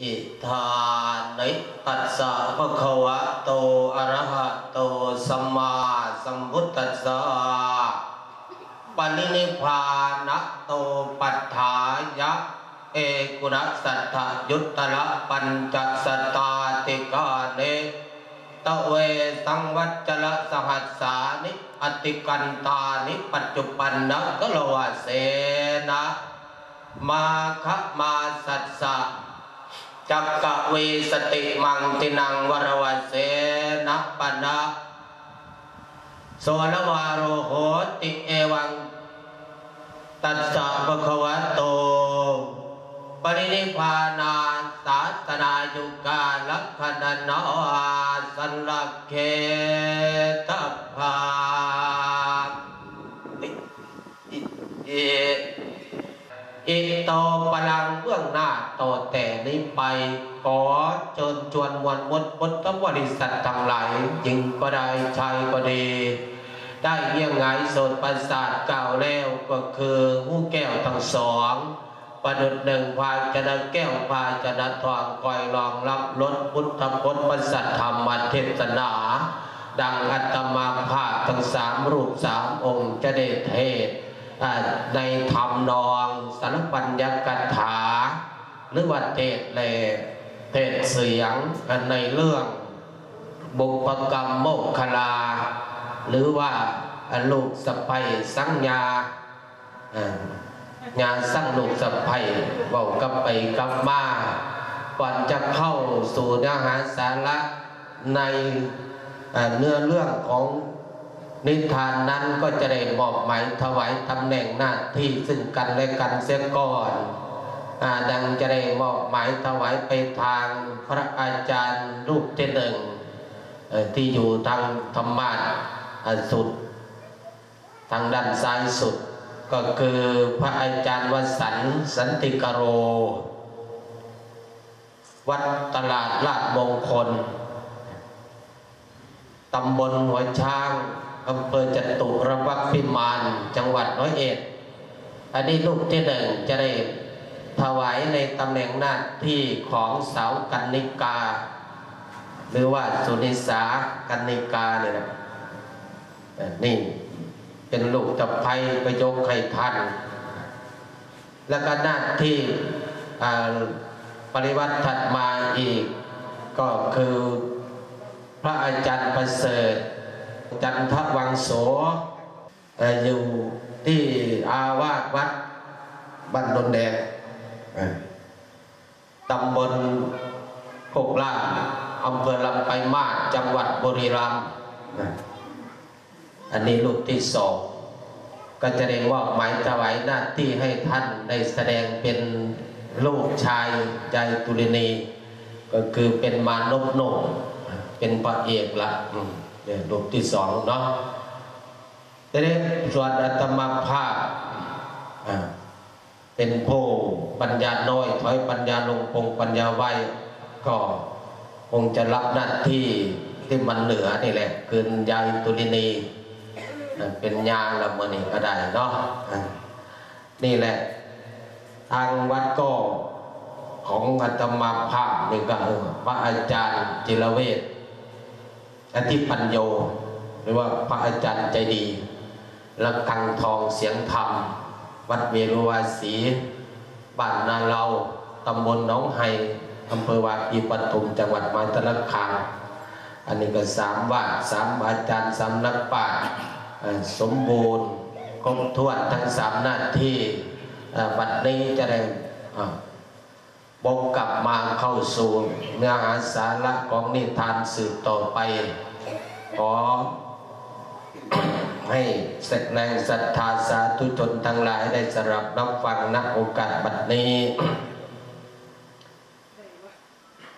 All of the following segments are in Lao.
อิทานิ ตัสสะ ภะคะวะโต อะระหะโต สัมมาสัมพุทธัสสะ ปะรินิพพานะโต ปัฏฐายะ เอกุณะสัตถะยุตตะระปัญจะสัตตาติกานิ ตะเวสังวัจจะระสหัสสานิ อติกันตานิ ปัจจุปันนะกะละวะเสนะ มาคะมาสัสสะ จักกะวีสติมังตินังวะระวะเสนะปะนะ โสรวาโรโหติ เอวัง ตัสสะ ภะคะวะโต ปะรินิพพานาสาสนายุกาลักขณะนาสันลักเขตะภา อิ อิ อิโตปะลัง ເບື້ອງໜ້າຕໍ່ແຕ່ນີ້ໄປ ຂໍເຊີນຊວນມວນມົດພຸດທະບໍລິສັດທັງຫຼາຍ ຍິງກໍໄດ້ ຊາຍກໍດີ ໄດ້ງຽງຫງາຍໂສດປະສາດກ່າວແລ້ວ ກໍຄືຫູແກ້ວທັງສອງ ປະດຸດໜຶ່ງພາຊະນະແກ້ວພາຊະນະທອງ ຄອຍລອງຮັບລົດພຸດທະພົດພະສັດທຳມະເທດສະໜາ ດັ່ງອາດຕະມາພາບທັງສາມຮູບສາມອົງຈະໄດ້ເທດ ອາ ໃນທຳນອງສາລະປັນຍະກະຖາ ຫຼືວ່າເທດ ແລະ ເທດສຽງ ໃນເລື່ອງບຸບພະກຳໂມກຂະລາ ຫຼືວ່າ ອາ ລູກສະໃພ້ສັງຍາ ອາ ຍາສັງລູກສະໃພ້ ເວົ້າກັບໄປກັບມາ ກ່ອນຈະເຂົ້າສູ່ເນື້ອຫາສາລະໃນ ອາ ເນື້ອເລື່ອງຂອງນິທານນັ້ນ ກໍຈະໄດ້ມອບໝາຍຖວາຍຕຳແໜ່ງໜ້າທີ່ຊຶ່ງກັນແລະກັນເສຍກ່ອນ ອາ ດັ່ງຈະໄດ້ມອບໝາຍຖວາຍໄປທາງພະອາຈານຮູບທີໜຶ່ງ ເອີ ທີ່ຢູ່ທາງທຳມາດ ອາ ສຸດ ທາງດ້ານຊ້າຍສຸດ ກໍຄືພະອາຈານວະສັນ ສັນຕິກະໂລ ວັດຕະຫຼາດລາດມົງຄົນ ຕຳບົນຫົວຊ້າງ ອຳເພີຈະຕຸລະພັກພິມານ ຈັງຫວັດຮ້ອຍເອັດ. ອັນນີ້ຮູບທີໜຶ່ງຈະໄດ້ຖວາຍໃນຕຳແໜ່ງໜ້າທີ່ຂອງສາວກັນນິກາ ຫຼືວ່າສຸນິສາກັນນິການີ້ນະ. ເອີ ນີ້ເປັນລູກສະໃພ້ ກໍຍົກໃຫ້ທ່ານ ແລ້ວກໍໜ້າທີ່ ອາ ປະລິວັດຖັດມາອີກ ກໍຄືພະອາຈານປະເສີດ ຈັນທະວັງໂສ ເອີ ຢູ່ທີ່ອາວາດວັດບ້ານດົນແດງ ເອີ ຕຳບົນໂຄກລ້ານ ອຳເພີລຳປາຍມາດ ຈັງຫວັດບຸຣີລຳ. ອັນນີ້ຮູບທີສອງ ກໍຈະໄດ້ມອບໝາຍຖວາຍໜ້າທີ່ໃຫ້ທ່ານໄດ້ສະແດງເປັນລູກຊາຍຍາຍຕຸລິນີ ກໍຄືເປັນມານົບໜຸ່ມ ເປັນພະເອກລະ ອືມ ເປັນຮູບທີສອງເນາະ. ແຕ່ໃນສ່ວນອາດຕະມາພາບ ອາ ເປັນຜູ້ປັນຍານ້ອຍ ຖອຍປັນຍາລົງ ປົງປັນຍາໄວ້ ກໍຄົງຈະຮັບໜ້າທີ່ທີ່ມັນເໜືອນີ້ແຫຼະ ຄືຍາຍຕຸລິນີ ເປັນຍາລະມື້ນີ້ກໍໄດ້ເນາະ. ນີ້ແຫຼະ ທາງວັດກໍຂອງອາດຕະມາພາບນີ້ກໍ ເອີ ພະອາຈານຈິລະເວດ ອະທິປັນໂຍ ຫຼືວ່າພະອາຈານໃຈດີ ລະຄັງທອງສຽງທຳ ວັດເວລຸວາສີ ບ້ານນາເລົາ ຕຳບົນໜອງໄຮ່ ອຳເພີວາປີປະທຸມ ຈັງຫວັດມະຫາສາລະຄາມ. ອັນນີ້ກໍສາມວາດ ສາມອາຈານ ສາມນັກປາດ ເອີ ສົມບູນຄົບຖ້ວນທັງສາມໜ້າທີ່. ເອີ ບັດນີ້ຈະໄດ້ ເອີ ວົນກັບມາເຂົ້າສູ່ເນື້ອຫາສາລະຂອງນິທານສືບຕໍ່ໄປ. ຂໍໃຫ້ແຮງສັດທາສາທຸຊົນທັງຫຼາຍໄດ້ສະດັບຮັບຟັງ ນະໂອກາດບັດນີ້.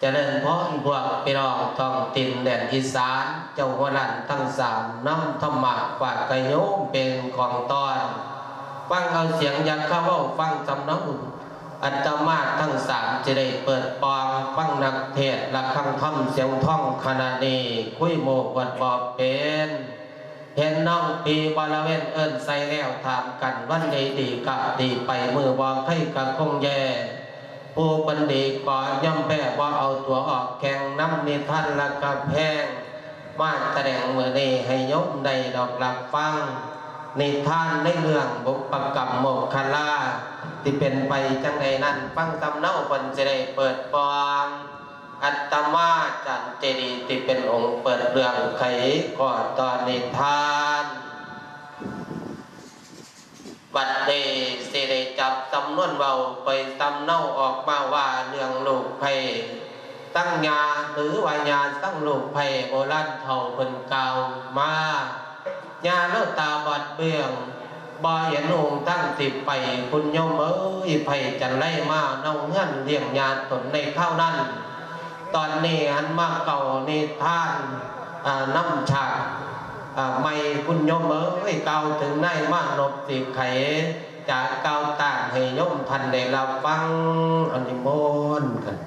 ຈະເລີນພອນພວກພີ່ນ້ອງທ້ອງຖິ່ນແດນອີສານ ເຈົ້າຫົວລ້ານທັງສາມ ນຳທຳມະຝາກກະໂຍມເປັນຂອງຕ້ອນ ຟັງເອົາສຽງຢ່າຄາເວົ້າ ຟັງສຳເນົາ ອາດຕະມາທັງສາມ ຈະໄດ້ເປີດປ່ອງ ຟັງນັກເທດລະຄັງທຳສຽງທອງ ຂະນະນີ້ຄຸຍໝູ່ເພິ່ນບໍ່ເປັນ ເຫັນນ້ອງພີບໍລະເວັນເອີ້ນໃສ່ແລ້ວຖາມກັນ ວັນໃດດີກະດີໄປ ມື້ບໍ່ໄຄກະຄົງແຍ່ ຜູ້ເພິ່ນດີກໍຍອມແພ້ ບໍ່ເອົາຕົວອອກແຂ່ງນຳນິທານລະກະແພງ ມາສະແດງມື້ນີ້ໃຫ້ໂຍມໄດ້ດອກຮັບຟັງ ນິທານໃນເລື່ອງບຸບປະກັບໂມກຄະລາ ທີ່ເປັນໄປຈັ່ງໃດນັ້ນ ຟັງສຳເນົາເພິ່ນຊິໄດ້ເປີດປ່ອງ. ອາດຕະມາຈານເຈດີ ທີ່ເປັນອົງເປີດເລື່ອງໄຂຂໍ້ຕໍ່ນິທານ. ບັດນີ້ຊິໄດ້ຈັບສຳນວນເວົ້າໄປສຳເນົາອອກມາວ່າ ເລື່ອງລູກໃພ້ສັງຍາ ຫຼືວ່າຍາສັງລູກໃພ້ ໂບລານເຖົ້າເພິ່ນກ່າວມາ. ຍາລາວຕາບອດເບື້ອງ ບໍ່ເຫັນຫົນທາງຊິໄປ ຄຸນໂຍມເອີຍ ໃຜຈັນໄລມາເນົາເຮືອນລ້ຽງຍາຕົນໃນຄາວນັ້ນ. ຕອນນີ້ຫັນມາເກົ້ານິທານ ອາ ນຳສາກ ອາ ໃໝ່ ຄຸນໂຍມເອີຍ ກ່າວເຖິງນາຍມານົບຊິໄຂ ຈະກ່າວຕ້ານໃຫ້ໂຍມທ່ານໄດ້ຮັບຟັງ ອານິມົນກັນ.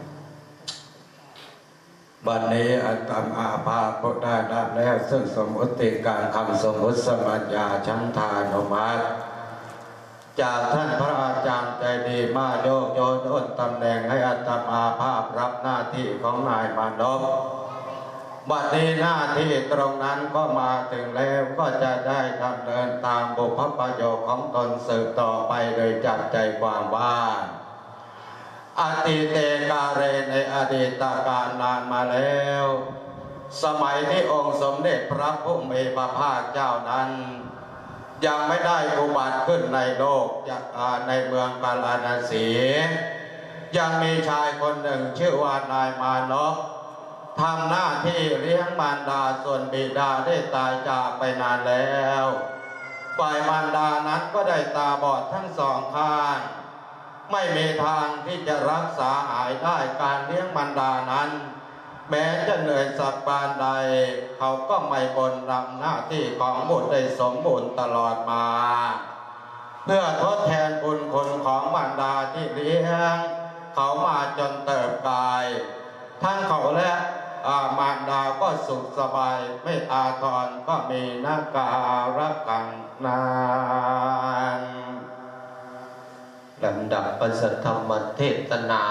ບັດນີ້ອາດຕະມາພາບໄດ້ຮັບແລ້ວ ເຊິ່ງສົມມຸດຕິການຄຳສົມມຸດສະມັນຍາ ສັນທານຸມັດ ຈາກທ່ານພະອາຈານໃຈດີ ມາໂຍກໂຍນໂອນຕຳແໜ່ງໃຫ້ອາດຕະມາພາບຮັບໜ້າທີ່ຂອງນາຍມານົບ. ບັດນີ້ໜ້າທີ່ຕົງນັ້ນກໍມາເຖິງແລ້ວ ກໍຈະໄດ້ດຳເນີນຕາມບຸບພະປະໂຫຍກຂອງຕົນສືບຕໍ່ໄປ ໂດຍຈັບໃຈຄວາມວ່າ ອະຕິເຕກາເລ ໃນອະດີດຕະການນານມາແລ້ວ ສະໄໝທີ່ອົງສົມເດັດພະຜູ້ມີພະພາກເຈົ້ານັ້ນ ຍັງໄມ່ໄດ້ອຸບັດຂຶ້ນໃນໂລກ ຈະ ອາ ໃນເມືອງພາລານະສີ ຍັງມີຊາຍຄົນໜຶ່ງຊື່ວ່ານາຍມານົບ ທຳໜ້າທີ່ລ້ຽງມານດາ ສ່ວນບິດາໄດ້ຕາຍຈາກໄປນານແລ້ວ ຝ່າຍມານດານັ້ນກໍໄດ້ຕາບອດທັງສອງຂ້າງ ໄມ່ມີທາງທີ່ຈະຮັກສາຫາຍໄດ້. ການລ້ຽງມານດານັ້ນ ແມ້ຈະເໜື່ອຍສັກປານໃດ ເຂົາກໍໄມ່ບົ່ນລຳໜ້າທີ່ຂອງບຸດໄດ້ສົມບູນຕະຫຼອດມາ ເພື່ອທົດແທນບຸນຄຸນຂອງມານດາທີ່ລ້ຽງເຂົາມາຈົນເຕີບກາຍ. ທັງເຂົາ ແລະ ອາ ມານດາກໍສຸກສະບາຍ ໄມ່ອາທອນກໍມີນາກາລະຄັງນານ. ລຳດັບພະສັດທຳມະເທສະໜາ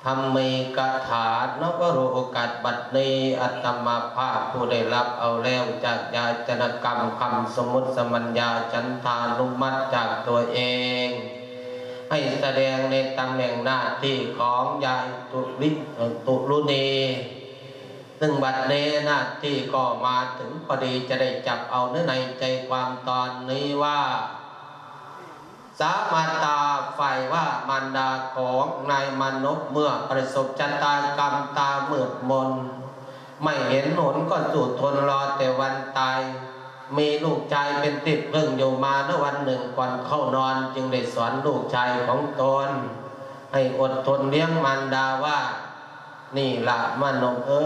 ທຳມີກະຖາ ນະວະໂລກາດ ບັດນີ້ອາດຕະມາພາບຜູ້ໄດ້ຮັບເອົາແລ້ວຈາກຍາຈະນະກຳຄຳສົມມຸດສະມັນຍາ ສັນທານຸມັດຈາກຕົວເອງ ໃຫ້ສະແດງໃນຕຳແໜ່ງໜ້າທີ່ຂອງຍາຍຕຸລິ ຕຸລຸນີ ຊຶ່ງບັດນີ້ໜ້າທີ່ກໍມາເຖິງພໍດີ ຈະໄດ້ຈັບເອົາເນື້ອໃນໃຈຄວາມຕອນນີ້ວ່າ ສາມາຕາ ຝ່າຍວ່າມານດາຂອງນາຍມານົບ ເມື່ອປະສົບຊະຕາກຳຕາມືດມົນ ໄມ່ເຫັນຫົນກໍສູ້ທົນລໍແຕ່ວັນຕາຍ ມີລູກຊາຍເປັນທີ່ເພິ່ງຢູ່ມານະ ວັນໜຶ່ງກ່ອນເຂົ້ານອນ ຈຶ່ງໄດ້ສອນລູກຊາຍຂອງຕົນໃຫ້ອົດທົນລ້ຽງມານດາວ່າ ນີ້ລະມານົບເອີ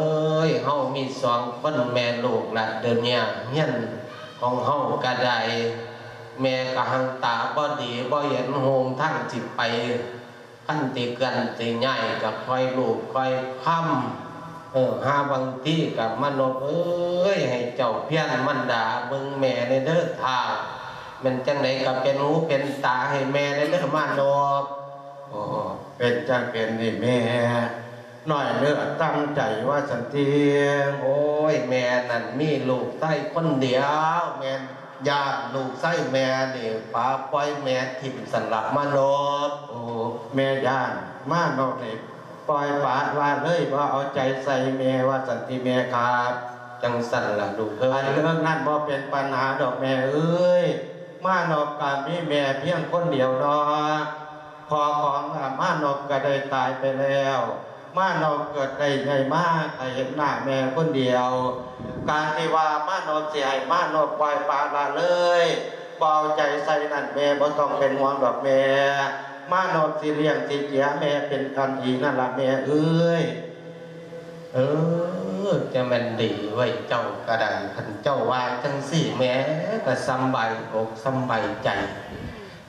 ຍ ເຮົາມີສອງຄົນແມ່ລູກລະ ດຽວນີ້ຮຽນຂອງເຮົາກະໄດ້ ແມ່ກະຫັງຕາບໍ່ດີ ບໍ່ເຫັນຫົນທາງຊິໄປ ຄັນຊິເຄື່ອນຊິຍ້າຍກະຄ່ອຍລູບຄ່ອຍຄຳ ເອີ ຫາບາງທີກະມານົບເອີຍ ໃຫ້ເຈົ້າພຽນມານດາເບິ່ງແມ່ແດ່ເດີທ້າວ ແມ່ນຈັ່ງໃດກະເປັນຫູເປັນຕາໃຫ້ແມ່ແດ່ເດີມານົບ. ໂອ້ ເປັນຈັ່ງເປັນນີ້ແມ່ ນ້ອຍເນື້ອຕ່ຳໃຈວ່າຊັ້ນຕິ. ໂອ້ຍ ແມ່ນັ້ນມີລູກຊາຍຄົນດຽວ ແມ່ຢ້ານລູກຊາຍແມ່ນີ້ປະປ່ອຍແມ່ຖິ້ມຊັ້ນລະມານົບ. ໂອ້ ແມ່ຢ້ານມານົບນີ້ປ່ອຍປະລະເລີຍ ບໍ່ເອົາໃຈໃສ່ແມ່ວ່າຊັ້ນຕິແມ່ຄັບ. ຈັ່ງຊັ້ນລະລູກເອີຍ ອັນເລື່ອງນັ້ນບໍ່ເປັນປັນຫາດອກແມ່ເອີຍ ມານົບກະມີແມ່ພຽງຄົນດຽວເນາະ. ພໍ່ຂອງ ອາ ມານົບກະໄດ້ຕາຍໄປແລ້ວ ມານົບເກີດໄດ້ໃຫຍ່ມາກະເຫັນໜ້າແມ່ຄົນດຽວ. ການທີ່ວ່າມານົບຊິໃຫ້ມານົບປ່ອຍປະລະເລີຍ ບໍ່ເອົາໃຈໃສ່ນັ້ນ ແມ່ບໍ່ຕ້ອງເປັນຫ່ວງດອກແມ່ ມານົບຊິລ້ຽງຊິເຈຍແມ່ເປັນອັນດີນັ້ນລະແມ່ເອີຍ. ເອີ ຈະແມ່ນດີເວີຍ ເຈົ້າກະໄດ້ ຄັນເຈົ້າວ່າຈັ່ງຊີ້ ແມ່ກະສຳບາຍອົກສຳບາຍໃຈ.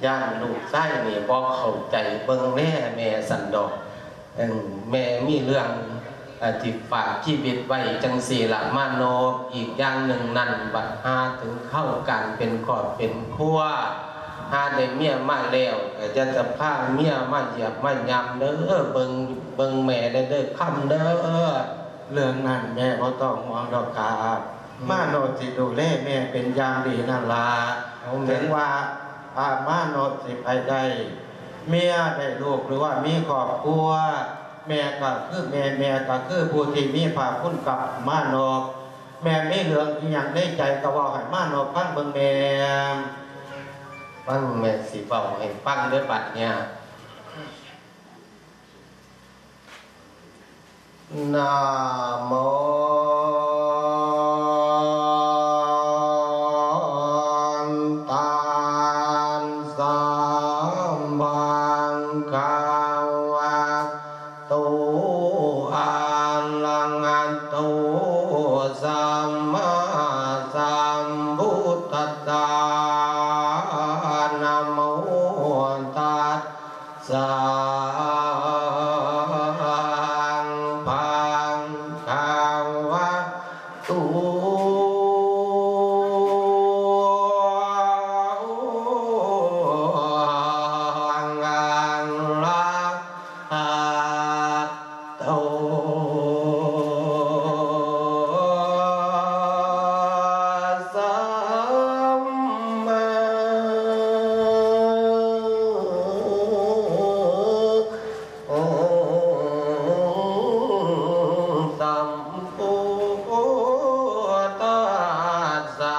ຢ້ານລູກຊາຍນີ້ບໍ່ເຂົ້າໃຈເບິ່ງແລແມ່ຊັ້ນດອກ. ເອີ ແມ່ມີເລື່ອງ ອາ ທີ່ຝາກຊີວິດໄວ້ຈັ່ງຊີ້ລະມານົບ. ອີກຢ່າງໜຶ່ງນັ້ນ ບັດຫາເຖິງຄາວການເປັນຄອບເປັນຄົວ ຫາໄດ້ເມຍມາແລ້ວ ກໍຢ່າຈະພາເມຍມາຢຽບມາຫຍ້ຳເດີ້ ເບິ່ງ ເບິ່ງແມ່ແດ່ເດີ້ ຄຳເດີ້. ເລື່ອງນັ້ນແມ່ບໍ່ຕ້ອງຫ່ວງດອກຄັບ ອືມ ມາໂນດຊິດູແລແມ່ເປັນຢ່າງດີນັ້ນລະ. ເອົາແມ່ ເຖິງວ່າ ອາ ມາໂນດຊິໄປໄດ້ເມຍໄດ້ລູກ ຫຼືວ່າມີຄອບຄົວ ແມ່ກໍຄືແມ່ ແມ່ກໍຄືຜູ້ທີ່ມີພະຄຸນກັບມາໂນດ. ແມ່ມີເລື່ອງອີ່ຫຍັງໃນໃຈກໍເວົ້າໃຫ້ມາໂນດຟັງເບິ່ງແມ່. ຟັງແມ່ຊິເວົ້າໃຫ້ຟັງເດີ້ບັດເນີ້ຍ. ນະໂມ ຕັດສະ ພະຄະວະໂຕ ອະລະຫະໂຕ ສຳມາສຳພຸດທັດສະ ນະໂມ ຕັດສະ ພະຄະວະໂຕ ອະລະຫະໂຕ ສຳມາສຳພຸດທັດສະ.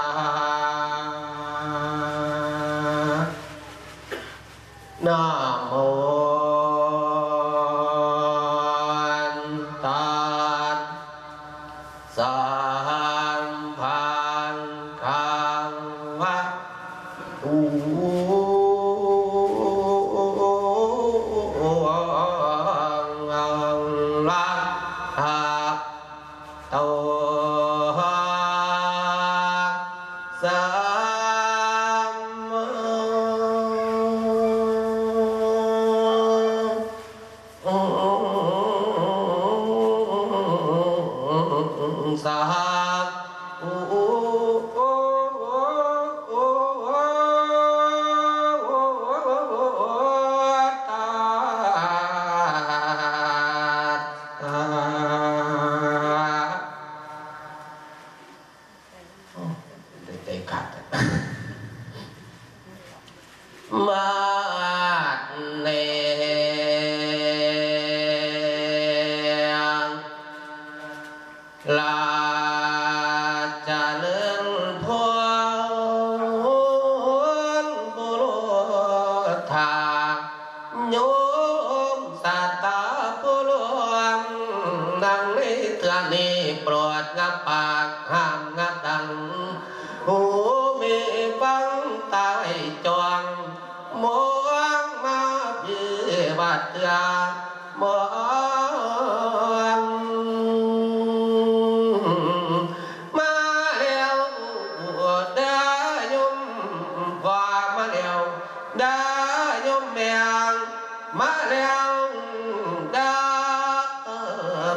ນະໂມ ຕັດສະ ພະຄະວະໂຕ ອະລະຫະໂຕ ສຳມາສຳພຸດທັດສະ. ໂອ້ ໄດ້ໃຈຂາດ ມາດແນງ ລາຈະເລີນພອນ ບຸລຸດທາ ໂຍມສາດຕາຜູ້ຫຼວງ ນັ່ງໃນເທື່ອນີ້ໂປດງາບປາກຫ້າມງາບດັງ ຫູມີຟັງຕາໄວ້ຈ້ອງ ມອງມາພີບາດເທື່ອ ມອງມາແລ້ວເດີ້ໂຍມ ວ່າມາແລ້ວ ເດີ້ໂຍມແມ່ ມາແລ້ວເດີ້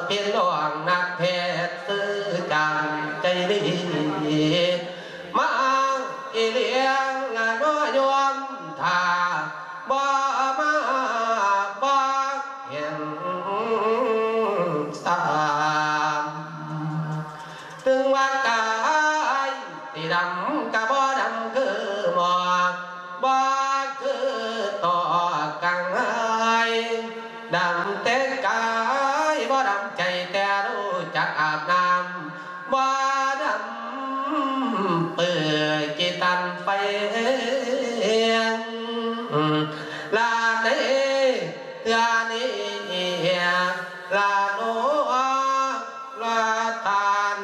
ພີ່ນ້ອງນັກເທດຊື່ຈັນໃຈດີ ມາອີ່ຫຼີລະເນາະໂຍມ ຖ້າບໍ່ມາບໍ່ເຫັນຊ້ຳ. ເຖິງວ່າກາຍຊິດຳກະບໍ່ດຳຄືໝອກ ບໍ່ຄືຕໍ່ກັງຫາຍ ດຳແຕ່ກາຍບໍ່ດຳໃຈ ແຕ່ຮູ້ຈັກອາບນ້ຳ ບໍ່ດຳເປື່ອຍຂີ້ຕັນໄຟ ລະໃນເທື່ອນີ້ລະເນາະ ລະທ່ານ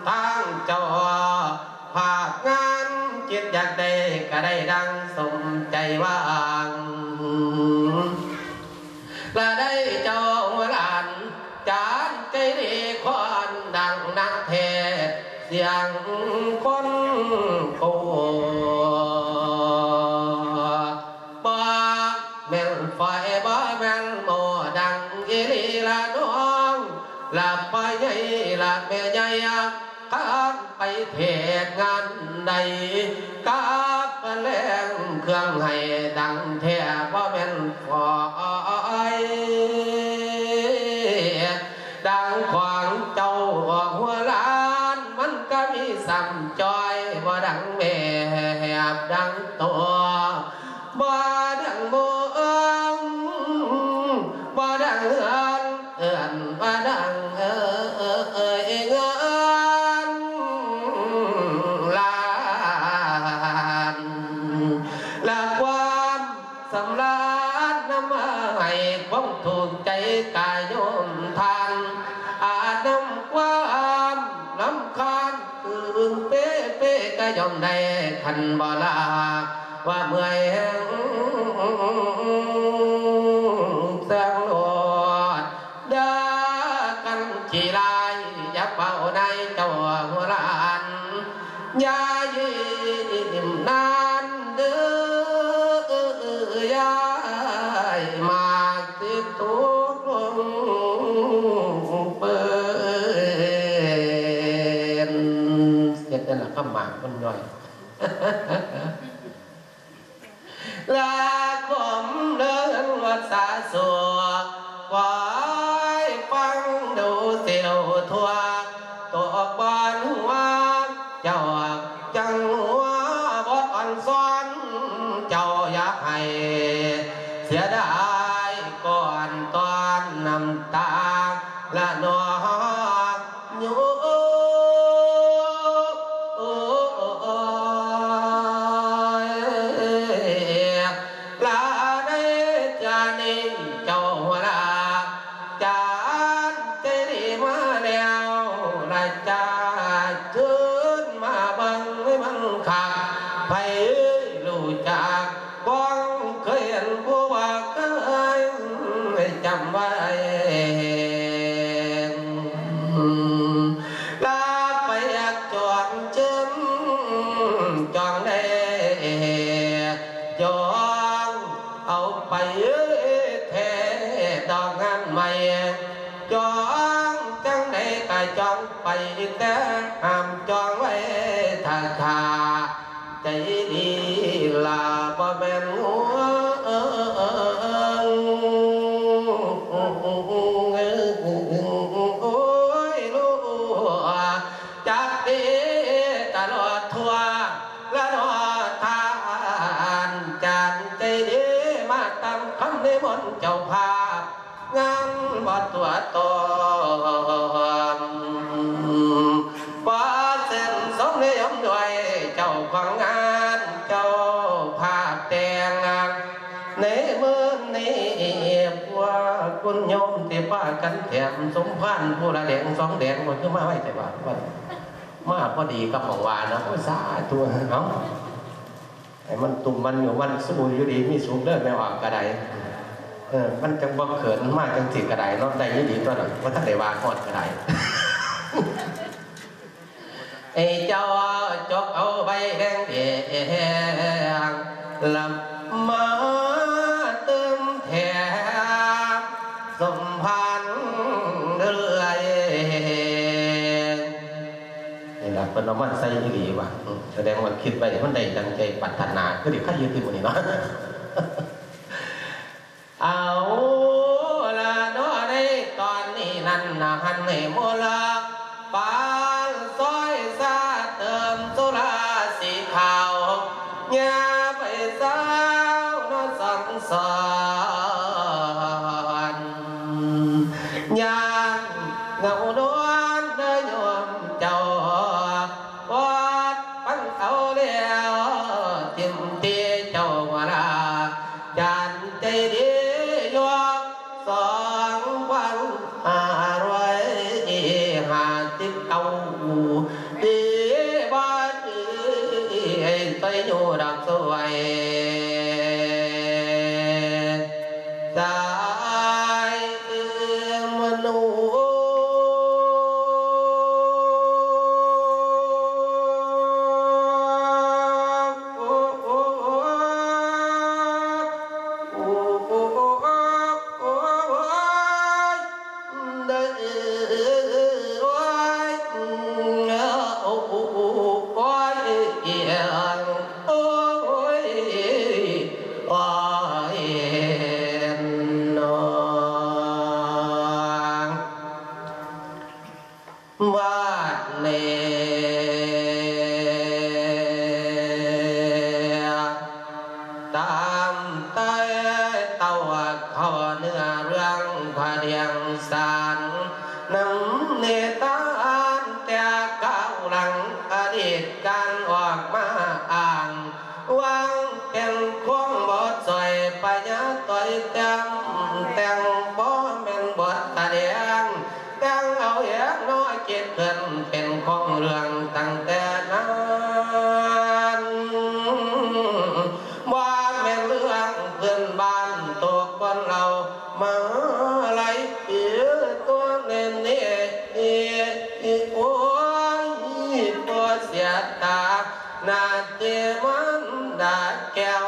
ທາງເຈົ້າພາບງານ ຄິດຢາກໄດ້ກະໄດ້ດັ່ງສົມໃຈຫວັງ ລະໄດ້ເຈົ້າຫຼານຈານໃຈດີຄວນດັງນັກເທດສຽງຄົນໂກ ບໍ່ແມ່ນຝອຍ ບໍ່ແມ່ນໂມ້ ດັງອີ່ຫຼີລະນ້ອງ ລະພໍ່ໃຫຍ່ລະແມ່ໃຫຍ່ ຄັນໄປເທດງານໃດ ກັບແລງ ດັ່ງຂອງເຈົ້າຫົວລ້ານ ມັນກໍມີສ່ຳຈ້ອຍ ບໍ່ດັ່ງແບບດັ່ງໂຕ ບໍ່ດັ່ງເມືອງ ບໍ່ດັ່ງເຮືອນ ເອີ້ນວ່າດັ່ງເອີຍເງິນລ້ານ ແລະ ຄວາມ ສຳລານນຳມາໃຫ້ຄວາມຖືກໃຈກາໂຍມທ່ານ ອານຳຄວາມລຳຄານ ຕື່ນເປ້ເປ້ກະຍ່ອມໄດ້ ຄັນບໍ່ລາວ່າເມື່ອຍແຮງແຊງໂລດ ເດີກັນຂີ້ລາຍ ຢ່າເປົ່ານາຍເຈົ້າຫົວລ້ານ ຢ່າຍິ້ມນານເດີ ຢ້າຍໝາກຊິຕົກລົງເປີ້ນ ເຮັດນັ້ນລະຄຳໝາກມັນຍ່ອຍ. ລາຄົມເລີນວັດສາສວກ ຄວາຍຟັງດູເຊວທົ່ວ ຕົກບ່ອນຫົວເຈົ້າ ຈັ່ງຫົວບົດອ່ອນຊ້ອນ ເຈົ້າຢ່າໃຫ້ເສຍດາຍ ກ່ອນຕອນນ້ຳຕາລະນອງ ໂຍ ລາໃນຈານີ້ເຈົ້າຫົວໜ້າ ຈານເຈດີມາແລ້ວລະ ຈາເຊີນມາເບິ່ງໃຫ້ມັນຄັກ ໃຜຮູ້ຈັກ ຄວາມເຄີຍເຫັນຜູ້ວ່າເຄີຍຈຳໄວ້ ລາໄປຢາກຈອງເຈີນ ຈອງໄດ້ຈອງເອົາໄປແທ້ດອກງານໃໝ່ ຈອງຈັ່ງໃດກະຈອງໄປແຕ່ ຫ້າມຈອງໄວ້ຖ້າຂ້າ ໃຈດີລະບໍ່ແມ່ນງົວ ໂອ້ຍ ຮູ້ຈັກດີຕະຫຼອດທົ່ວລະເນາະທ່ານ ຈານໃຈດີ ມາຕາມຄຳນິມົນເຈົ້າພາບ ງານວັດຕົວະຕອມ ຂໍເຊີນຊົມນິຍົມດ້ວຍເຈົ້າຂອງງານ ເຈົ້າພາບແຕ່ງງານໃນມື້ນີ້ ພວກຄຸນໂຍມທີ່ພາກັນແຖມສົມພານຜູ້ລະແດງສອງແດງ ບໍ່ຄືມາໄວແທ້ວ່າ ມາພໍດີກັບໝ່ອງວ່ານະ ໂອ້ຍ ສາທຸ ເອົາ. ໃຫ້ມັນຕຸ້ມມັນຢູ່ມັນຊູຢູ່ດີມີສຸກເດີແມ່ອອກກະໄດ ເອີ ມັນຈັ່ງບໍ່ເຂີນ ມາຈັ່ງຊີ້ກະໄດເນາະ ໄດ້ຢູ່ດີຕົວະ ບໍ່ທັນໄດ້ວ່າຮອດກະໄດ ໃຫ້ເຈົ້າຈົກເອົາໃບແດງໆ ລະມາຕື່ມແຖມສົມພານເລື້ອຍ. ນີ້ລະເພິ່ນເອົາມາໃສ່ອີ່ຫຼີວ່າ ສະແດງວ່າຄິດໄວ້ມັນໄດ້ດັ່ງໃຈປາດຖະໜາ ຄືໄດ້ໄຄຢູ່ຕິມື້ນີ້ເນາະ ເອົາລະເນາະ ໃນຕອນນີ້ນັ້ນນະ ຫັນໃຫ້ໝູ່ລະປານຊອຍຊາເຕີມສຸລາສີຂາວ ຢ່າໄປເສົ້າເນາະສັງສອນ ຢ້ານເຫງົານອນເດີໂຍມເຈົ້າ ປອດປັນເອົາແລ້ວ ຖິ້ມຕິເຈົ້າວ່າລາ ຈານໃຈດີ ຍກສອງພັນຫ້າຮ້ອຍຫ້າສິບເກົ້າ ດີບໍ່ດີ ໃຫ້ໃສ່ຢູ່ດອກສວຍ ສາຍມະນູ ວາດເນ ຕາມໃຕ້ເຕົ້າເຂົ້າເນື້ອເລື່ອງພະດຽງສານ ນຳນິທານແຕ່ຄາວຫຼັງອະດີດການອອກມາອ້າງ ຫວັງເປັນຄວາມບໍ່ຊ່ອຍພະຍາຕ່ອຍແຕ້ມ ແຕ່ງບໍ່ແມ່ນບົດສະແດງ ແຕ່ງເອົາເອງເນາະ ຄິດຂຶ້ນເປັນຂອງເລື່ອງຕັ້ງແຕ່ນັ້ນ ວ່າແມ່ນເລື່ອງພື້ນບ້ານໂຕຄົນເລົ່າມາຫຼາຍປີ ຕົວເນເນ ໂອ້ຍ ບໍ່ເສຍຕາ ໜ້າທີ່ມານດາແກ້ວ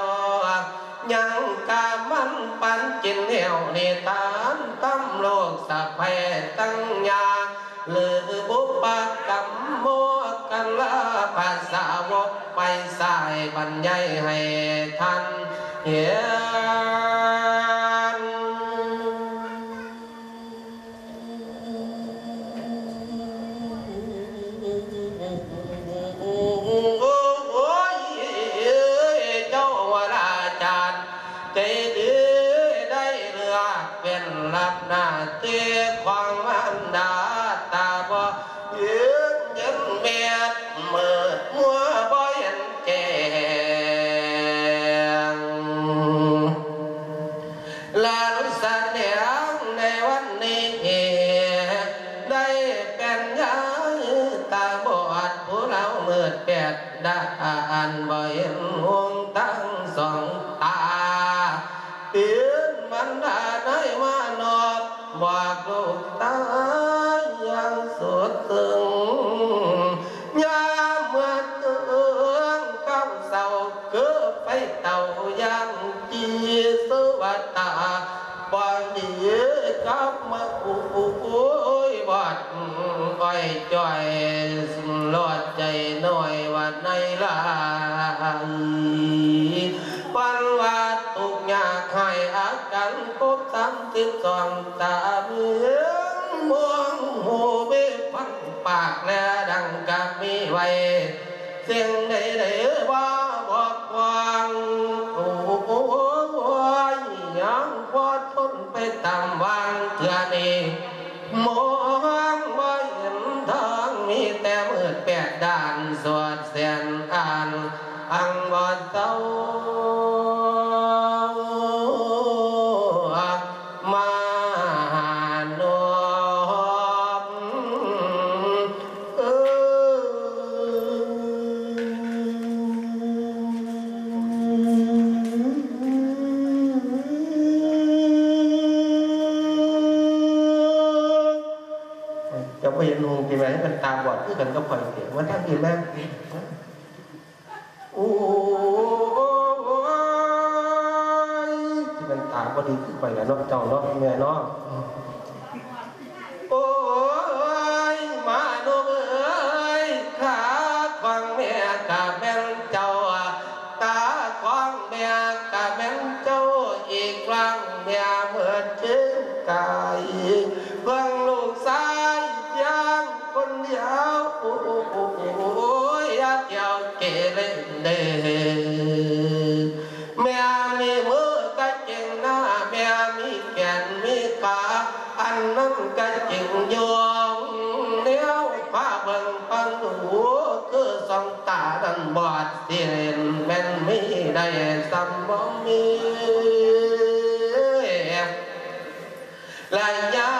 ຍັງກະມັນປັນກິນແລ້ວ ນິທານຕຳລູກສະໃພ້ຕັ້ງຍາ ຫຼືບຸບປະກຳໂມກັນລາພາສາວົກໄປສາຍບັນຍາຍໃຫ້ທ່ານເຫັນ. ໂອ້ຍ ເຈົ້າວະລາຈານ ໃຈດີໄດ້ເລືອກເປັນຮັບໜ້າທີ່ຂອງມານດາ ຕາບໍ່ເຫັນເຫັນແມ່ນ ມືດມົວບໍ່ເຫັນແຈ້ງ ລານສະແດງໃນວັນນີ້ ໄດ້ເປັນຍາຍຕາບອດ ຜູ້ລາວມືດແປດດ້ານ ບໍ່ເຫັນຫົງທັງສອງຕາ ເປັນມານດາໃນມານອບ ບອກລູກຕາຍຢ່າງສຸດເຊິ່ງ ຍາມເມື່ອເຖິງຄຳເສົ້າ ຄືໄຟເຕົາຢ່າງຈີສຸວັດຕາ ບໍ່ດີກັບມາ ໂອ້ຍ ບອດອ້ອຍຈ່ອຍ ລອດໃຈໜ້ອຍວ່າໃນລາຍ ປັນວ່າທຸກຍາກໃຫ້ອາການຄົບສາມສິບສອງ ຕາມີມອງຫູມີຟັງປາກແລດັງກະມີໄວ້ ສິ່ງໃດໆວ່າບໍ່ກວ້າງ ໂອ້ຍ ຍັງພໍທົນໄປຕາມຫວ່າງເທື່ອນີ້ ມອງບໍ່ເຫັນທາງ ມີແຕ່ມືດແປດດ້ານສອດແສນອານ ອັງບໍ່ເຊົາມານອບ ເອີ ເຈົ້າບໍ່ເຫັນຫຸ່ງຕິແມ່? ມັນຕາບອດຄືກັນກັບຂ້ອຍຕິ? ມາທາງພີ້ແມ່. ໂອ້ຍ ຊິແມ່ນຕາບໍ່ດີຄືຂ້ອຍລະເນາະ ເຈົ້າເນາະ ແມ່ເນາະ. ໂອ້ຍ ມານຸກເອີຍ ຂາຂອງແມ່ກະແມ່ນເຈົ້າ ຕາຂອງແມ່ກະແມ່ນເຈົ້າ ອີກຟາງແມ່ເໝິດເຈີນກາຍ ເບິ່ງລູກຊາຍພຽງຄົນດຽວ ໂອ້ຍ ຢ່າທ່ຽວເກເລເດີ ແມ່ມີມືກະຈິງນາ ແມ່ມີແຂນມີຂາ ອັນນັ້ນກະຈິງຢູ່ ແນວພາເບິ່ງຟັງດູ ຄືສອງຕານັ້ນບອດ ຊິເຫັນແມ່ນມີໄດ້ສ່ຳບໍ່ມີ ລະຍາ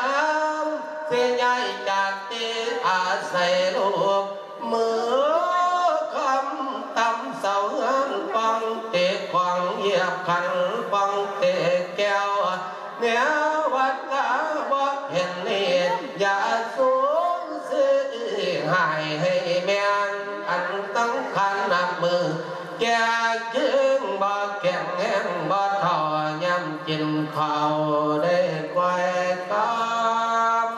ມຊິຍ້າຍຈາກທີ່ອາໄສລູກ ມື້ຄ່ຳຕ່ຳເຊົາເຮືອນ ປ່ອງເຕະຂອງ ຢຽບຂັນປ່ອງເຕະແກ້ວ ແນວວັດລາບໍ່ເຫັນນີ້ ຢ່າສູນເສຍ ໃຫ້ ໃຫ້ແມ່ນອັນສຳຄັນ ນັບມື້ແກ່ເຄີງ ບໍ່ແຂງແຮງບໍ່ເທົ່າ ຍາມກິນເຂົ້າໄດ້ກ່ອຍຄຳ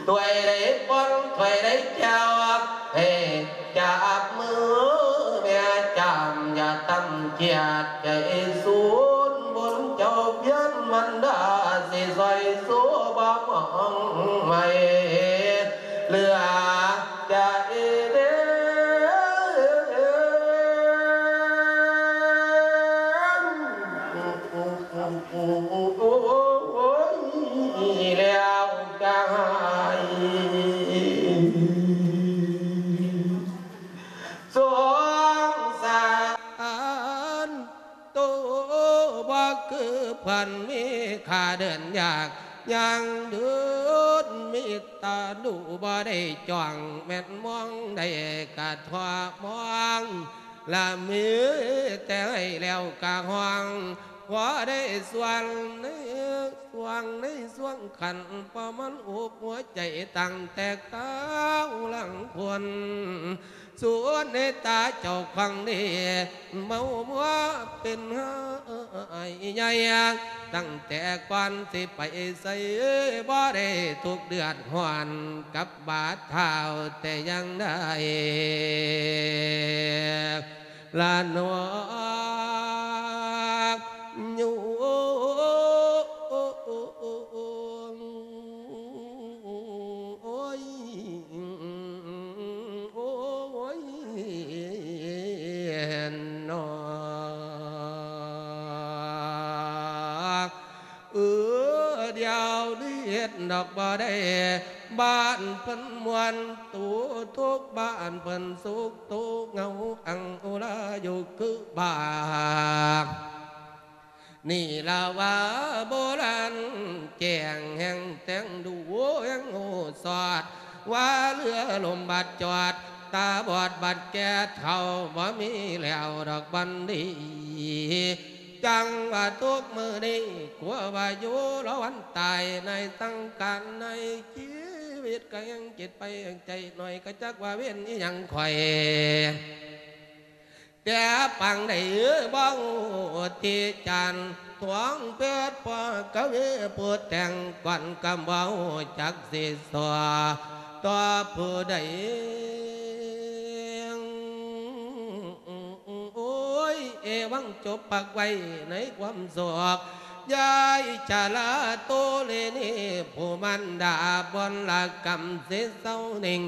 ຖ້ວຍໃດປ່ອນ ຖ້ວຍໃດແກ້ວ ໃຫ້ຈັບມືແມ່ຈາມ ຢ່າຕຳຈຽດໃຈສູນ ບຸນເຈົ້າພຽນມັນດາ ຊິຊ່ອຍຊູບໍ່ມອງໄໝ້ເຫຼືອໃຈເດ ໂອ້ຍ ແລ້ວກາຍສົງສານ ໂຕບໍ່ຄືເພິ່ນມີຄ່າເດີນຍາກຍ່າງເດີນ ມີຕາດູບໍ່ໄດ້ຈ້ອງ ແມ່ນມອງໄດ້ກະທົບມອງ ລະມີແຕ່ໃຫ້ແລ້ວກະຮ້ອງ ພໍໄດ້ສ່ວນໃນຊ່ວງໃນຊ່ວງຂັ້ນ ເພາະມັນອົບຫົວໃຈຕັ້ງແຕ່ຄາວຫຼັງຄົນ ສ່ວນໃນຕາເຈົ້າຂອງນີ້ ເມົາມົວເປັນຫາຍໃຫຍ່ ຕັ້ງແຕ່ກ່ອນຊິໄປໃສ ບໍ່ໄດ້ທຸກເດືອດຮ້ອນກັບບາດເທົ້າແຕ່ຢ່າງໃດລະໜໍ. ໂອ້ຍ ໂອ້ຍ ນອ ເອີ ດຽວນີ້ເຮັດດອກບໍ່ໄດ້ ບ້ານເພິ່ນມ່ວນໂຕທຸກ ບ້ານເພິ່ນສຸກໂຕເຫງົາ ອັງອຸລາຢູ່ຄືບາ ນີ້ລະວ່າໂບລານແຈ້ງແຫ່ງແຕ່ງດູ ແຫ່ງຮູ້ສອດ ວ່າເຫຼືອລົມບາດຈອດ ຕາບອດບາດແກ່ເຖົ້າ ບໍ່ມີແລ້ວດອກບັນດີ ຈັ່ງວ່າທຸກມື້ນີ້ ກົວວ່າຢູ່ລະວັນຕາຍ ໃນສັງຂານໃນຊີວິດ ກະຍັງຈິດໄປແຫ່ງໃຈໜ້ອຍ ກະຈັກວ່າເວນອີ່ຫຍັງຂ້ອຍ ແຕ່ປາງໃດບໍ່ຮູ້ທີ່ຈານ ທວງເພີດພໍ່ກະເວຜູ້ແຕ່ງກ່ອນ ກະບໍ່ຮູ້ຈັກຊິສໍ່ຕໍ່ຜູ້ໃດ. ໂອ້ຍ ເອວັງ ຈົບພັກໄວ້ໃນຄວາມໂສກ ຢາຍຊະລາໂຕເລນີ ຜູ້ມານດາບົນລະກຳ ຊິເຊົານິ່ງ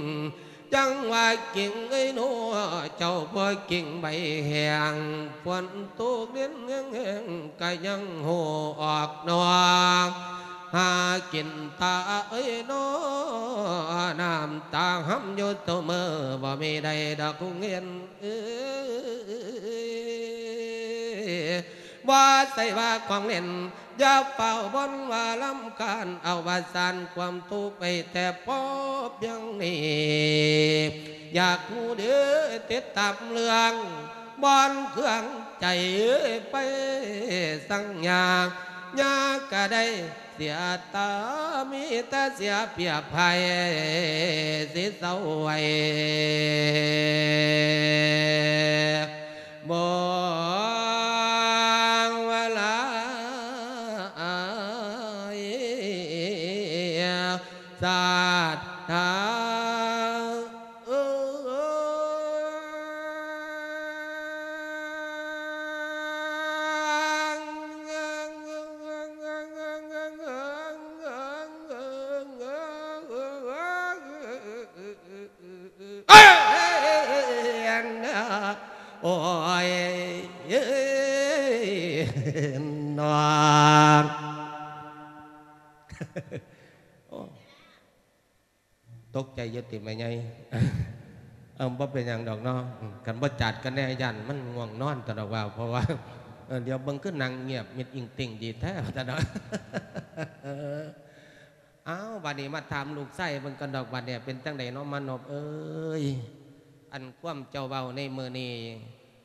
ຈັ່ງວ່າກິ່ງເອີຍໂນ ເຈົ້າບໍ່ກິ່ງໃບແຫ້ງ ຝົນຕົກດິນແຫ້ງໆ ກະຍັງຮູ້ອອກໜໍ ຫາກິນຕາເອີຍໂນ ນ້ຳຕາຫຳຢູ່ທຸກມື້ ບໍ່ມີໃດດອກຄົງເຫັນ ເອີຍ ບໍ່ໃຊ່ວ່າຂອງເຫຼັ້ນ ຢ່າຟ້າວບ່ອນວ່າລຳຄານ ເອົາວ່າສານຄວາມທຸກໄວ້ແຕ່ພໍພຽງນີ້ ຢາກຮູ້ເດີ ຕິດຕາມເລື່ອງບ່ອນເຄື່ອງໃຈໄປສັງຍາ ຍາກະໄດ້ເສຍຕາ ມີແຕ່ເສຍເປຍບໄພ ຊິເຊົາໄວ້ ບໍ່ວ່າຫຼາຍສັດທາ ເອີຍ ໂອ້ຍ ເອີຍ ນອນ ໂອ້ ຕົກໃຈຢູ່ຕິແມ່ໃຫຍ່? ເອີ ບໍ່ເປັນຫຍັງດອກເນາະ ຄັນບໍ່ຈັດກັນແນ່ ຢ້ານມັນງ່ວງນອນຕະດອກວ່າ ເພາະວ່າ ເອີ ດຽວເບິ່ງຄືນັ່ງງຽບມິດອິງຕິງດີແທ້ ວ່າຊັ້ນເນາະ. ອ້າວ ບາດນີ້ມາຖາມລູກຊາຍເບິ່ງກ່ອນດອກ ບາດນີ້ເປັນຈັ່ງໃດເນາະ ມານົບເອີຍ? ອັນຄວາມເຈົ້າເວົ້າໃນມື້ນີ້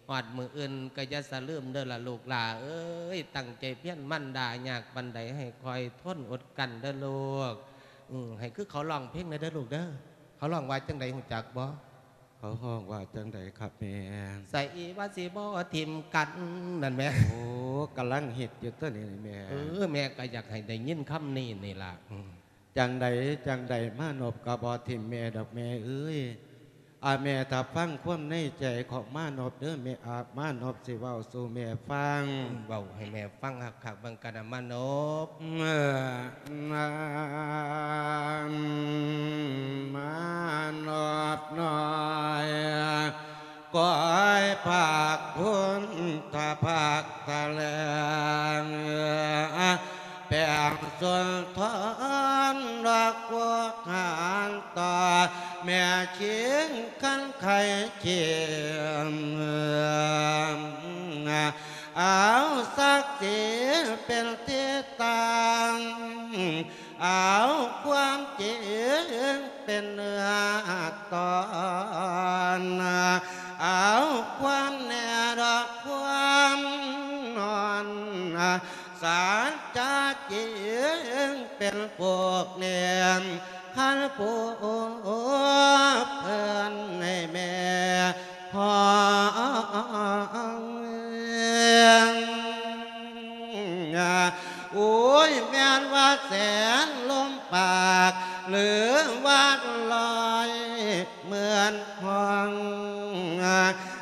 ຮອດມື້ອື່ນກໍຢ່າສະລືມເດີລະລູກຫຼ້າເອີຍ ຕັ້ງໃຈພຽນ ມານດາຍາກປານໃດໃຫ້ຄອຍທົນອົດກັ້ນເດີລູກ. ອື ໃຫ້ຄືເຂົາຮ້ອງເພງແດ່ເດີລູກເດີ. ເຂົາຮ້ອງວ່າຈັ່ງໃດຮູ້ຈັກບໍ່? ເຂົາຮ້ອງວ່າຈັ່ງໃດຄັບແມ່? ໃສ່ວ່າຊິບໍ່ຖິ້ມກັນນັ້ນແໝ່. ໂອ້ ກຳລັງຮິດຢູ່ຕົວນີ້ແມ່. ເອີ ແມ່ກໍຢາກໃຫ້ໄດ້ຍິນຄຳນີ້ນີ້ລະ. ອື ຈັ່ງໃດຈັ່ງໃດ ມານົບກໍບໍ່ຖິ້ມແມ່ດອກແມ່ເອີຍ. ອາ ແມ່ຖ້າຟັງຄວາມໃນໃຈຂອງມານົບເດີແມ່ ອາ ມານົບຊິເວົ້າສູ່ແມ່ຟັງ. ເວົ້າໃຫ້ແມ່ຟັງຄັກໆເບິ່ງກັນນະມານົບ. ເອີ ມານົບນ້ອຍ ກອຍພາກພຸນທະພາກທະແຫຼງ ແປງສຸນທອນດອກບົວຫານຕໍ່ ແມ່ຄຽງຄັນໄຂ່ຄຽງ ເອົາສັກສີເປັນທີ່ຕັ້ງ ເອົາຄວາມຈິງເປັນເນື້ອຕອນ ເອົາຄວາມແນ່ດອກຄວາມນອນ ສານຈາຈິງເປັນພວກແນມ ຄັນຜູ້ເພິ່ນໃຫ້ແມ່ຮອງ ໂອ້ຍ ແມ່ນວ່າແສນລົມປາກ ຫຼືວ່າລອຍ ເໝືອນຫ້ອງ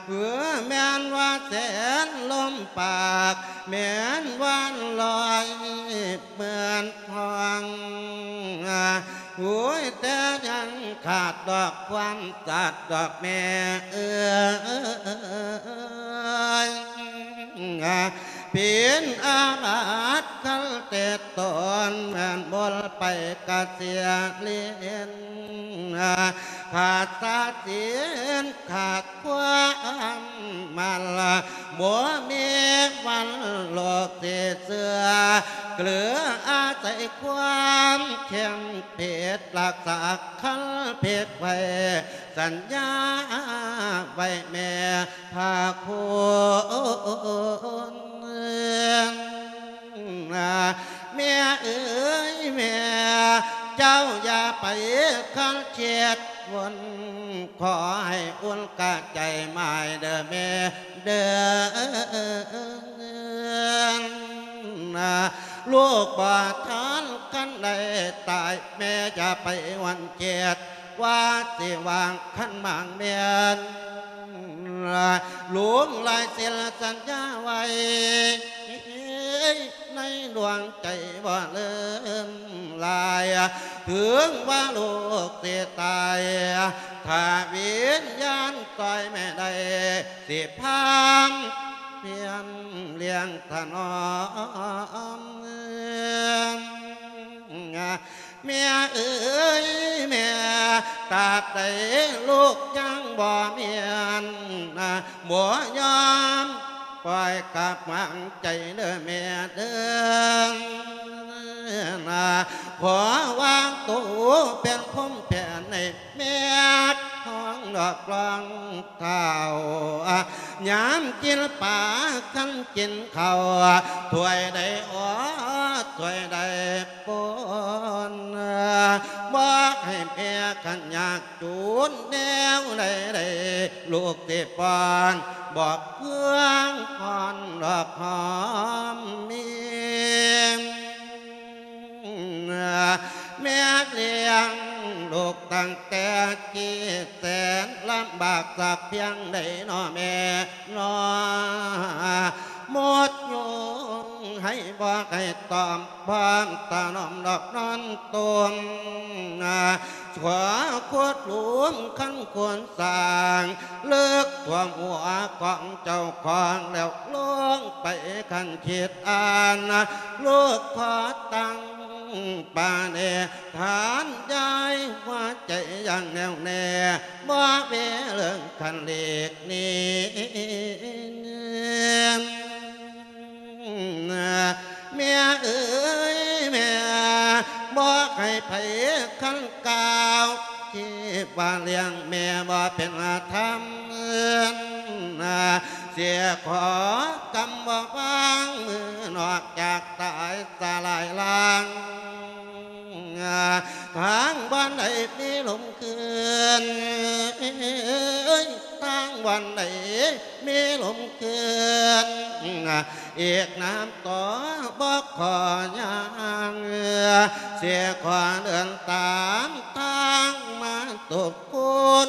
ເອີ ແມ່ນວ່າແສນລົມປາກ ແມ່ນວ່າລອຍເໝືອນຫ້ອງ ໂອ້ຍ ແຕ່ຍັງຂາດດອກຄວາມສັດດອກແມ່ເອີຍ ເປັນອາມາດຄັນແຕ່ຕອນ ແມ່ນບໍ່ໄປກະເສຍເລນ ຂາດສາສິນຂາດຄວາມໝັ້ນ ບໍ່ມີວັນໂລກຊິເຊື່ອ ເກືອອາໄສຄວາມເຂັ້ມເພັດ ລັກສາຄັນເພັດໄວ້ ສັນຍາໄວ້ແມ່ພາຄຸນ ແມ່ເອີຍແມ່ ເຈົ້າຢ່າໄປຄັນຄຽດວົນ ຂໍໃຫ້ອຸ່ນກະໃຈໝາຍເດີແມ່ເດີ ລູກບໍ່ທັນຄັນໄດ້ຕາຍ ແມ່ຢ່າໄປຫວັ່ນຄຽດ ວ່າຊິຫວ່າງຄັນໝາງແມ່ນ ຫຼົງລາຍສິນສັນຍາໄວ້ ໃນດວງໃຈບໍ່ລືມລາຍ ເຖິງວ່າລູກຊິຕາຍ ຖ້າວິນຍານຊ່ອຍແມ່ໄດ້ ຊິພາມພຽນລ້ຽງຖະໜອມ ແມ່ເອີຍແມ່ ຕາບໃດລູກຍັງບໍ່ແມ່ນ ບໍ່ຍອມປ່ອຍກັບວາງໃຈເດີແມ່ເດີ ຂໍວາງໂຕເປັນພົມແຜ່ນໃຫ້ ແມ່ທອງດອກລອງເທົ້າ ຍາມກິນປາຄັນກິນເຂົ້າ ຖ້ວຍໃດອໍ ຖ້ວຍໃດປົນ ບອກໃຫ້ແມ່ຄັນຍາກຈົນແນວໃດ ລູກຊິປ້ອນ ບອກເຄື່ອງອ່ອນດອກຫອມມີ ແມ່ລ້ຽງລູກຕັ້ງແຕ່ກີ້ແສນ ລຳບາກສັກພຽງໃດນໍແມ່ນໍ ໝົດຍຸງໃຫ້ບອກໃຫ້ຕ້ອມ ພ້ອມຖະໜອມດອກນອນຕົມ ຂົວຂຸດຫຼຸມຄັນຄົນສ້າງ ເລິກຖ້ວມຫົວຂອງເຈົ້າຂອງແລ້ວ ລົງໄປຄັນຄິດອ່ານ ລູກຂໍຕັ້ງປານີ ຖານຢາຍຫົວໃຈຢ່າງແນ່ວແນ່ ບໍ່ເວເລີງຄັນຫຼີກໜີ ແມ່ເອີຍແມ່ ບອກໃຫ້ໃຜຄັນກ່າວ ທີ່ວ່າລ້ຽງແມ່ບໍ່ເປັນທຳ ເສຍຂໍກຳບໍ່ວາງ ມື້ນອກຈາກຕາຍສະລາຍລາງ ທາງບ່ອນໃດມີລົມຄືນ ທາງບ່ອນໃດມີລົມຄືນ ອີກນານຕໍ່ບໍ່ຂໍຍ່າງ ເສຍຂໍເດີນຕາມທາງມາທຸກຄົນ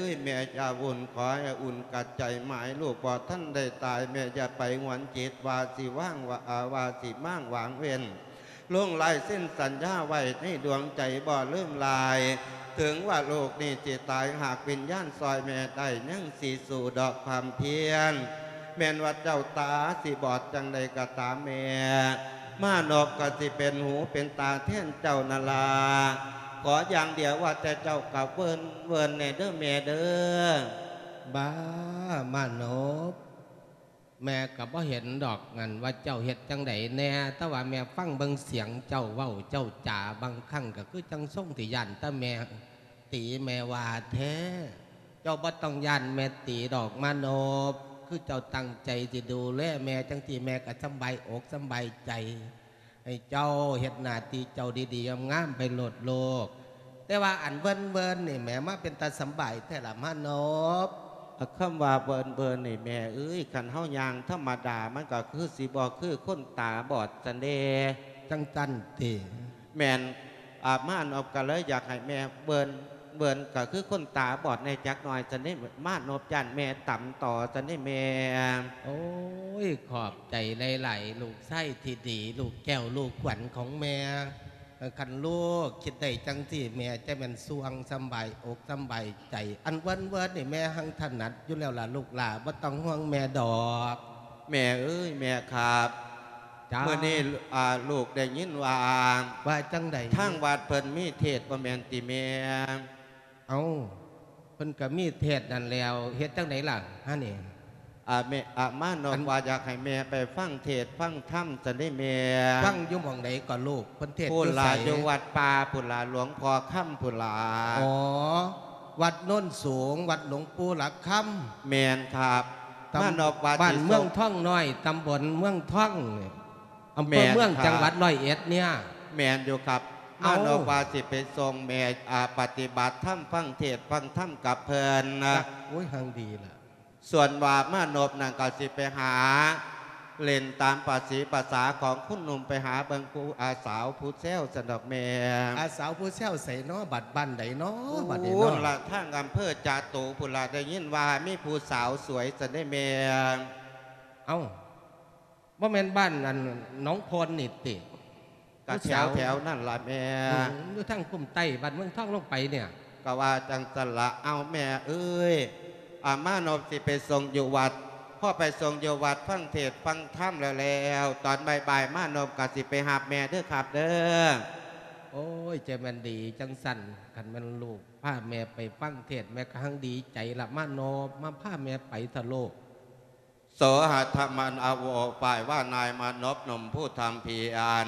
ອີຍ ແມ່ຢ່າວຸ່ນ ຂໍໃຫ້ອຸ່ນກັດໃຈໝາຍ ລູກບໍ່ທັນໄດ້ຕາຍ ແມ່ຢ່າໄປຫວນຈິດ ວ່າຊິວາງວ່າ ວ່າຊິມ້າງວາງເວັ້ນ ລົງລາຍເຊັນສັນຍາໄວ້ໃນດວງໃຈບໍ່ລືມລາຍ ເຖິງວ່າລູກນີ້ຊິຕາຍ ຫາກວິນຍານຊ່ອຍແມ່ໄດ້ ຍັງຊິສູ້ດອກຄວາມພຽນ ແມ່ນວ່າເຈົ້າຕາຊິບອດຈັ່ງໃດກໍຕາມແມ່ ມານົບກໍຊິເປັນຫູເປັນຕາແທນເຈົ້ານັ້ນລະ. ຂໍຢ່າງດຽວວ່າແຕ່ເຈົ້າກໍເວີນ ເວີນແດ່ເດີແມ່ເດີ. ບ້າ ມານົບ ແມ່ກໍບໍ່ເຫັນດອກ ອັນວ່າເຈົ້າເຮັດຈັ່ງໃດແດ່, ແຕ່ວ່າແມ່ຟັງເບິ່ງສຽງເຈົ້າເວົ້າເຈົ້າຈາ ບາງຄັ້ງກໍຄືຈັ່ງຊົງທີ່ຢ້ານແຕ່ແມ່ຕີແມ່ວ່າແທ້. ເຈົ້າບໍ່ຕ້ອງຢ້ານແມ່ຕີດອກ ມານົບ, ຄືເຈົ້າຕັ້ງໃຈຊິດູແລແມ່ ຈັ່ງຊີ້ແມ່ກໍສຳບາຍອົກສຳບາຍໃຈ. ໃຫ້ເຈົ້າເຮັດໜ້າທີ່ເຈົ້າດີໆ ງາມໆ ໄປໂລດລູກ. ແຕ່ວ່າອັນເວີນໆ ນີ້ແມ່ ມາເປັນຕາສຳບາຍແທ້ລະ ມານົບ. ຄຳວ່າເວີນໆ ນີ້ແມ່ເອີຍ ຄັນເຮົາຍ່າງທຳມະດາ ມັນກໍຄືຊິບໍ່ຄືຄົນຕາບອດຊັ້ນເດ. ຈັ່ງຊັ້ນຕິ? ແມ່ນ. ອາ ມານົບກໍເລີຍຢາກໃຫ້ແມ່ເວີນ ເວີນກໍຄືຄົນຕາບອດແດ່ຈັກໜ່ອຍຊັ້ນເດ. ມານົບຢ້ານແມ່ຕຳຕໍ່ຊັ້ນເດແມ່. ໂອ້ຍ ຂອບໃຈຫຼາຍໆ ລູກຊາຍທີ່ດີ ລູກແກ້ວລູກຂວັນຂອງແມ່. ເອີ ຄັນລູກຄິດໄດ້ຈັ່ງຊີ້ ແມ່ຈະແມ່ນສ່ວງສຳບາຍອົກສຳບາຍໃຈ. ອັນເວີນໆ ນີ້ແມ່ຮັ່ງຖະໜັດຢູ່ແລ້ວລະລູກຫຼ້າ ບໍ່ຕ້ອງຫ່ວງແມ່ດອກ. ແມ່ເອີຍ ແມ່ຄັບ. ຈ້າ ມື້ນີ້ ອາ ລູກໄດ້ຍິນວ່າ ວ່າຈັ່ງໃດ? ທາງວັດເພິ່ນມີເທດບໍ່ແມ່ນຕິແມ່? ເອົ້າ ເພິ່ນກໍມີເທດນັ້ນແລ້ວ ເຮັດຈັ່ງໃດລະຫານີ້? ອາ ແມ່ ອາ ມານົບ ອັນ ວ່າຢາກໃຫ້ແມ່ໄປຟັງເທດຟັງທຳຊັ້ນເດແມ່. ຟັງຢູ່ໝ່ອງໃດກໍລູກ? ເພິ່ນເທດຢູ່ໃສ? ພຸ້ນລະ ຢູ່ວັດປ່າພຸ້ນລະ ຫຼວງພໍ່ຄຳພຸ້ນລະ. ອໍ ວັດໂນນສູງ ວັດຫຼວງປູ່ຫຼັກຄຳ. ແມ່ນຄັບ. ຕຳ ມານົບວ່າ ບ້ານເມືອງທອງນ້ອຍ ຕຳບົນເມືອງທອງນີ້ ອຳເພີເມືອງ ແມ່ນຄັບ ຈັງຫວັດຮ້ອຍເອັດເນຍ. ແມ່ນຢູ່ຄັບ. ເອົ້າ ມານົບວ່າຊິໄປສົ່ງແມ່ ອາ ປະຕິບັດທຳ ຟັງເທດຟັງທຳກັບເພິ່ນນະ. ໂອ້ຍ ຮັ່ງດີລະ. ສ່ວນວ່າມານົບນັ້ນກໍຊິໄປຫາຫຼິ້ນຕາມປະສີປະສາຂອງຄົນໜຸ່ມ ໄປຫາເບິ່ງຜູ້ ອາ ສາວຜູ້ແຊວຊັ້ນດອກແມ່. ອາ ສາວຜູ້ແຊວໃສນໍ ບັດ ບ້ານໃດນໍ ບັດນີ້ນໍ? ພຸ້ນລະ ທາງອຳເພີຈາຕຸພຸ້ນລະ ໄດ້ຍິນວ່າມີຜູ້ສາວສວຍຊັ້ນເດແມ່. ເອົ້າ ບໍ່ແມ່ນບ້ານອັນໜອງໂພນນີ້ຕິ? ກະແຖວໆນັ້ນລະແມ່. ອືມ ຢູ່ທາງຄຸ້ມໃຕ້ບ້ານເມືອງທອງລົງໄປເນຍ. ກະວ່າຈັ່ງຊັ້ນລະ. ເອົ້າ ແມ່ເອີຍ ອາ ມານົບຊິໄປສົ່ງຢູ່ວັດ. ພໍໄປສົ່ງຢູ່ວັດ ຟັງເທດຟັງທຳແລ້ວໆ ຕອນບ່າຍໆ ມານົບກະຊິໄປຮັບແມ່ເດີຄັບເດີ. ໂອ້ຍ ຈະແມ່ນດີຈັ່ງຊັ້ນ. ຄັນແມ່ນລູກພາແມ່ໄປຟັງເທດ ແມ່ກໍຮັ່ງດີໃຈລະ ມານົບ. ມາພາແມ່ໄປເຖາະລູກ. ໂສຫັດຖະມັນອະໂວ ຝ່າຍວ່ານາຍມານົບໜຸ່ມຜູ້ທຳພຽນ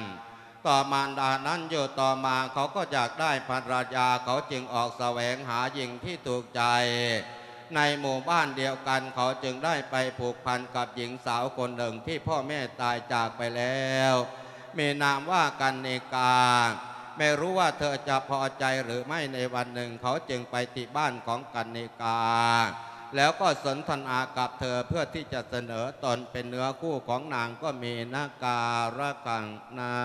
ຕໍ່ມາດານັ້ນ ຢູ່ຕໍ່ມາເຂົາກໍຢາກໄດ້ພັນລະຍາ ເຂົາຈຶ່ງອອກສະແຫວງຫາຍິງທີ່ຖືກໃຈໃນໝູ່ບ້ານດຽວກັນ. ເຂົາຈຶ່ງໄດ້ໄປຜູກພັນກັບຍິງສາວຄົນໜຶ່ງທີ່ພໍ່ແມ່ຕາຍຈາກໄປແລ້ວ ມີນາມວ່າກັນນິກາ. ໄມ່ຮູ້ວ່າເທີຈະພໍໃຈຫຼືໄມ່. ໃນວັນໜຶ່ງເຂົາຈຶ່ງໄປທີ່ບ້ານຂອງກັນນິກາ ແລ້ວກໍສົນທະນາກັບເທີເພື່ອທີ່ຈະສະເໜີຕົນເປັນເນື້ອຄູ່ຂອງນາງກໍມີນະກາລະຄັງນັ້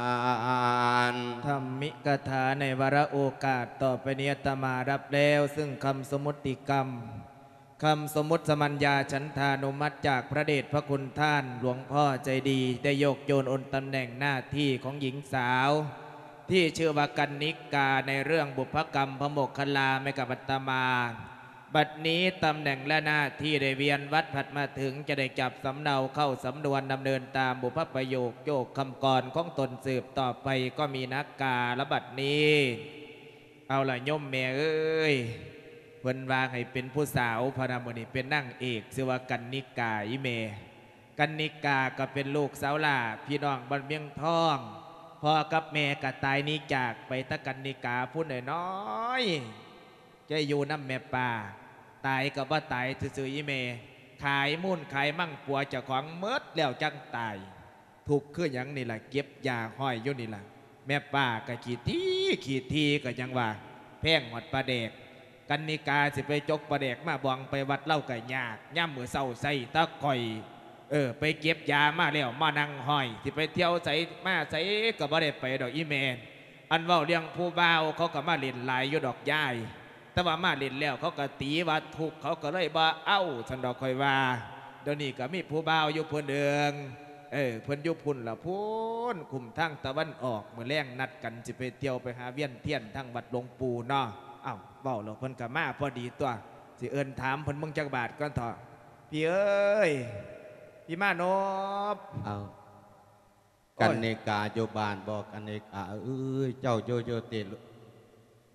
ນ. ທຳມິກະຖາໃນວາລະໂອກາດຕໍ່ໄປນີ້ ອາດຕະມາຮັບແລ້ວ ຊຶ່ງຄຳສົມມຸດຕິກຳ ຄຳສົມມຸດສະມັນຍາ ສັນທານຸມັດ ຈາກພະເດດພະຄຸນທ່ານຫຼວງພໍ່ໃຈດີ ໄດ້ໂຍກໂຍນໂອນຕຳແໜ່ງໜ້າທີ່ຂອງຍິງສາວ ທີ່ຊື່ວ່າກັນນິກາ ໃນເລື່ອງບຸບພະກຳພະໂມກຄະລາ ໃຫ້ກັບອາດຕະມາ. ບັດນີ້ຕຳແໜ່ງ ແລະ ໜ້າທີ່ໄດ້ວຽນວັດຜັດມາເຖິງ ຈະໄດ້ຈັບສຳເນົາເຂົ້າສຳນວນ ດຳເນີນຕາມບຸບພະປະໂຫຍກໂຍກຄຳກອນຂອງຕົນສືບຕໍ່ໄປ ກໍມີນະກາລະບັດນີ້. ເອົາລະໂຍມແມ່ເອີຍ ເພິ່ນວ່າໃຫ້ເປັນຜູ້ສາວ ພະນະ ມື້ນີ້ເປັນນາງເອກ ຊື່ວ່າກັນນິກາ ອີ່ແມ່. ກັນນິກາກໍເປັນລູກສາວຫຼ້າ ພີ່ນ້ອງບ້ານວຽງທອງ. ພໍ່ກັບແມ່ກໍຕາຍໜີຈາກໄປ ແຕ່ກັນນິກາຜູ້ນ້ອຍໆ ຈະຢູ່ນຳແມ່ປ້າ. ຕາຍກໍບໍ່ຕາຍຊື່ໆ ອີ່ແມ່ ຂາຍມູນຂາຍມັງຜົວເຈົ້າຂອງໝົດແລ້ວຈັ່ງຕາຍ. ທຸກຄືຫຍັງນີ້ລະ ເກັບຢາຫ້ອຍຢູ່ນີ້ລະ. ແມ່ປ້າກໍຂີ້ຖີ່ຂີ້ຖີ່ກໍຍັງວ່າ ແພງຮອດປາແດກ. ກັນນິກາຊິໄປຈົກປາແດກມາບອງໄປວັດ ລາວກໍຍາກ. ຍາມມື້ເຊົ້າໃຊ້ແຕ່ຂ້ອຍ ເອີ ໄປເກັບຢາມາແລ້ວມານັ່ງຫ້ອຍ. ຊິໄປທ່ຽວໃສມາໃສກໍບໍ່ໄດ້ໄປດອກອີ່ແມ່. ອັນເວົ້າເລື່ອງຜູ້ບ່າວ ເຂົາກໍມາຫຼິ້ນຫຼາຍຢູ່ດອກຍາຍ. ແຕ່ວ່າມາຫຼິ້ນແລ້ວເຂົາກໍຕີວ່າທຸກ ເຂົາກໍເລີຍບໍ່ເອົາ ຊັ້ນດອກຂ້ອຍວ່າ. ດຽວນີ້ກໍມີຜູ້ບ່າວຢູ່ຜູ້ໜຶ່ງ ເອີ ເພິ່ນຢູ່ພຸ້ນລະ ພຸ້ນຄຸ້ມທາງຕາເວັນອອກ. ມື້ແລງນັດກັນຊິໄປທ່ຽວໄປຫາວຽນທຽນທາງວັດຫຼວງປູ່ເນາະ. ເອົ້າ ເວົ້າແລ້ວເພິ່ນກໍມາພໍດີຕົວະ. ຊິເອີ້ນຖາມເພິ່ນເບິ່ງຈັກບາດກ່ອນເຖາະ ພີ່ເອີຍ ພີ່ມານົບ. ເອົ້າ ໂອ້ຍ ກັນນິກາຢູ່ບ້ານບໍ່? ກັນນິກາເອີຍ ເຈົ້າຢູ່ ຢູ່ຕິ?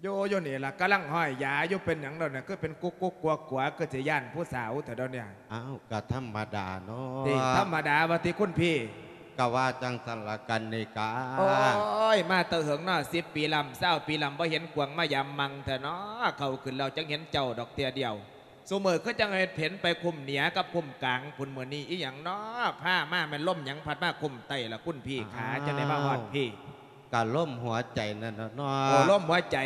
ຢູ່ ຢູ່นี่ล่ะ ກຳລັງຫ້อยຢາຢູ່ เป็นหยังดอกเนี่ย คือเป็นกุ๊กๆ กัวๆ คือสิย้านผู้สาวแท้ดอกเนี่ย อ้าว ก็ธรรมดาเนาะ ติ ธรรมดาว่าติคุณพี่ ก็ว่าจั่งซั้นล่ะกัณฑิกา โอ้ย มาแต่เหิงเนาะ สิบปีล้ำ ซาวปีล้ำ บ่เห็นกวางมายามมังแท้เนาะ เข้าขึ้นแล้วจั่งเห็นเจ้าดอกเทื่อเดียว ซุมื้อคือจั่งเฮ็ดเห็นไปคุ้มเหนือกับคุ้มกลางพุ้น มื้อนี้อีหยังเนาะ พามาแม่นลมหยังพัดมาคุ้มใต้ล่ะคุณพี่ขา อ้าว จั่งได้มาฮอดพี้ กะลมหัวใจนั่นน่ะเนาะ โอ้ ลมหัวใจ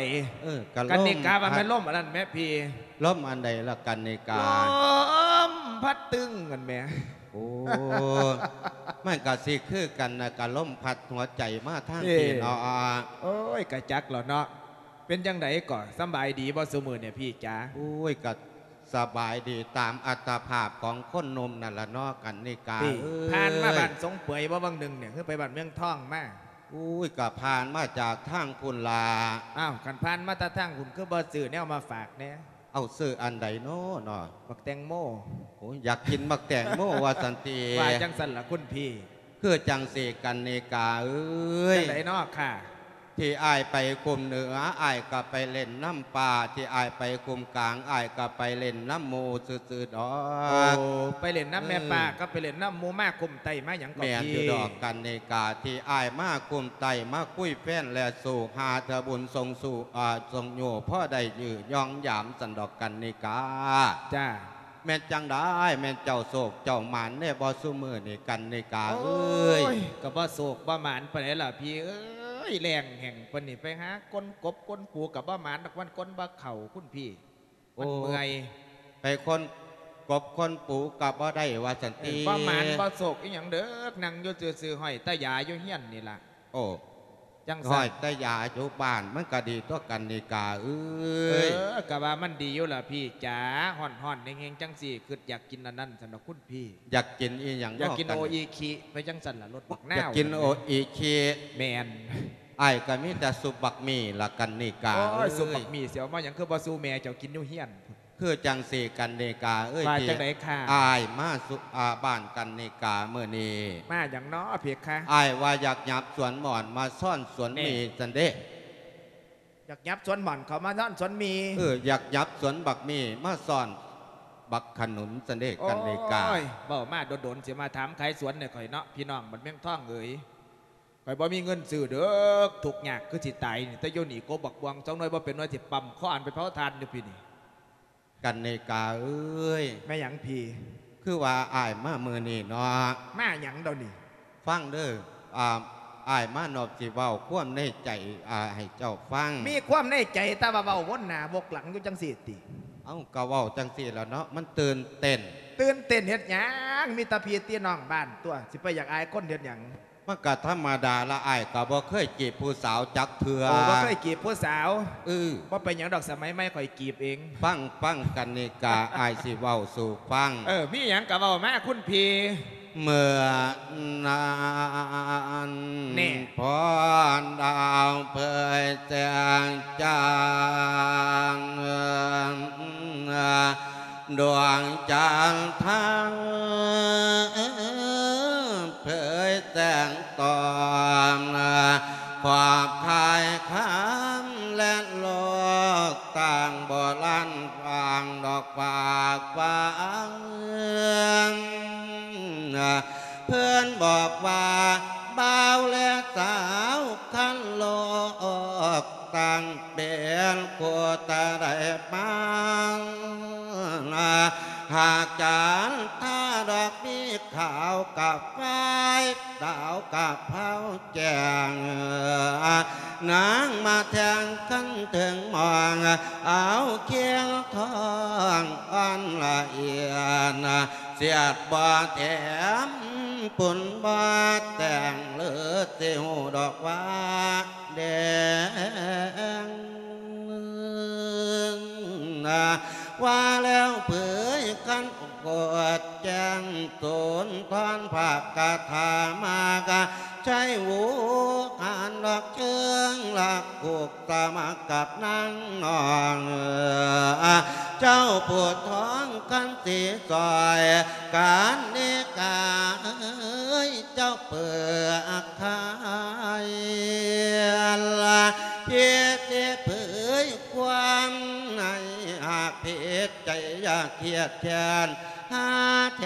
เออ กะลม กัณฑิกาว่าแม่นลมอันนั้นแหมพี่ ลมอันใดล่ะกัณฑิกา ลมพัดตึงนั่นแหม โอ้ มันกะสิคือกันนะ กะลมพัดหัวใจมาทางพี้เนาะ เอ้ย โอ้ย กะจักแล้วเนาะ เป็นจั่งใดก่อ สำบายดีบ่ซุมื้อเนี่ยพี่จ๋า โอ้ย กะสบายดีตามอัตภาพของคนหนุ่มนั่นล่ะเนาะกัณฑิกา พี่ เอ้ย ผ่านมาบ้านสงเปื่อยบ่บางหนึ่งเนี่ย คือไปบ้านเมืองทองมา อุ้ย ก็ผ่านมาจากทางพุ้นล่ะ อ้าว คันผ่านมาแต่ทางพุ้น คือบ่ซื้อแนวมาฝากแหน่ เอา ซื้ออันใดน้อเนาะ บักแตงโม โอ้ย อยากกินบักแตงโมว่าซั่นติ ว่าจั่งซั้นล่ะคุณพี่ คือจั่งซี้กัณฑิกาเอ้ย จั่งใดน้อค่ะ ที่อ้ายไปคุ้มเหนือ อ้ายก็ไปเล่นนำป่า ที่อ้ายไปคุ้มกลาง อ้ายก็ไปเล่นนำหมู่ซื่อๆ ดอก โอ้ ไปเล่นนำแม่ป่า เออ กับไปเล่นนำหมู่ มาคุ้มใต้มาหยังก็ แม่นอยู่ พี่ ดอกกัณฑิกา ที่อ้ายมาคุ้มใต้ มาคุยแฟนและสู่ หาเทื่อบุญส่งสู่ อ่า ส่งอยู่ พอได้ยื้อยองยามซั้นดอกกัณฑิกา จ้า แม่นจั่งใด แม่นเจ้าโชคเจ้าหมานแน่บ่ซุมื้อนี้กัณฑิกาเอ้ย โอ้ย ก็บ่โชคบ่หมานปานใดล่ะพี่เอ้ย แล้งแห้งปานนี้ ไปหาค้นกบค้นปูก็บ่หมานดอก มันค้นบ่เข้าคุณพี่ มันเมื่อย โอ้ ไปค้นกบค้นปูก็บ่ได้ว่าซั่นติ เออ บ่หมานบ่โชคอีหยังเด้อ นั่งอยู่ซื่อๆ ห้อยแต่ยาอยู่เฮือนนี่ล่ะ โอ้ จั่งซั้น ห้อยแต่ยาอยู่บ้านมันก็ดีตั๊วกัณฑิกาเอ้ย เออ ก็ว่ามันดีอยู่ล่ะพี่จ๋า ฮ้อนๆ แฮงๆ จั่งซี้ คิดอยากกินอันนั้นซั้นดอกคุณพี่ อยากกินอีหยัง อยากกิน เนาะ โออิคิ ไปจั่งซั้นล่ะ รสบักนาว อยากกินโออิคิ แม่น อ้ายก็มีแต่ซุปบักหมี่ล่ะกัณฑิกา โอ้ย เอ้ย ซุปบักหมี่สิเอามาหยัง คือบ่สู่แม่เจ้ากินอยู่เฮือน คือจั่งซี้กัณฑิกาเอ้ย ว่าจั่งใดคะ อ้ายมาสู่ อ่า บ้านกัณฑิกามื้อนี้ มาหยังน้อเพคะ อ้ายว่าอยากหยับสวนหม่อนมาซ้อนสวนหมี่ แน่ ซั่นเด้ อยากหยับสวนหม่อนเข้ามาซ้อนสวนหมี่ เออ อยากหยับสวนบักหมี่มาซ้อนบักขนุนซั่นเด้ โอ้ย กัณฑิกา เว้ามาโดนๆ สิมาถามขายสวนให้ข้อยเนาะ พี่น้องบ้านเมืองทองเอ๋ย ข้อยบ่มีเงินซื้อเด้อ ทุกข์ยากคือสิตายนี่ แต่อยู่นี่กกบักม่วงสองหน่วยบ่เป็นหน่วย สิปั๊มคออันไปเผาถ่านอยู่พี้นี่ กัณฑิกาเอ้ย แม่นหยังพี่ คือว่าอ้ายมามื้อนี้เนาะ มาหยังเดี๋ยวนี้ ฟังเด้อ อ่า อ้ายมานพสิเว้าความในใจ อ่า ให้เจ้าฟัง มีความในใจแต่ว่าเว้าวนหน้าวกหลังอยู่จั่งซี้ติ เอ้า ก็เว้าจั่งซี้ล่ะเนาะ มันตื่นเต้น ตื่นเต้นเฮ็ดหยัง มีแต่พี่ติน้องบ้านตั๊ว สิไปอยากอายคนเฮ็ดหยัง มันก็ธรรมดาละ อ้ายก็บ่เคยจีบผู้สาวจักเทื่อ โอ้ บ่เคยจีบผู้สาว เออ บ่เป็นหยังดอก สมัยใหม่ข้อยจีบเอง ฟัง ฟังกัณฑิกา อ้ายสิเว้าสู่ฟัง เออ มีหยังก็เว้ามาคุณพี่ เมื่อนั้น แน่ พอดาวเผยแสงจ้า ดวงจันทร์ทั้งเผยแสงตอง ขอบคายคำและโลกต่างบ่ลันฟางดอกฟากฟาง เพื่อนบอกว่าบ่าวและสาวคันโลก ตั้งเป็นคู่แต่ได้มา หากจันทาดอกมีขาวกับฝ้าย ดาวกับเผาแจ้ง นางมาแทงคันถึงมอง เอาเคียงทองอ่อนละเอียด เสียดบ่แถม ปุ้นบ่แต่ง หรือสิฮู้ดอกว่าแดง ว่าแล้วเผยคันโกดแจ้ง สุนทรภาคคาถามากะ ใช้หูหานดอกเชิงละ ผูกสมัครกับนางนอง เจ้าผู้ท้องคันสีซอย กัณฑิกาเอ้ย เจ้าเปิดขาย พี่สิเผย ຄວາມໃຫ້ຫາກຜິດໃຈ ຢ່າຄຽດແຄ້ນຫາແທ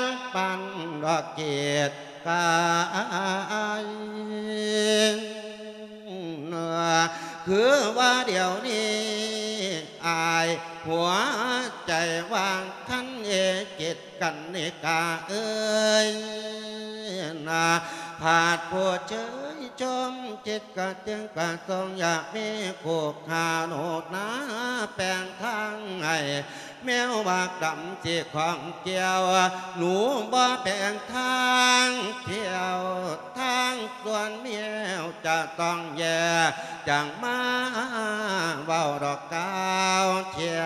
ນ ປານດອກກີດກາຍ. ຄືວ່າດຽວນີ້ ອ້າຍຫົວໃຈວ່າງຄັນເອ ຈິດກັນນິກາເອີຍນາ ພາດຜູ້ເຊີຍຊົມ ຈິດກະຈຶ່ງກະຊົງ ຢາກມີຄູ່ຄາໂນດນາ ແປງທາງໃຫ້ ແມວບາກດຳຊິຂອງກ່ຽວ ໜູບໍ່ແປງທາງທ່ຽວ ທາງສວນແມວຈະຕ້ອງແຍ່ ຈັ່ງມາເວົ້າດອກກ່າວທ່ຽ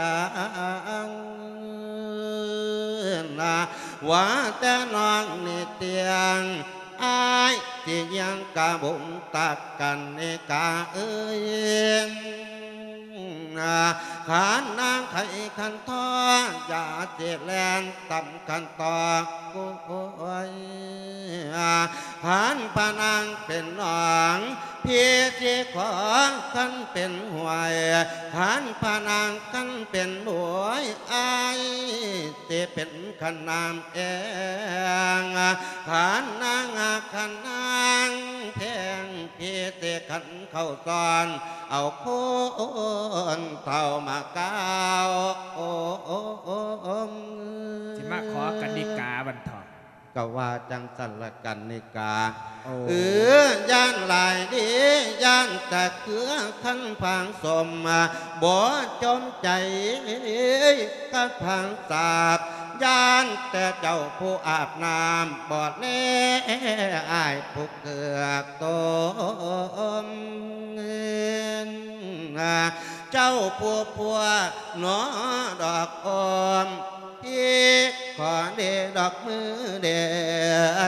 ງ ວ່າແຕ່ນ້ອງນີ້ຕຽງ ອ້າຍຊິຍັງກະບຸງຕັກກັນນິກາເອີຍ ຂັນນາງໄຂ້ຂັນທໍ ຢ່າຊິແລ່ນຕຳຂັນຕໍ່ ໂອ້ຍ ຂັນພະນາງເປັນໜອງ ພີ່ຊິຂໍ ຄັນເປັນຫ້ວຍ ຂັນພະນາງຄັນເປັນບວຍ ອ້າຍຊິເປັນຂັນນ້ຳແອງ ຂັນນາງຮັກຂັນນາງແພງ ພີ່ຊິຂັນເຂົ້າຊ້ອນ ເອົາຄົນເຖົ້າມາກ່າວ ໂອ້ ໂອ້ ໂອ້ ໂອ້ ຊິມາຂໍກັນນິກາບັນເທາະ. ກໍວ່າຈັ່ງຊັ້ນລະກັນນິກາ ໂອ້ ເອີ ຢ້ານຫຼາຍເດ ຢ້ານຕະເຄືອຄັນຜັງສົມ ບໍ່ຈົມໃຈກັບຜັງສາບ ຢ້ານແຕ່ເຈົ້າຜູ້ອາບນ້ຳ ບໍ່ແລອ້າຍຜູ້ເກືອກຕົມ ເຈົ້າຜູ້ພົວເນາະດອກໂອມ ພີ່ຂໍເດດອກມືເດັ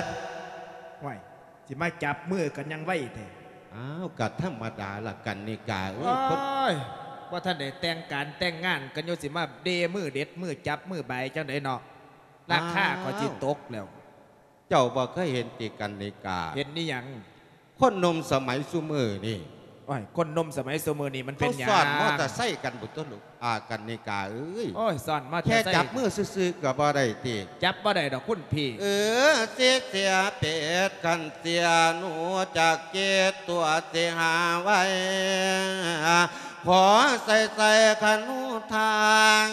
ດ. ຫ້ວຍ ຊິມາຈັບມືກັນຫຍັງໄວແທ້? ອ້າວ ກະທຳມະດາລະກັນນິກາເອີຍ ໂອ້ຍ ຄົນ ບໍ່ທັນໄດ້ແຕ່ງການແຕ່ງງານກັນຢູ່ ຊິມາເດມືເດັດມືຈັບມືບາຍຈັ່ງໃດເນາະ ລາຄາກໍຊິຕົກແລ້ວ. ເຈົ້າບໍ່ເຄີຍເຫັນຕິກັນນິກາ? ເຫັນອີ່ຫຍັງ? ຄົນໜຸ່ມສະໄໝຊຸມື້ນີ້ ໂອ້ຍ ຄົນໜຸ່ມສະໄໝຊຸມື້ນີ້ມັນເປັນຫຍັງ? ເຂົາຊ້ອນມໍເຕີໄຊກັນພຸ້ນຕົວະລູກ ອາ ກັນນິກາເອີຍ ໂອ້ຍ ຊ້ອນມໍເຕີໄຊ ແຄ່ຈັບມືຊື່ໆກໍບໍ່ໄດ້ຕິ? ຈັບບໍ່ໄດ້ດອກຄຸນພີ່ ເອີ ຊິເສຍເປັດຄັນເສຍໜູ ຈາກເຈັດຕົວຊິຫາໄວ້ ຂໍໃສ່ໃສ່ຂະໜູທາງ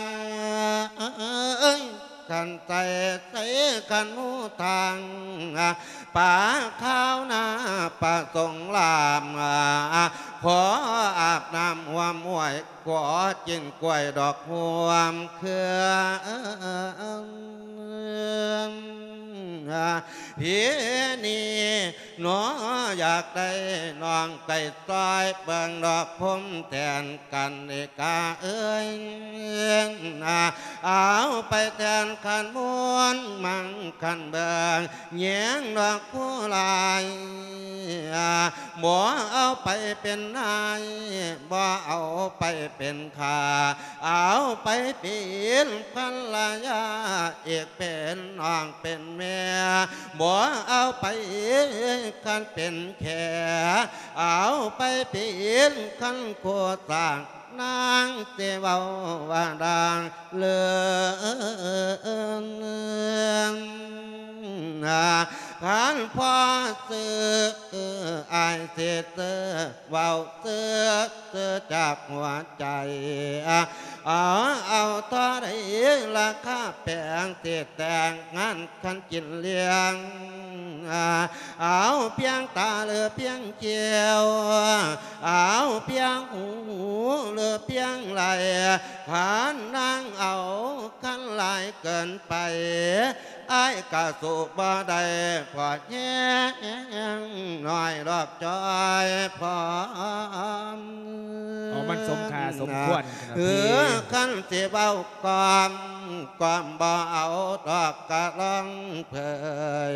ຄັນໃສ່ໃສ່ຂະໜູທາງ ປາຂາວນາປາສົງລາມ ຂໍອາບນ້ຳຮ່ວມຫ້ວຍ ຂໍກິນກ້ວຍດອກຮ່ວມເຄືອ ພີນີ້ໜໍ ຢາກໄດ້ນ້ອງໄກ່ຊອຍ ເບິ່ງດອກພົມແທນກັນເອກາເອີຍ ເອົາໄປແທນຂັນມູນມັງຂັນເບິ່ງ ແຍງດອກຜູ້ຫຼາຍ ບໍ່ເອົາໄປເປັນນາຍ ບໍ່ເອົາໄປເປັນຂ້າ ເອົາໄປເປັນພັນລະຍາ ອີກເປັນນ້ອງເປັນແມ່ ບໍ່ເອົາໄປຄັນເປັນແຂ ເອົາໄປເປັນຄັນຄູ່ສ້າງ ນາງຊິເວົ້າວ່າດັ່ງເລີນ ຄັນພໍຊື້ ອ້າຍຊິຊື້ ເວົ້າຊື້ ຊື້ຈາກຫົວໃຈ ເອົາ ເອົາທໍ່ໃດລາຄາແພງ ຊິແຕ່ງງານຄັນກິນລ້ຽງ ເອົາພຽງຕາຫຼືພຽງຄິ້ວ ເອົາພຽງຫູຫຼືພຽງໄລ່ ຄັນນາງເອົາຄັນຫຼາຍເກີນໄປ ອ້າຍກະສູ້ບໍ່ໄດ້ ພໍແຮງໜ້ອຍດອກຈ້ອຍພ້ອມ ເອົາມັນສົມຄ່າສົມຄວນ ເອີ ຄັນຊິເວົ້າກອມ ກອມບໍ່ເອົາດອກກະລອງເຜີຍ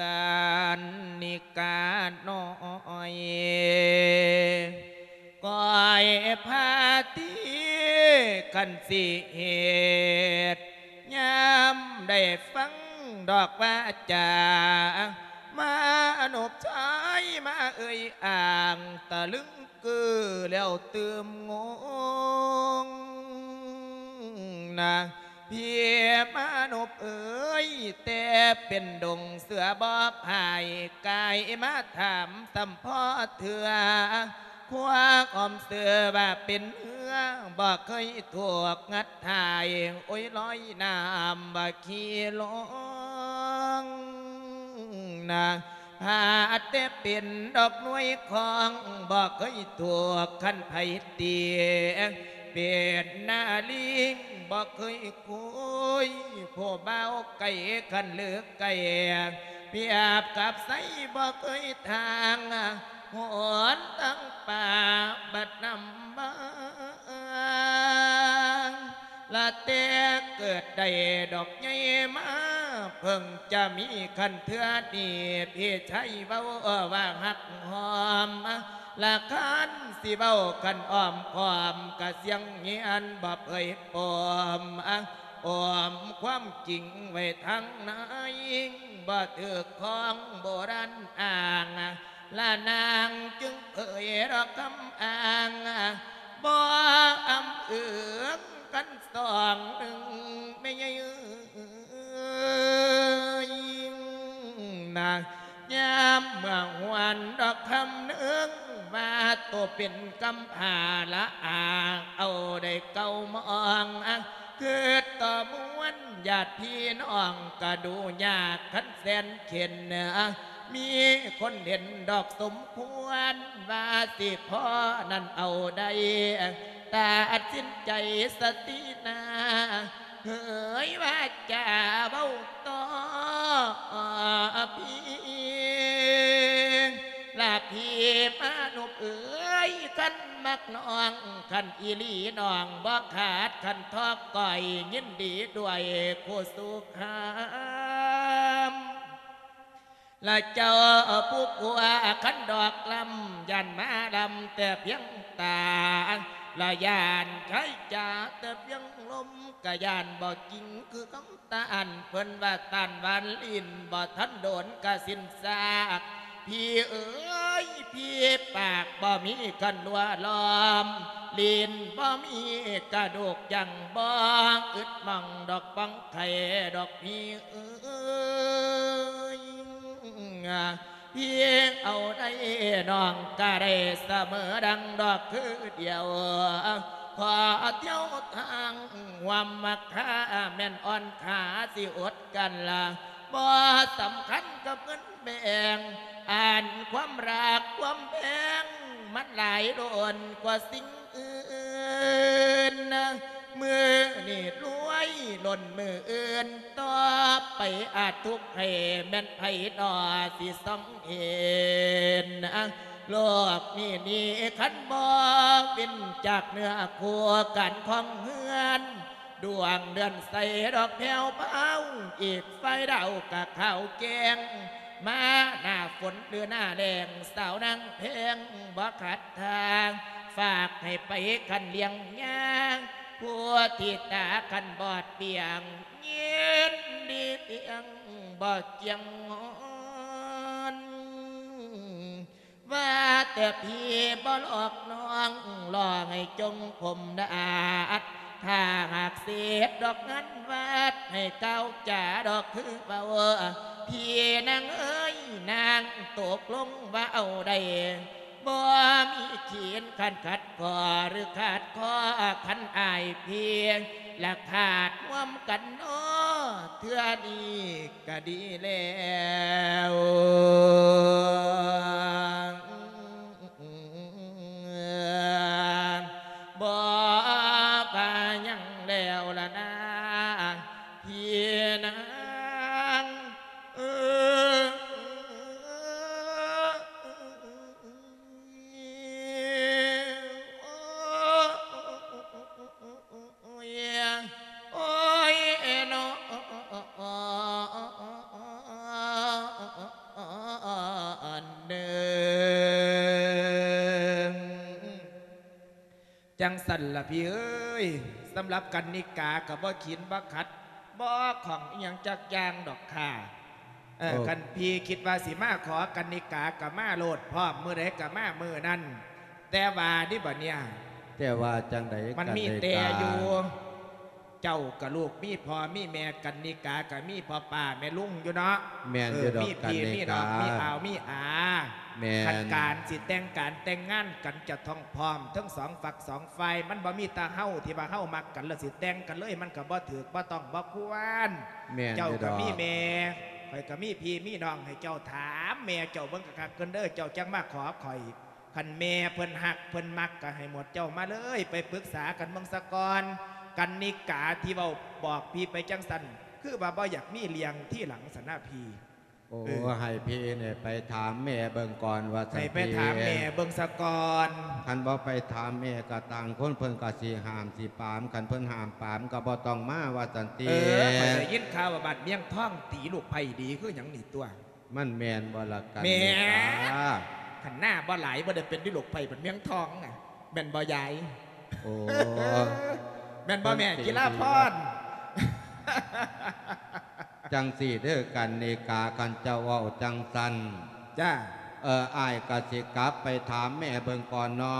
ການນິການ້ອຍ ກ້ອຍພາທີ ຄັນຊິເຮັດ ຍາມໄດ້ຟັງດອກວາຈາ ມານົບຊາຍມາເອີ່ຍອ້າງ ຕະລຶງກື້ແລ້ວຕື່ມງົງນະ ພີ່ມານົບເອີຍ ແຕ່ເປັນດົງເສືອບໍ່ພາຍ ກາຍມາຖາມຊ້ຳພໍເທື່ອ ຄວາມເຊື່ອວ່າເປັນເຮືອ ບໍ່ເຄີຍຖືກງັດຖ່າຍ ໂອ້ຍ ລອຍນ້ຳວ່າຂີ່ລົງນະ ຫາແຕ່ເປັນດອກໜ່ວຍຂອງ ບໍ່ເຄີຍຖືກຄັນໃຜຕີ ເປັນນາລີງບໍ່ເຄີຍຄຸຍ ຜູ້ບ່າວໄກຄັນເລີກໄກ ປຽບກັບໄຊບໍ່ເຄີຍທາງ ຫົນທາງປ່າບັດນຳບາງ ລະແຕ່ເກີດໄດ້ດອກໃຫຍ່ມາ ເພິ່ງຈະມີຄັນເທື່ອນີ້ ພີ່ໄຊເວົ້າວ່າຮັກຫອມ ລະຄັນຊິເວົ້າຄັນອ້ອມຄ້ອມ ກະສຽງຍຽນບໍ່ເຜີຍປອມ ອ້ອມຄວາມຈິງໄວ້ທາງໃນ ບໍ່ຖືກຂອງໂບລານອ້າງ ລະນາງຈຶ່ງເຜີຍດອກຄຳອ້າງ ບໍ່ອຳເອື້ອງກັນສອງໜຶ່ງ ແມ່ໃຫຍ່ເອີຍນະ ຍາມເມື່ອຫວນດອກຄຳໜຶ່ງ ວ່າໂຕເປັນກຳພ້າລະອາ ເອົາໄດ້ເກົ້າມອງ ຄິດຕໍ່ມວນຍາດພີ່ນ້ອງ ກະດູຍາກຄັນແສນເຂັນ ມີຄົນເຫັນດອກສົມຄວນ ວ່າຊິພໍນັ້ນເອົາໄດ້ ຕັດສິນໃຈສະຕິນາ ເຜີຍວາຈາເວົ້າຕໍ່ພີ່ ລະພີ່ມານຸບເອີຍ ຄັນມັກນ້ອງ ຄັນອີ່ຫຼີນ້ອງບໍ່ຂາດ ຄັນທອກກ້ອຍຍິນດີດ້ວຍຄູ່ສູ່ຄາມ ລະເຈົ້າຜູ້ຜົວ ຄັນດອກລຳ ຢ້ານມາລຳແຕ່ພຽງຕາ ລະຢ້ານໃຊ້ຈາແຕ່ພຽງລົມ ກະຢ້ານບໍ່ຈິງຄືຄຳຕ້ານ ເພິ່ນວ່າຕ້ານຫວານລິ້ນ ບໍ່ທັນໂດນກະສິ້ນຊາກ ພີ່ເອີຍ ພີປາກບໍ່ມີກັນລົວລ້ອມ ລີ້ນບໍ່ມີກະດູກຍັງບໍ່ອຶດໝ່ອງດອກ ປ່ອງໄຂ່ດອກພີເອີຍ. ພີເອົາໄດ້ນ້ອງກະໄດ້ສະເໝີ ດັ່ງດອກຄືດຽວ ຂໍທ່ຽວທາງຮ່ວມມັກຄາ ແມ່ນອ່ອນຂາຊິອົດກັນລະ ບໍ່ສຳຄັນກັບເງິນແບ່ງ ອັນຄວາມຮັກຄວາມແພງ ມັນຫຼາຍລົ້ນກວ່າສິ່ງອື່ນ ມື້ນີ້ລວຍລົ້ນມື້ອື່ນ ຕໍ່ໄປອາດທຸກໃຫ້ແມ່ນໃຜໜໍ່ຊິສ່ອງເຫັນ ໂລກນີ້ນີ້ຄັນບໍ່ເວັ້ນຈາກເນື້ອຄູ່ກັນຂອງເຮືອນ ດວງເດືອນໃສດອກແຜ່ວເບົາ ອີກຝ່າຍດາວກະຂາວແຈ້ງ ມາໜ້າຝົນຫຼືໜ້າແລ້ງ ສາວນາງແພງບໍ່ຂາດທ່າ ຝາກໃຫ້ໄປຄັນລ້ຽງຍາ ຜູ້ທີ່ຕາຄັນບອດປ່ຽງ ຍິນດີລ້ຽງບໍ່ຈຽງງອນ. ວ່າແຕ່ພີບໍ່ຫຼອກນ້ອງ ຫຼໍ່ໃຫ້ຈົ່ງຜົມດາດ ຖ້າຫາກເສດດອກງານວັດ ໃຫ້ກ່າວຈາດອກຄືເວົ້າ ພີ່ນາງເອີຍ ນາງຕົກລົງວ່າເອົາໄດ້ ບໍ່ມີຂີນຄັນຂັດຂໍ້ ຫຼືຂາດຂໍ້ ຄັນອ້າຍພີ່ ລະຂາດຮ່ວມກັນເນາະ ເທື່ອນີ້ກະດີແລ້ວ ບໍ່ວ່າຫຍັງແລ້ວລະນາ ພີ່ນາງເອີຍ. ໂອ້ຍ ໂອ້ຍເນາະ ອັນເດີ ຈັ່ງຊັ້ນລະພີ່ເອີຍ ສຳລັບກັນນິກາກໍບໍ່ຂີນບໍ່ຂັດ ບໍ່ຂ້ອງອີ່ຫຍັງຈັກຢ່າງດອກຄ່າ. ເອີ ໂອ້ ຄັນພີ່ຄິດວ່າຊິມາຂໍກັນນິກາກໍມາໂລດ ພ້ອມມື້ໃດກໍມາມື້ນັ້ນ ແຕ່ວ່ານີ້ບັດເນີ້ຍ ແຕ່ວ່າຈັ່ງໃດ ມັນມີແຕ່ຢູ່ ກັນນິກາ ເຈົ້າກໍລູກມີພໍ່ມີແມ່ ກັນນິກາກໍມີພໍ່ປ້າແມ່ລຸງຢູ່ເນາະ ແມ່ນຢູ່ດອກ ເອີ ມີພີ່ ກັນນິກາ ມີນ້ອງ ມີອາວມີອາ ແມ່ນ ຄັນການຊິແຕ່ງການແຕ່ງງານກັນ ຈະຕ້ອງພ້ອມທັງສອງຝັກສອງ ຝ່າຍ ມັນບໍ່ມີແຕ່ເຮົາທີ່ວ່າເຮົາມັກກັນແລ້ວຊິແຕ່ງກັນເລີຍ ມັນກໍບໍ່ຖືກ ບໍ່ຕ້ອງ ບໍ່ຄວນ. ແມ່ນ ເຈົ້າກໍມີແມ່ ຂ້ອຍກໍມີພີ່ມີນ້ອງ ໃຫ້ເຈົ້າຖາມແມ່ເຈົ້າເບິ່ງຄັກໆກ່ອນເດີ ເຈົ້າຈັ່ງມາຂໍຂ້ອຍ. ຄັນແມ່ເພິ່ນຮັກເພິ່ນມັກ ກໍໃຫ້ໝົດເຈົ້າມາເລີຍ ໄປປຶກສາກັນເບິ່ງສາກ່ອນ. ກັນນິກາທີ່ເວົ້າບອກພີ່ໄປຈັ່ງຊັ້ນ ຄືວ່າບໍ່ຢາກມີເລື່ອງທີຫຼັງຊັ້ນນະພີ່. ໂອ້ ເອີ ໃຫ້ພີ່ນີ້ໄປຖາມແມ່ເບິ່ງກ່ອນວ່າຊັ້ນ ໃຫ້ໄປຖາມແມ່ເບິ່ງສາກ່ອນ. ຄັນບໍ່ໄປຖາມແມ່ກໍຕ່າງຄົນເພິ່ນກໍຊິຫ້າມຊິປາມ ຄັນເພິ່ນຫ້າມປາມກໍບໍ່ຕ້ອງມາວ່າຊັ້ນຕິ. ເອີ ຂ້ອຍໄດ້ຍິນຂ່າວວ່າບ້ານມຽງທອງຕີລູກໃພ້ດີຄືຫຍັງນີ້ຕົວະ ມັນແມ່ນບໍ່ລະກັນ ແມ່ນ ນີ້ກາ? ຄັນໜ້າບໍ່ຫຼາຍບໍ່ໄດ້ເປັນຕິລູກໃພ້ບ້ານມຽງທອງນະ ແມ່ນບໍ່ຍາຍ? ໂອ້ ແມ່ນບໍ່ແມ່ ເພິ່ນຊິ ກິລາພອນ? ຈັ່ງຊີ້ເດີກັນນິກາ ຄັນເຈົ້າເວົ້າຈັ່ງຊັ້ນ ຈ້າ ເອີ ອ້າຍກໍຊິກັບໄປຖາມແມ່ເບິ່ງກ່ອນເນາະ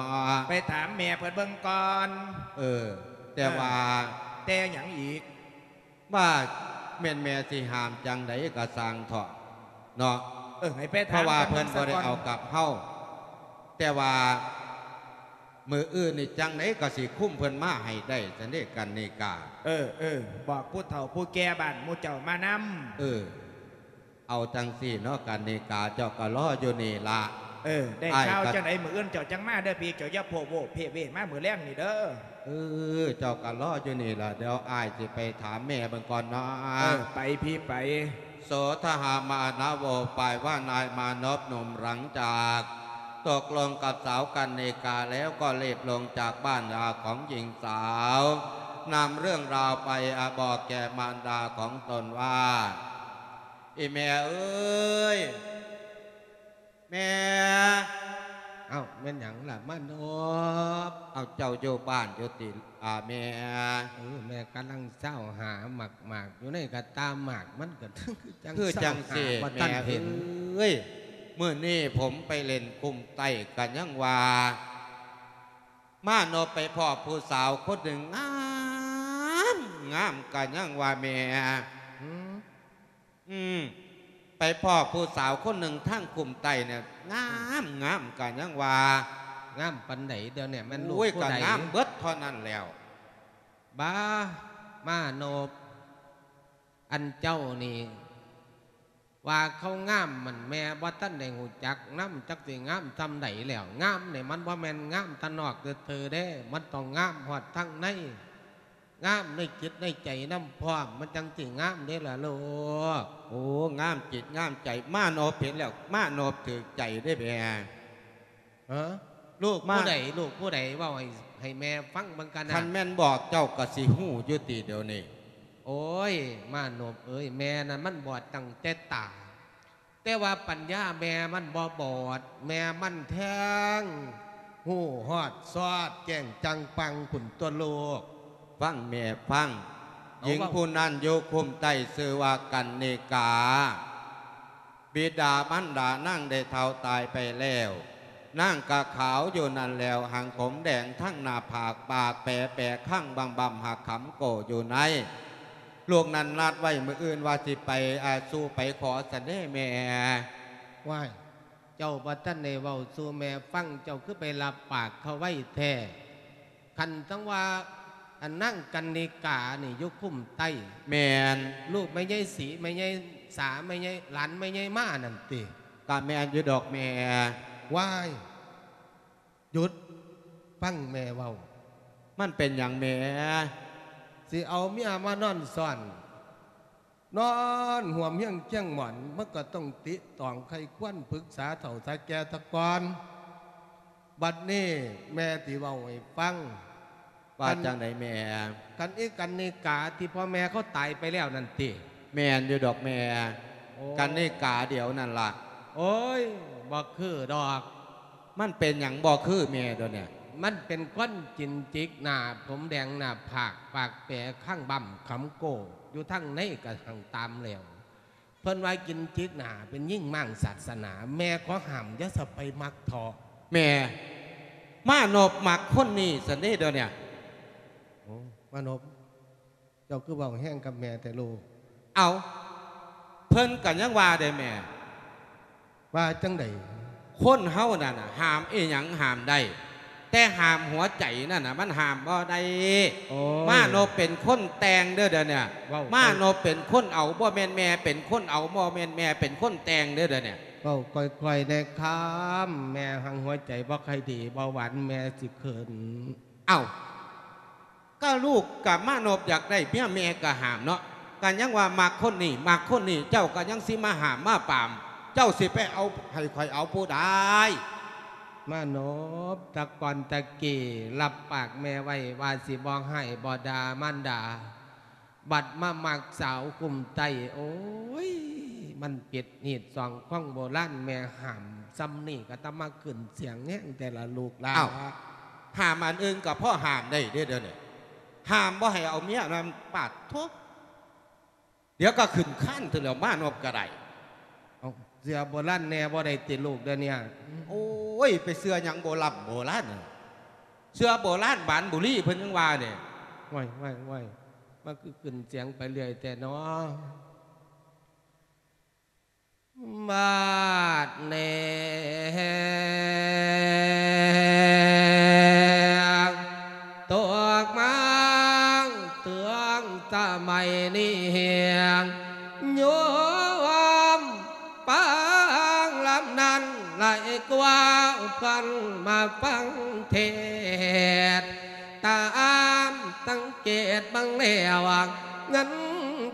ໄປຖາມແມ່ເພິ່ນເບິ່ງກ່ອນ. ເອີ ແຕ່ວ່າ ເອີ ແຕ່ຫຍັງອີກ? ວ່າແມ່ນແມ່ຊິຫ້າມຈັ່ງໃດກໍຊ່າງເຖາະເນາະ ເອີ ໃຫ້ໄປຖາມ ເພາະວ່າເພິ່ນບໍ່ໄດ້ເອົາກັບເຮົາ ແຕ່ວ່າ ມື້ອື່ນນີ້ຈັ່ງໃດກໍຊິຄຸມເພິ່ນມາໃຫ້ໄດ້ຊັ້ນເດ ກັນນິກາ. ເອີ ເອີ ບອກຜູ້ເຖົ້າຜູ້ແກ່ບ້ານໝູ່ເຈົ້າມານຳ. ເອີ ເອົາຈັ່ງຊີ້ເນາະ ກັນນິກາ ເຈົ້າກໍລໍຢູ່ນີ້ລະ. ເອີ ໄດ້ຂ່າວຈັ່ງໃດ ມື້ອື່ນເຈົ້າຈັ່ງມາເດີພີ່ ເຈົ້າຢ່າໂພະໂວະເພະເວະມາມື້ແລງນີ້ເດີ. ເອີ ເຈົ້າກໍລໍຢູ່ນີ້ລະ ດຽວອ້າຍຊິໄປຖາມແມ່ເບິ່ງກ່ອນເນາະ. ເອີ ໄປພີ່ໄປ. ໂສທະຫະມານະໂວ ປາຍວ່ານາຍມານົບໜຸ່ມ ຫຼັງຈາກຕົກລົງກັບສາວກັນນິກາແລ້ວ ກໍລີບລົງຈາກບ້ານລາຂອງຍິງສາວ ນຳເລື່ອງລາວໄປອະບອກແກ່ມານດາຂອງຕົນວ່າ ອີ່ແມ່ເອີຍ ແມ່. ເອົ້າ ແມ່ນຫຍັງລະມານົບ? ເອົ້າ ເຈົ້າຢູ່ບ້ານຢູ່ຕິ? ອາ ແມ່. ເອີ ແມ່ກຳລັງຊາວຫາໝາກໆ ຢູ່ໃນກະຕ່າໝາກ ມັນກະຄືຈັ່ງ ຄືຈັ່ງຊີ້ ຊາວຫາບໍ່ທັນເຫັນ ແມ່ເອີຍ. ມື້ນີ້ຜົມໄປຫຼິ້ນກຸ້ມໃຕ້ກະຍັງວ່າ ມາໂນບໄປພໍ້ຜູ້ສາວຄົນໜຶ່ງງາມ ງາມກະຍັງວ່າແມ່ ອືມ ອືມ ໄປພໍ້ຜູ້ສາວຄົນໜຶ່ງທາງກຸ້ມໃຕ້ນີ້ ງາມ ງາມກະຍັງວ່າ ງາມປານໃດດຽວນີ້ ແມ່ນລູກຜູ້ໃດ? ໂອ້ຍ ກະງາມເບິດເທົ່ານັ້ນແລ້ວ. ບາ ມາໂນບ ອັນເຈົ້ານີ້ ວ່າເຂົາງາມ ມັນແມ່ບໍ່ທັນໄດ້ຮູ້ຈັກນຳ ຈັກຊິງາມສ່ຳໃດແລ້ວ. ງາມນີ້ມັນບໍ່ແມ່ນງາມທາງນອກຊື່ໆເດ້ ມັນຕ້ອງງາມຮອດທາງໃນ ງາມໃນຈິດໃນໃຈນຳພ້ອມ ມັນຈັ່ງຊິງາມເດ້ລະລູກ. ໂອ້ ງາມຈິດງາມໃຈ ມາໂນບເຫັນແລ້ວ ມາໂນບຖືກໃຈເດ້ແມ່. ເອີ ລູກຜູ້ໃດ ມາ ລູກຜູ້ໃດ ເວົ້າໃຫ້ ໃຫ້ແມ່ຟັງເບິ່ງກັນນະ. ຄັນແມ່ນບອກເຈົ້າກະຊິຮູ້ຢູ່ຕິດຽວນີ້. ໂອ້ຍ ມາໂນບເອີຍ ແມ່ນັ້ນມັນບອດຕັ້ງແຕ່ຕາ ແຕ່ວ່າປັນຍາແມ່ມັນບໍ່ບອດ ແມ່ມັນແທງຮູ້ຮອດຊອດແຈ້ງຈັງປັງພຸ້ນຕົວະລູກ. ຟັງແມ່ຟັງ ເອົາ ຍິງ ເວົ້າ ຜູ້ນັ້ນຢູ່ກຸ້ມໃຕ້ຊື່ວ່າກັນນິກາ. ບິດາມານດານາງໄດ້ເຖົ້າຕາຍໄປແລ້ວ ນາງກະຂາວຢູ່ນັ້ນແລ້ວ ຫາງຜົມແດງທັງໜ້າຜາກ ປາກແປແປຄັງບຳບຳ ຫາກຂຳໂກ້ຢູ່ໃນ. ລູກນັ້ນນັດໄວ້ມື້ອື່ນວ່າຊິໄປ ອາ ສູ່ໄປຂໍຊັ້ນເດ້ແມ່. ວ້າຍ ເຈົ້າບໍ່ທັນໄດ້ເວົ້າສູ່ແມ່ຟັງ ເຈົ້າຄືໄປຮັບປາກເຂົາໄວແທ້? ຄັນຈັ່ງວ່າ ອັນນາງກັນນິການີ້ຢູ່ຄຸ້ມໃຕ້. ແມ່ນ. ລູກແມ່ໃຫຍ່ສີ ແມ່ໃຫຍ່ສາ ແມ່ໃຫຍ່ ຫຼານແມ່ໃຫຍ່ມານັ້ນຕິ? ກະແມ່ນຢູ່ດອກແມ່. ວ້າຍ ຢຸດ ຟັງແມ່ເວົ້າ. ມັນເປັນຫຍັງແມ່? ຊິເອົາເມຍມານອນຊ້ອນ ນອນຮ່ວມຮຽງຄຽງໝອນ ມັນກໍຕ້ອງຕິຕອງໄຄຄວນປຶກສາເຖົ້າສາແກ່ຊະກ່ອນ. ບັດນີ້ແມ່ຊິເວົ້າໃຫ້ຟັງ. ວ່າ ຄັນ ຈັ່ງໃດແມ່? ຄັນອີກັນນິກາທີ່ພໍ່ແມ່ເຂົາຕາຍໄປແລ້ວນັ້ນຕິ? ແມ່ນຢູ່ດອກແມ່. ໂອ້ ກັນນິກາດຽວນັ້ນລະ. ໂອ້ຍ ບໍ່ຄືດອກ. ມັນເປັນຫຍັງບໍ່ຄືແມ່ດຽວນີ້? ມັນເປັນຄົນຈິນຈິກໜ້າ ຜົມແດງໜ້າຜາກ ປາກແປຄັງບຳຄຳໂກ້ ຢູ່ທາງໃນກະຮັ່ງຕາມແລ້ວ. ເພິ່ນວ່າກິນຈິກໜ້າເປັນຍິງມ້າງສາດສະໜາ ແມ່ຂໍຫ້າມຢ່າສະໄປມັກເທາະ. ແມ່ ມາໂນບມັກຄົນນີ້ຊັ້ນເດ້ດຽວນີ້. ໂອ້ ມາໂນບ ເຈົ້າຄືເວົ້າແຮງກັບແມ່ແທ້ລູກ? ເອົ້າ ເພິ່ນກະຍັງວ່າເດ້ແມ່. ວ່າຈັ່ງໃດ? ຄົນເຮົານັ້ນນະ ຫ້າມອີ່ຫຍັງຫ້າມໄດ້ ແຕ່ຫ້າມຫົວໃຈນັ້ນນະ ມັນຫ້າມບໍ່ໄດ້. ໂອ້ຍ ມາໂນບເປັນຄົນແຕ່ງເດີດຽວນີ້. ເວົ້າ ມາໂນບເປັນຄົນເອົາ ບໍ່ແມ່ນແມ່ເປັນຄົນເອົາ ບໍ່ແມ່ນແມ່ເປັນຄົນແຕ່ງເດີດຽວນີ້. ເວົ້າຄ່ອຍໆແດ່ຄຳ ແມ່ຫັງຫົວໃຈບໍ່ຄ່ອຍດີ ເບົາຫວານແມ່ຊິຂຶ້ນ. ເອົ້າ ກະລູກກະມາໂນບຢາກໄດ້ເມຍ ແມ່ກະຫ້າມເນາະ. ກະຍັງວ່າມັກຄົນນີ້ ມັກຄົນນີ້ ເຈົ້າກະຍັງຊິມາຫ້າມມາປາມ ເຈົ້າຊິໄປເອົາ ໃຫ້ຂ້ອຍເອົາຜູ້ໃດ? ມາໂນບ ແຕ່ກ່ອນແຕ່ກີ້ຮັບປາກແມ່ໄວ້ວ່າຊິບໍ່ຮ້າຍບໍ່ດ່າມານດາ ບັດມາມັກສາວກຸ້ມໃຕ້ ໂອ້ຍ ມັນຜິດຮີດສອງຂອງໂບລານ ແມ່ຫ້າມສ່ຳນີ້ກະຕ້ອງມາຂຶ້ນສຽງແຮງແຕ່ລະລູກຫຼານ. ອ້າວ ຫ້າມອັນອື່ນກະພໍຫ້າມໄດ້ເດ້ດຽວນີ້ ຫ້າມບໍ່ໃຫ້ເອົາເມຍນຳ ປາດໂທ້ ດຽວກະຂຶ້ນຄານເທື່ອແລ້ວ ມາໂນບກະໄດ້. ເອົ້າ ເຊື່ອໂບລານແດ່ບໍ່ໄດ້ຕິລູກດຽວນີ້? ໂອ້ຍ ໄປເຊື່ອຫຍັງໂບລຳໂບລານ ເຊື່ອໂບລານບານບຸລີເພິ່ນຍັງວ່າເດ້. ໂອ້ຍ ໂອ້ຍ ໂອ້ຍ ມັນຄືຂຶ້ນສຽງໄປເລື້ອຍແທ້ນໍ. ບາດນີ້ ຕົກມາເຖິງສະໄໝນີ້ ໂຍມຟັງລຳນັ້ນຫຼາຍກວ່າເພິ່ນມາຟັງເທດ. ຕາມສັງເກດເບິ່ງແລ້ວ ເງິນ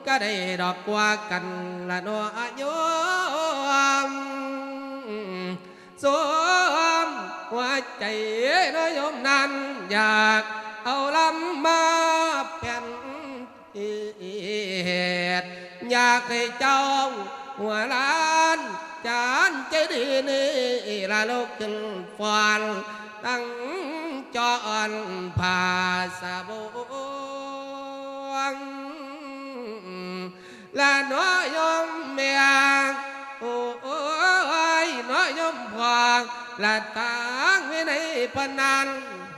ກະໄດ້ດອກກວ່າກັນລະເນາະໂຍມ. ສົມຫົວໃຈເນາະໂຍມນັ້ນ ຢາກເອົາລຳມາແປ່ນເທດ ຢາກໃຫ້ເຈົ້າຫົວຫຼານຈານໃຈດີນີ້ລະລຸກຂຶ້ນຟ້ອນ ຕັ້ງຈອນຜ້າສະບົງລະເນາະໂຍມແມ່ ໂອ້ຍເນາະ. ລະທາງວິໄນເພິ່ນນັ້ນ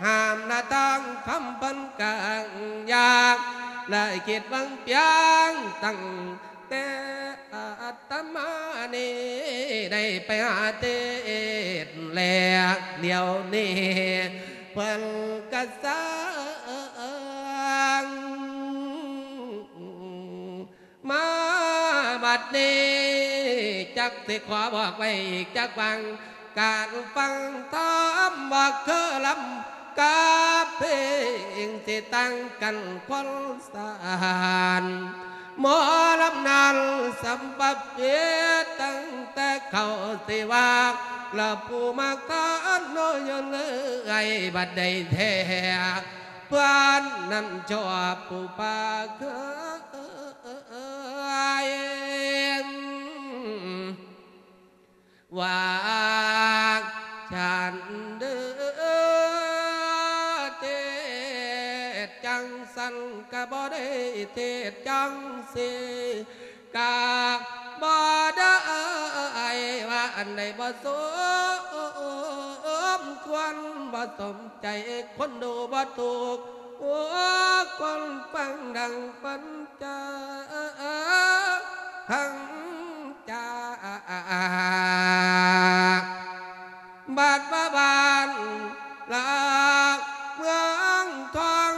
ຫ້າມ ລະທາງທຳເພິ່ນກາງຢາກ ລະຄິດເບິ່ງປຽງຕັ້ງແຕ່ອາດຕະມານີ້ ໄດ້ໄປຫາເທດແລ້ວ ດຽວນີ້ເພິ່ນກະສ້າງ ມາບັດນີ້ ຈັກຊິຂໍບອກໄວ້ອີກຈັກຫວ່າງ ການຟັງທຳບໍ່ຄືລຳກັບເພງ ຊິຕ່າງກັນຄົນສານ ໝໍລຳນັ້ນສຳປະເພດ ຕັ້ງແຕ່ເຂົາຊິວ່າ ລະຜູ້ມາຄານໂນຍນເອື້ອຍ ບັດໃດແທ້ ເພື່ອນນັ້ນຊອບຜູ້ປາກເຄີຍ ວ່າຊັ້ນເດີ ເທດຈັ່ງຊັ້ນກະບໍ່ໄດ້ ເທດຈັ່ງຊີ້ກະບໍ່ໄດ້ ວ່າອັນໃດບໍ່ສົມຄວນ ບໍ່ສົມ ໃຈຄົນດູບໍ່ຖືກ ໂອ້ ຄົນຟັງດັ່ງປັນຈາທັງຈາກ ບາດວ່າບ້ານລາກເມືອງທອງ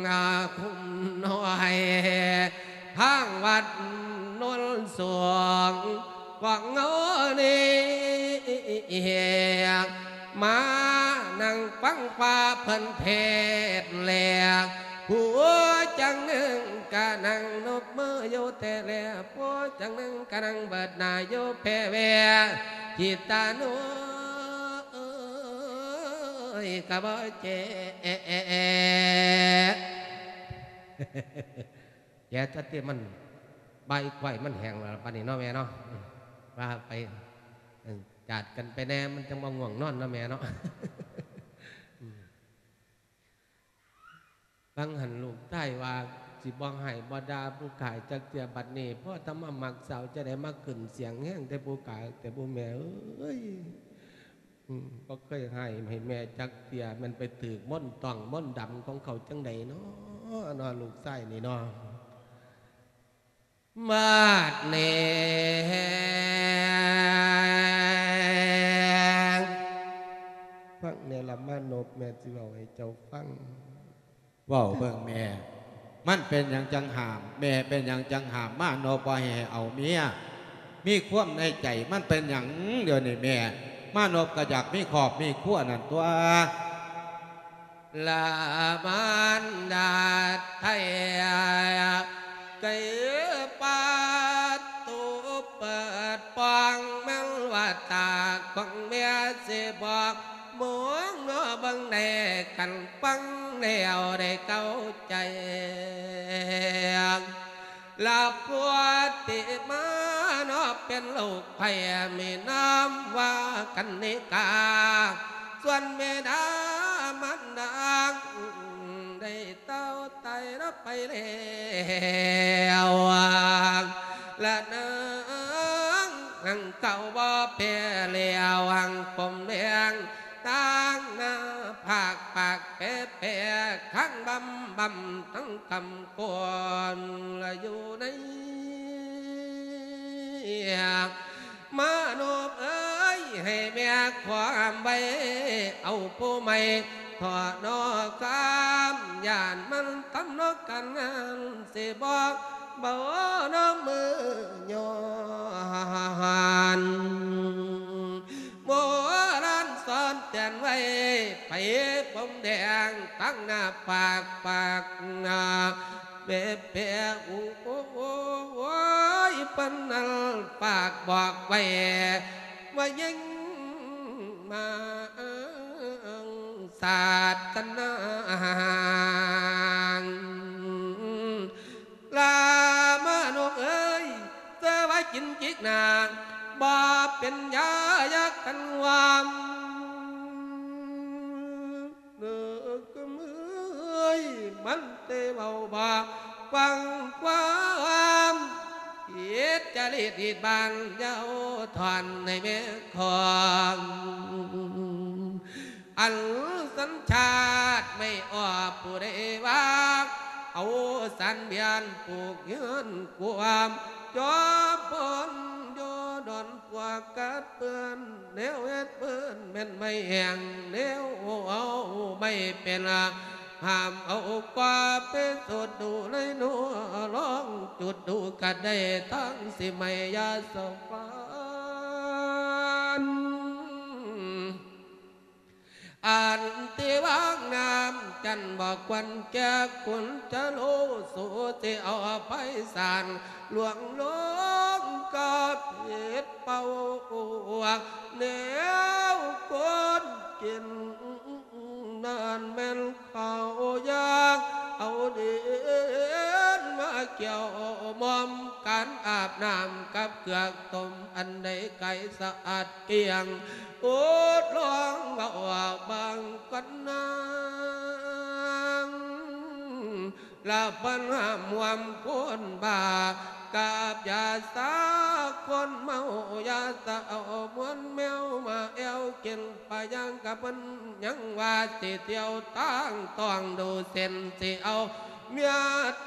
ອາ ຄຸ້ມນ້ອຍ ທາງວັດໂນນສູງ ພວກເຮົານີ້ ມານັ່ງຟັງວ່າເພິ່ນເທດແລ້ວ ຜູ້ຈັ່ງໜຶ່ງກະນັ່ງນົບມືຢູ່ແທ້ແລ ຜູ້ຈັ່ງໜຶ່ງກະນັ່ງເບີດໜ້າຢູ່ແຜ່ແວ່ ຈິດຕານຸຍກະບໍ່ແຈ ແຈະຊະຕິ ມັນ ໃບກວຍມັນແຫ້ງແລ້ວປານນີ້ເນາະແມ່ເນາະ ວ່າໄປ ເອີ ຈາດກັນໄປແດ່ ມັນຈັ່ງບໍ່ງ່ວງນອນເນາະແມ່ເນາະ ຟັງຫັ້ນລູກຊາຍວ່າ ຊິບໍ່ຮ້າຍບໍ່ດ່າຜູ້ຂ້າຈັກເທື່ອ ບັດນີ້ພໍຕາມາມັກສາວ ຈະໄດ້ມາຂຶ້ນສຽງແຮງແຕ່ຜູ້ຂ້າ ແຕ່ຜູ້ແມ່ເອີຍ. ອືມ ບໍ່ເຄີຍຮ້າຍໃຫ້ແມ່ຈັກເທື່ອ ແມ່ນໄປຖືກມົນຕ້ອງມົນດຳຂອງເຂົາຈັ່ງໃດເນາະ ເນາະ ລູກຊາຍນີ້ເນາະ. ບາດນີ້ ຟັງແດ່ລະມານົບ ແມ່ຊິເວົ້າໃຫ້ເຈົ້າຟັງ. ເວົ້າເບິ່ງແມ່ ມັນເປັນຫຍັງຈັ່ງຫ້າມ? ແມ່ເປັນຫຍັງຈັ່ງຫ້າມມານົບບໍ່ໃຫ້ເອົາເມຍ? ມີຄວາມໃນໃຈມັນເປັນຫຍັງ? ດຽວນີ້ແມ່ ມານົບກໍຢາກມີຄອບມີຄົວນັ້ນຕົວະ ລະມານດາໄທ ໄກ່ປະຕູເປີດປ່ອງ ແມ່ນວ່າຕາຂອງແມ່ຊິບອກ ມອງເນາະເບິ່ງແດ່ ຄັນຟັງແລ້ວໄດ້ເຂົ້າໃຈ ລະຜູ້ທີ່ມາເນາະເປັນລູກໃຜ ມີນາມວ່າກັນນິກາ ສ່ວນແມ່ນາມານດາໄດ້ ເຕົ້າຕາຍລະໄປແລ້ວ ລະນາງ ນາງເກົ່າບໍ່ແພ້ແລ້ວ ຫາງຜົມແດງ ຕາງໜ້າຜາກປາກແປໆ ຄາງບຳບຳທັງຄຳກອນ ລະຢູ່ໃນ ມານົບເອີຍ ໃຫ້ແມ່ຄວາມໄວ້ ເອົາຜູ້ໃໝ່ເທາະເນາະ ຄວາມຢ້ານມັນທຳເນາະ ການງານຊິບໍ່ເບົາເນາະ ມື້ຍ້ອນ ໂບລານສອນແຕ່ນໄວ້ ໃຜຜົມແດງ ຕາງໜ້າຜາກປາກໜ້າ ແປະແປະ ໂອ້ຍ ເພິ່ນນັ້ນຝາກບອກໄວ້ ວ່າຍິ່ງມາສາດຕະນາງ ລາມານົບເອີຍ ເສືອວ່າກິນຈິກໜາ ບໍ່ເປັນຢາ ຢາກັນຫວາມ ເດີກະເມີຍ ມັນແຕ່ເວົ້າບໍ່ຟັງຄວາມ ເຮັດໃຈ ລິດຮີດບານ ຢ່າເອົາຖອນໃຫ້ແມ່ຂອງ ອັນສັນຊາດໄມ່ອອກ ຜູ້ໃດວ່າ ເອົາສານບຽນປູກເຮືອນກວມ ຈອມພົນຢູ່ດອນພວກກັດເປື້ອນ ແນວເຮັດເພິ່ນແມ່ນໄມ້ແຫ້ງ ແນວເອົາໄມ້ເປັນ ຫ້າມເອົາກວ່າໄປສູດດູເລີຍເນາະ ລອງຈູດດູກະໄດ້ ທັງສິໄໝ້ຢາສະຟານ ອັນທີ່ວາງນ້ຳຈັນບໍ່ຄວນແກ່ຄຸນຈະໂລ ສູຊິເອົາໄພສານລວງລົງກະຜິດເປົ້າ ແນວຄົນກິນນັ້ນແມ່ນເຂົ້າຢາກ ເອົາດິນມາກ່ຽວໝອມ ການອາບນ້ຳກັບເກືອຕົ້ມ ອັນໃດໄກສະອາດ ກຽງ ໂອດລອງເວົ້າບາງກ່ອນນາງ ລະເພິ່ນຫ້າມຮ່ວມຄົນບ້າ ກັບຢາຊາຄົນເມົາ ຢາຊາເອົາມວນແມວມາແອວກິນ ປະຍັງກະເພິ່ນຍັງວ່າ ຊິທ່ຽວທາງຕ້ອງດູເສັ້ນ ຊິເອົາເມຍ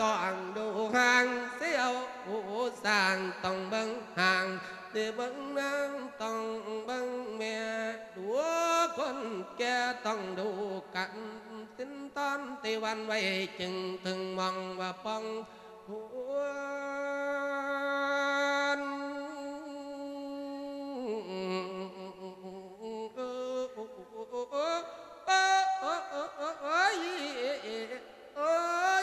ຕ້ອງດູຮ່າງ ຊິເອົາຜູ້ສ້າງຕ້ອງເບິ່ງຮ່າງ ຊິເບິ່ງນາງຕ້ອງເບິ່ງແມ່ ດູຄົນແກ່ຕ້ອງດູກັນ ສິນທອນທີ່ຫວັ່ນໄຫວ ຈຶ່ງເຖິງມອງວ່າປ່ອງຫວນ ໂອ້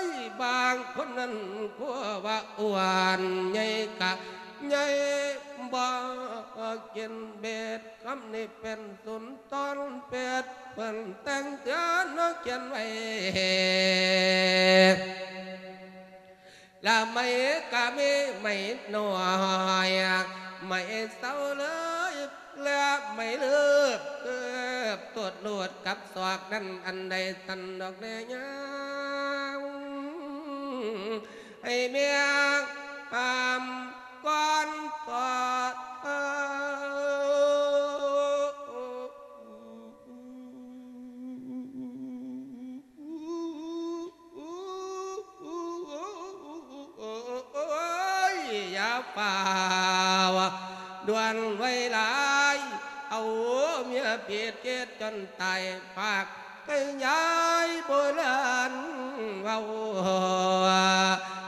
ຍ ບາງຄົນນັ້ນກົວວ່າອ້ວນ ໃຫຍ່ກະໃຫຍ່ ບໍ່ກິນເບັດ ຄຳນີ້ເປັນສຸນທອນເປັດ ເພິ່ນແຕ່ງເທື່ອນະຂຽນໄວ້ ລະໄມ້ກະມີໄມ້ນ້ອຍ ໄມ້ເຊົາເລີຍ ແລະໄມ້ເລີບ ເກີບຕົດໂລດກັບສອກນັ້ນ ອັນໃດສັນດອກແລຍາວ ໃຫ້ແມ່ຫ້າມກ່ອນຕໍ່ເທີ້າ ໂອ້ຍ ຢ່າຟ້າວດ່ວນໄວຫຼາຍ ເອົາເມຍຜິດເຮັດຈົນຕາຍ ພາກໃຫ້ຍາຍໂບລານເວົ້າ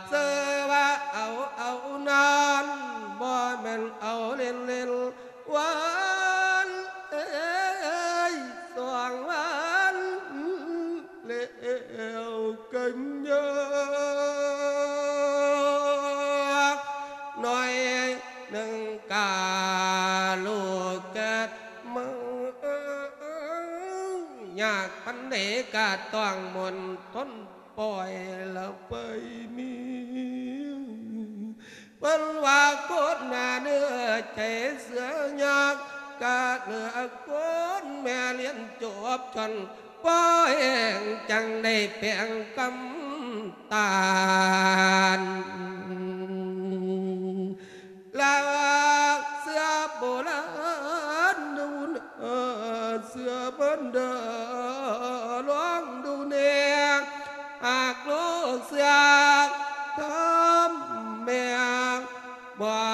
ເຊື່ອວ່າເອົາ ເອົານານ ບໍ່ແມ່ນເອົາເລ່ນໆ ວານເອີຍ ສອງວານແລ້ວກະຍາກໜ້ອຍໜຶ່ງກະລູກເກີດມາ ຍາກປານໃດກະຕ້ອງມົນທົນ ປ່ອຍລະໄຟມີ ເພິ່ນວ່າຄົນໜ້າເນື້ອໃຈເສືອຍາກ ກະເຫຼືອຄົນແມ່ລຽນຈົບຊັ້ນ ພໍແຮງຈັ່ງໄດ້ແປງກຳຕານ ລະເສືອໂບລານດູນາ ເສືອບັນດາລອງດູແນ່ ຫາກໂລກເສືອທຳແມ່ ບໍ່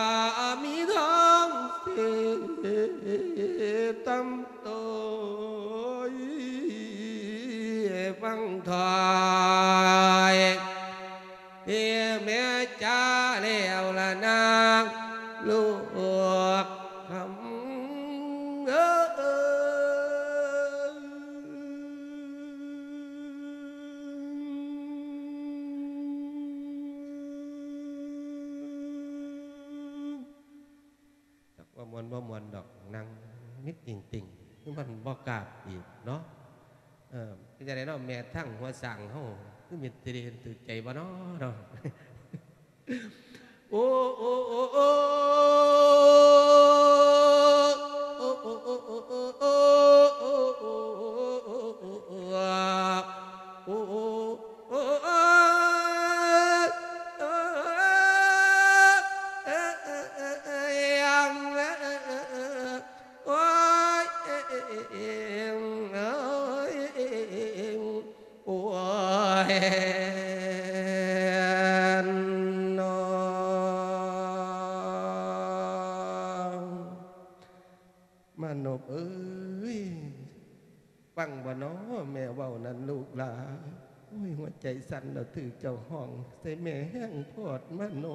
ມີທາງຊິຕຳໂຕຍ ຟັງຖ້ອຍ ເອີ ແມ່ຈາແລ້ວລະນາງລູກຄຳເອີຍ ຈັກວ່າມ່ວນບໍ່ມ່ວນດອກ ນັ່ງມິດຕິ່ງໆ ຄືມັນບໍ່ກາບອີກເນາະ. ເອີ ເປັນຈັ່ງໃດເນາະ ແມ່ທາງຫົວສ້າງເຮົາ ຄືມິດຕິເດນຖືກໃຈບໍ່ເນາະ ເນາະ? ໂອ້ ໂອ້ ໂອ້ ໂອ້ ໂອ້ ໂອ້ ໂອ້ ໂອ້ ໂອ້ ໂອ້ ເອີຍ ຟັງບໍ່ນໍແມ່ເວົ້ານັ້ນລູກຫຼາ? ໂອ້ຍ ຫົວໃຈສັ່ນແລ້ວ ຖືກເຈົ້າຮ້ອງໃສ່ແມ່ແຮງໂພດມາໂນ.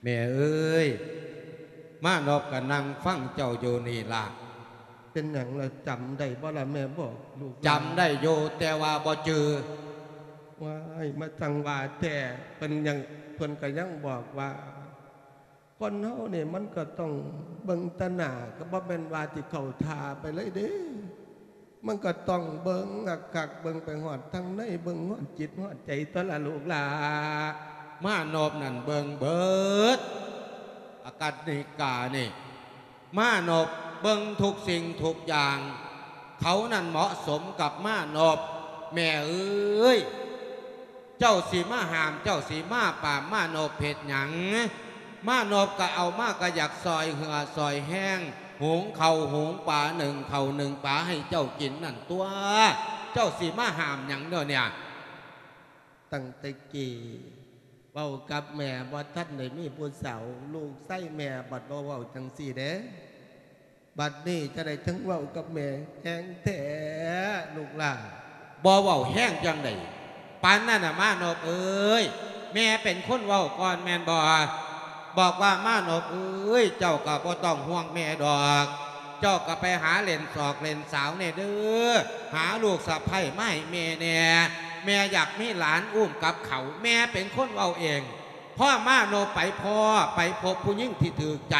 ແມ່ເອີຍ ມານອບກໍນັ່ງຟັງເຈົ້າຢູ່ນີ້ລະ. ເປັນຫຍັງລະ? ຈຳໄດ້ບໍ່ລະແມ່ບອກລູກ? ຈຳໄດ້ຢູ່ ແຕ່ວ່າບໍ່ຈື່. ວ້າຍ ມາຈັ່ງວ່າແທ້. ເພິ່ນຍັງ ເພິ່ນກໍຍັງບອກວ່າ ຄົນເຮົານີ້ມັນກໍຕ້ອງເບິ່ງຕາໜ້າ ກໍບໍ່ແມ່ນວ່າຊິເຂົ້າທ່າໄປເລີຍເດ້. ມັນກໍຕ້ອງເບິ່ງຄັກໆ ເບິ່ງໄປຮອດທາງໃນ ເບິ່ງຮອດຈິດຮອດໃຈຕົວະລະລູກຫຼ້າ. ມານອບນັ້ນເບິ່ງເບິດ ອາກັນນິການີ້ ມານອບເບິ່ງທຸກສິ່ງທຸກຢ່າງ ເຂົານັ້ນເໝາະສົມກັບມານອບ. ແມ່ເອີຍ ເຈົ້າຊິມາຫ້າມ ເຈົ້າຊິມາປາມມານອບເຮັດຫຍັງ? ມານອບກໍເອົາມາກໍຢາກຊ່ອຍເຫື່ອຊ່ອຍແຮງ ຫຸງເຂົ້າຫຸງປາ ໜຶ້ງເຂົ້າໜຶ້ງປາໃຫ້ເຈົ້າກິນນັ້ນຕົວະ. ເຈົ້າຊິມາຫ້າມຫຍັງເດີນີ້? ຕັ້ງແຕ່ກີ້ເວົ້າກັບແມ່ບໍ່ທັນໄດ້ມີຜູ້ສາວ ລູກຊາຍແມ່ບັດບໍ່ເວົ້າຈັ່ງຊີ້ເດ້. ບັດນີ້ຈະໄດ້ເຖິງເວົ້າກັບແມ່ແຮງແທ້ລູກຫຼ້າ. ບໍ່ເວົ້າແຮງຈັ່ງໃດ ປານນັ້ນນະມານອບເອີຍ? ແມ່ເປັນຄົນເວົ້າກ່ອນແມ່ນບໍ່? ບອກວ່າ ມານອບເອີຍ ເຈົ້າກໍບໍ່ຕ້ອງຫ່ວງແມ່ດອກ ເຈົ້າກໍໄປຫາເລ່ນສອກເລ່ນສາວແດ່ເດີ ຫາລູກສະໃພ້ມາໃຫ້ແມ່ແດ່ ແມ່ຢາກມີຫຼານອຸ້ມກັບເຂົາ. ແມ່ເປັນຄົນເວົ້າເອງ. ພໍມານອບໄປພໍ້ ໄປພົບຜູ້ຍິງທີ່ຖືກໃຈ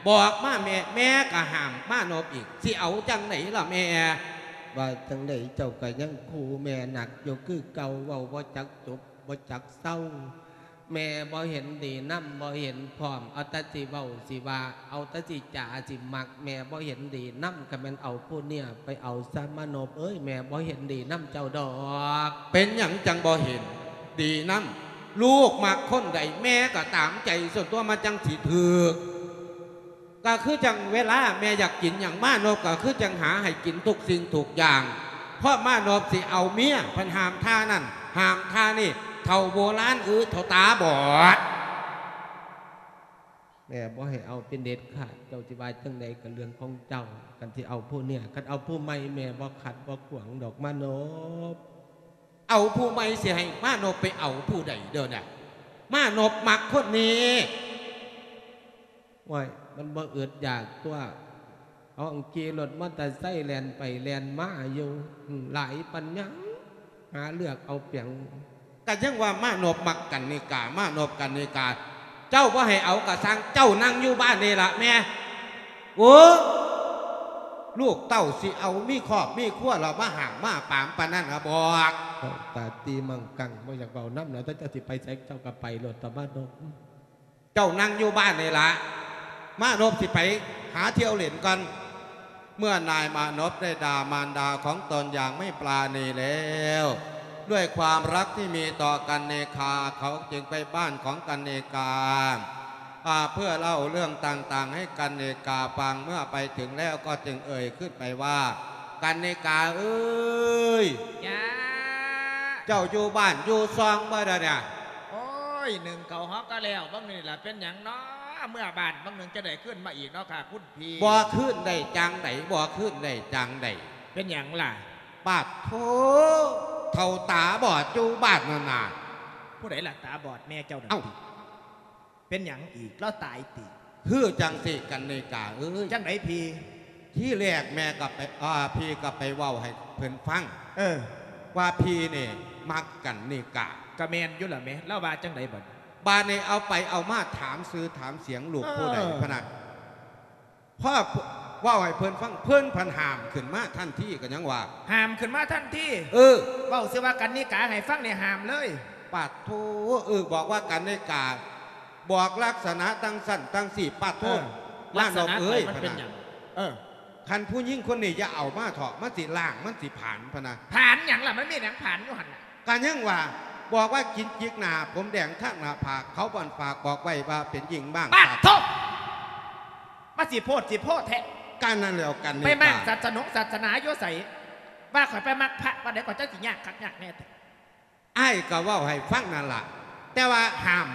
ບອກມາແມ່ ແມ່ກໍຫ້າມມານອບອີກ ຊິເອົາຈັ່ງໃດລະແມ່? ວ່າຈັ່ງໃດເຈົ້າກໍຍັງຂູ່ແມ່ໜັກຢູ່ຄືເກົ່າ ເວົ້າບໍ່ຈັກຈົບບໍ່ຈັກເຊົາ. ແມ່ບໍ່ເຫັນດີນຳ ບໍ່ເຫັນພ້ອມ ເອົາແຕ່ຊິເວົ້າຊິວ່າ ເອົາແຕ່ຊິຈາຊິມັກ ແມ່ບໍ່ເຫັນດີນຳ. ຄັນແມ່ນເອົາຜູ້ເນຍໄປເອົາຊະມານອບເອີຍ ແມ່ບໍ່ເຫັນດີນຳເຈົ້າດອກ. ເປັນຫຍັງຈັ່ງບໍ່ເຫັນດີນຳ? ລູກມັກຄົນໃດ ແມ່ກໍຕາມໃຈສ່ວນຕົວ ມັນຈັ່ງຊິຖືກ. ກໍຄືຈັ່ງເວລາແມ່ຢາກກິນຫຍັງ ມານອບກໍຄືຈັ່ງຫາໃຫ້ກິນທຸກສິ່ງທຸກຢ່າງ ເພາະມານອບຊິເອົາເມຍ ເພິ່ນຫ້າມທ່ານັ້ນ ຫ້າມທ່ານີ້ ເຖົ້າໂບລານ ອື ເຖົ້າຕາບອດ. ແມ່ບໍ່ໃຫ້ເອົາເປັນເດັດຂາດ ເຈົ້າຊິວ່າຈັ່ງໃດກໍເລື່ອງຂອງເຈົ້າ. ຄັນຊິເອົາຜູ້ເນຍ ຄັນເອົາຜູ້ໃໝ່ ແມ່ບໍ່ຂັດບໍ່ຂວາງດອກມານອບ. ເອົາຜູ້ໃໝ່ ຊິໃຫ້ມານອບໄປເອົາຜູ້ໃດເດີນະ? ມານອບມັກຄົນນີ້. ໂອ້ຍ ມັນບໍ່ອຶດຢາກຕົວະ ເຮົາຂີ່ລົດມໍເຕີໄຊແລ່ນໄປແລ່ນມາຢູ່ ອືມ ຫຼາຍປານຫຍັງ ຫາເລືອກເອົາປຽງ. ກໍຍັງວ່າມານອບມັກກັນນິກາ ມານອບກັນນິກາ ເຈົ້າບໍ່ໃຫ້ເອົາກໍຊ່າງ ເຈົ້ານັ່ງຢູ່ບ້ານນີ້ລະແມ່. ໂອ້ ລູກເຕົ້າຊິເອົາມີຄອບມີຄົວ ແລ້ວມາຫ້າມມາປາມປານນັ້ນລະບອກ. ຕາຕີມັງກັງ ບໍ່ຢາກເວົ້ານຳແລ້ວ ເຈົ້າ ເຈົ້າຊິໄປໃສ ເຈົ້າກໍໄປໂລດ ຕາມານອບ. ເຈົ້ານັ່ງຢູ່ບ້ານນີ້ລະ ມານອບຊິໄປຫາທ່ຽວຫຼິ້ນກ່ອນ. ເມື່ອນາຍมานพได้ด่ามารดาของตนอย่างไม่ปราณีแล้ว ด้วยความรักที่มีต่อกันนิกา เขาจึงไปบ้านของกันนิกา อ่า เพื่อเล่าเรื่องต่างๆ ให้กันนิกาฟัง เมื่อไปถึงแล้วก็จึงเอ่ยขึ้นไปว่า กันนิกาเอ้ย จ้า เจ้าอยู่บ้านอยู่ช่องบ่เดี๋ยวนี้? ໂອ້ຍ ໜຶ້ງເຂົ້າເຮົາກໍແລ້ວ ບາງໜຶ່ງລະເປັນຫຍັງເນາະ ເມືອບ້ານບາງໜຶ່ງຈະໄດ້ຄືນມາອີກເນາະຄ່ະຄຸນພີ່. ບໍ່ຄືນໄດ້ຈັ່ງໃດ ບໍ່ຄືນໄດ້ຈັ່ງໃດ. ເປັນຫຍັງລະ? ປາດໂທ ເຖົ້າຕາບອດຢູ່ບ້ານນັ້ນນະ. ຜູ້ໃດລະຕາບອດ? ແມ່ເຈົ້ານັ້ນ. ເອົ້າ ເປັນຫຍັງອີກ? ລາວຕາຍຕິ? ຄືຈັ່ງຊີ້ກັນນິກາເອີຍ. ຈັ່ງໃດພີ່? ທີແລກແມ່ກໍໄປ ອ່າ ພີ່ກໍໄປເວົ້າໃຫ້ເພິ່ນຟັງ ເອີ ວ່າພີ່ນີ້ມັກກັນນິກາ. ກໍແມ່ນຢູ່ລະແມ່ ລາວວ່າຈັ່ງໃດບັດ? ບາດນີ້ເອົາໄປເອົາມາຖາມຊື່ຖາມສຽງລູກຜູ້ໃດ ເອີ ພະນະ. ພໍເວົ້າໃຫ້ເພິ່ນຟັງ ເພິ່ນພັດຫ້າມຂຶ້ນມາທັນທີ ກໍຍັງວ່າ ຫ້າມຂຶ້ນມາທັນທີ? ເອີ ເວົ້າຊື່ວ່າກັນນິກາໃຫ້ຟັງນີ້ຫ້າມເລີຍ. ປາດໂທ ເອີ ບອກວ່າກັນນິກາ ບອກລັກສະນະຈັ່ງຊັ້ນຈັ່ງຊີ້ ປາດໂທ ເອີ ມານອບເອີຍ ລັກສະນະໃຜມັນເປັນຫຍັງ? ເອີ ຄັນຜູ້ຍິງຄົນນີ້ຢ່າເອົາມາເຖາະ ມັນຊິລ້າງ ມັນຊິຜານ ພະນະ. ຜານຫຍັງລະ? ມັນມີຫຍັງຜານຢູ່ຫັ້ນນະ? ກໍຍັງວ່າ ບອກວ່າກິນຈິກໜ້າ ຜົມແດງທາງໜ້າຜາກ ເຂົາບ່ອນຝາກບອກໄວ້ວ່າເປັນຍິງມ້າງ. ປາດໂທ ມາຊິໂພດຊິໂພແທ້. ການນັ້ນແລ້ວກັນນີ້ ໄປມ້າງ ການ ສາສະໜົງສາສະໜາຢູ່ໃສ? ວ່າຂ້ອຍໄປມັກພະວັດໃດ ຂ້ອຍຈັ່ງຊິຍາກຄັກຍາກແນ່ແທ້. ອ້າຍກໍເວົ້າໃຫ້ຟັງນັ້ນລະ ແຕ່ວ່າຫ້າມ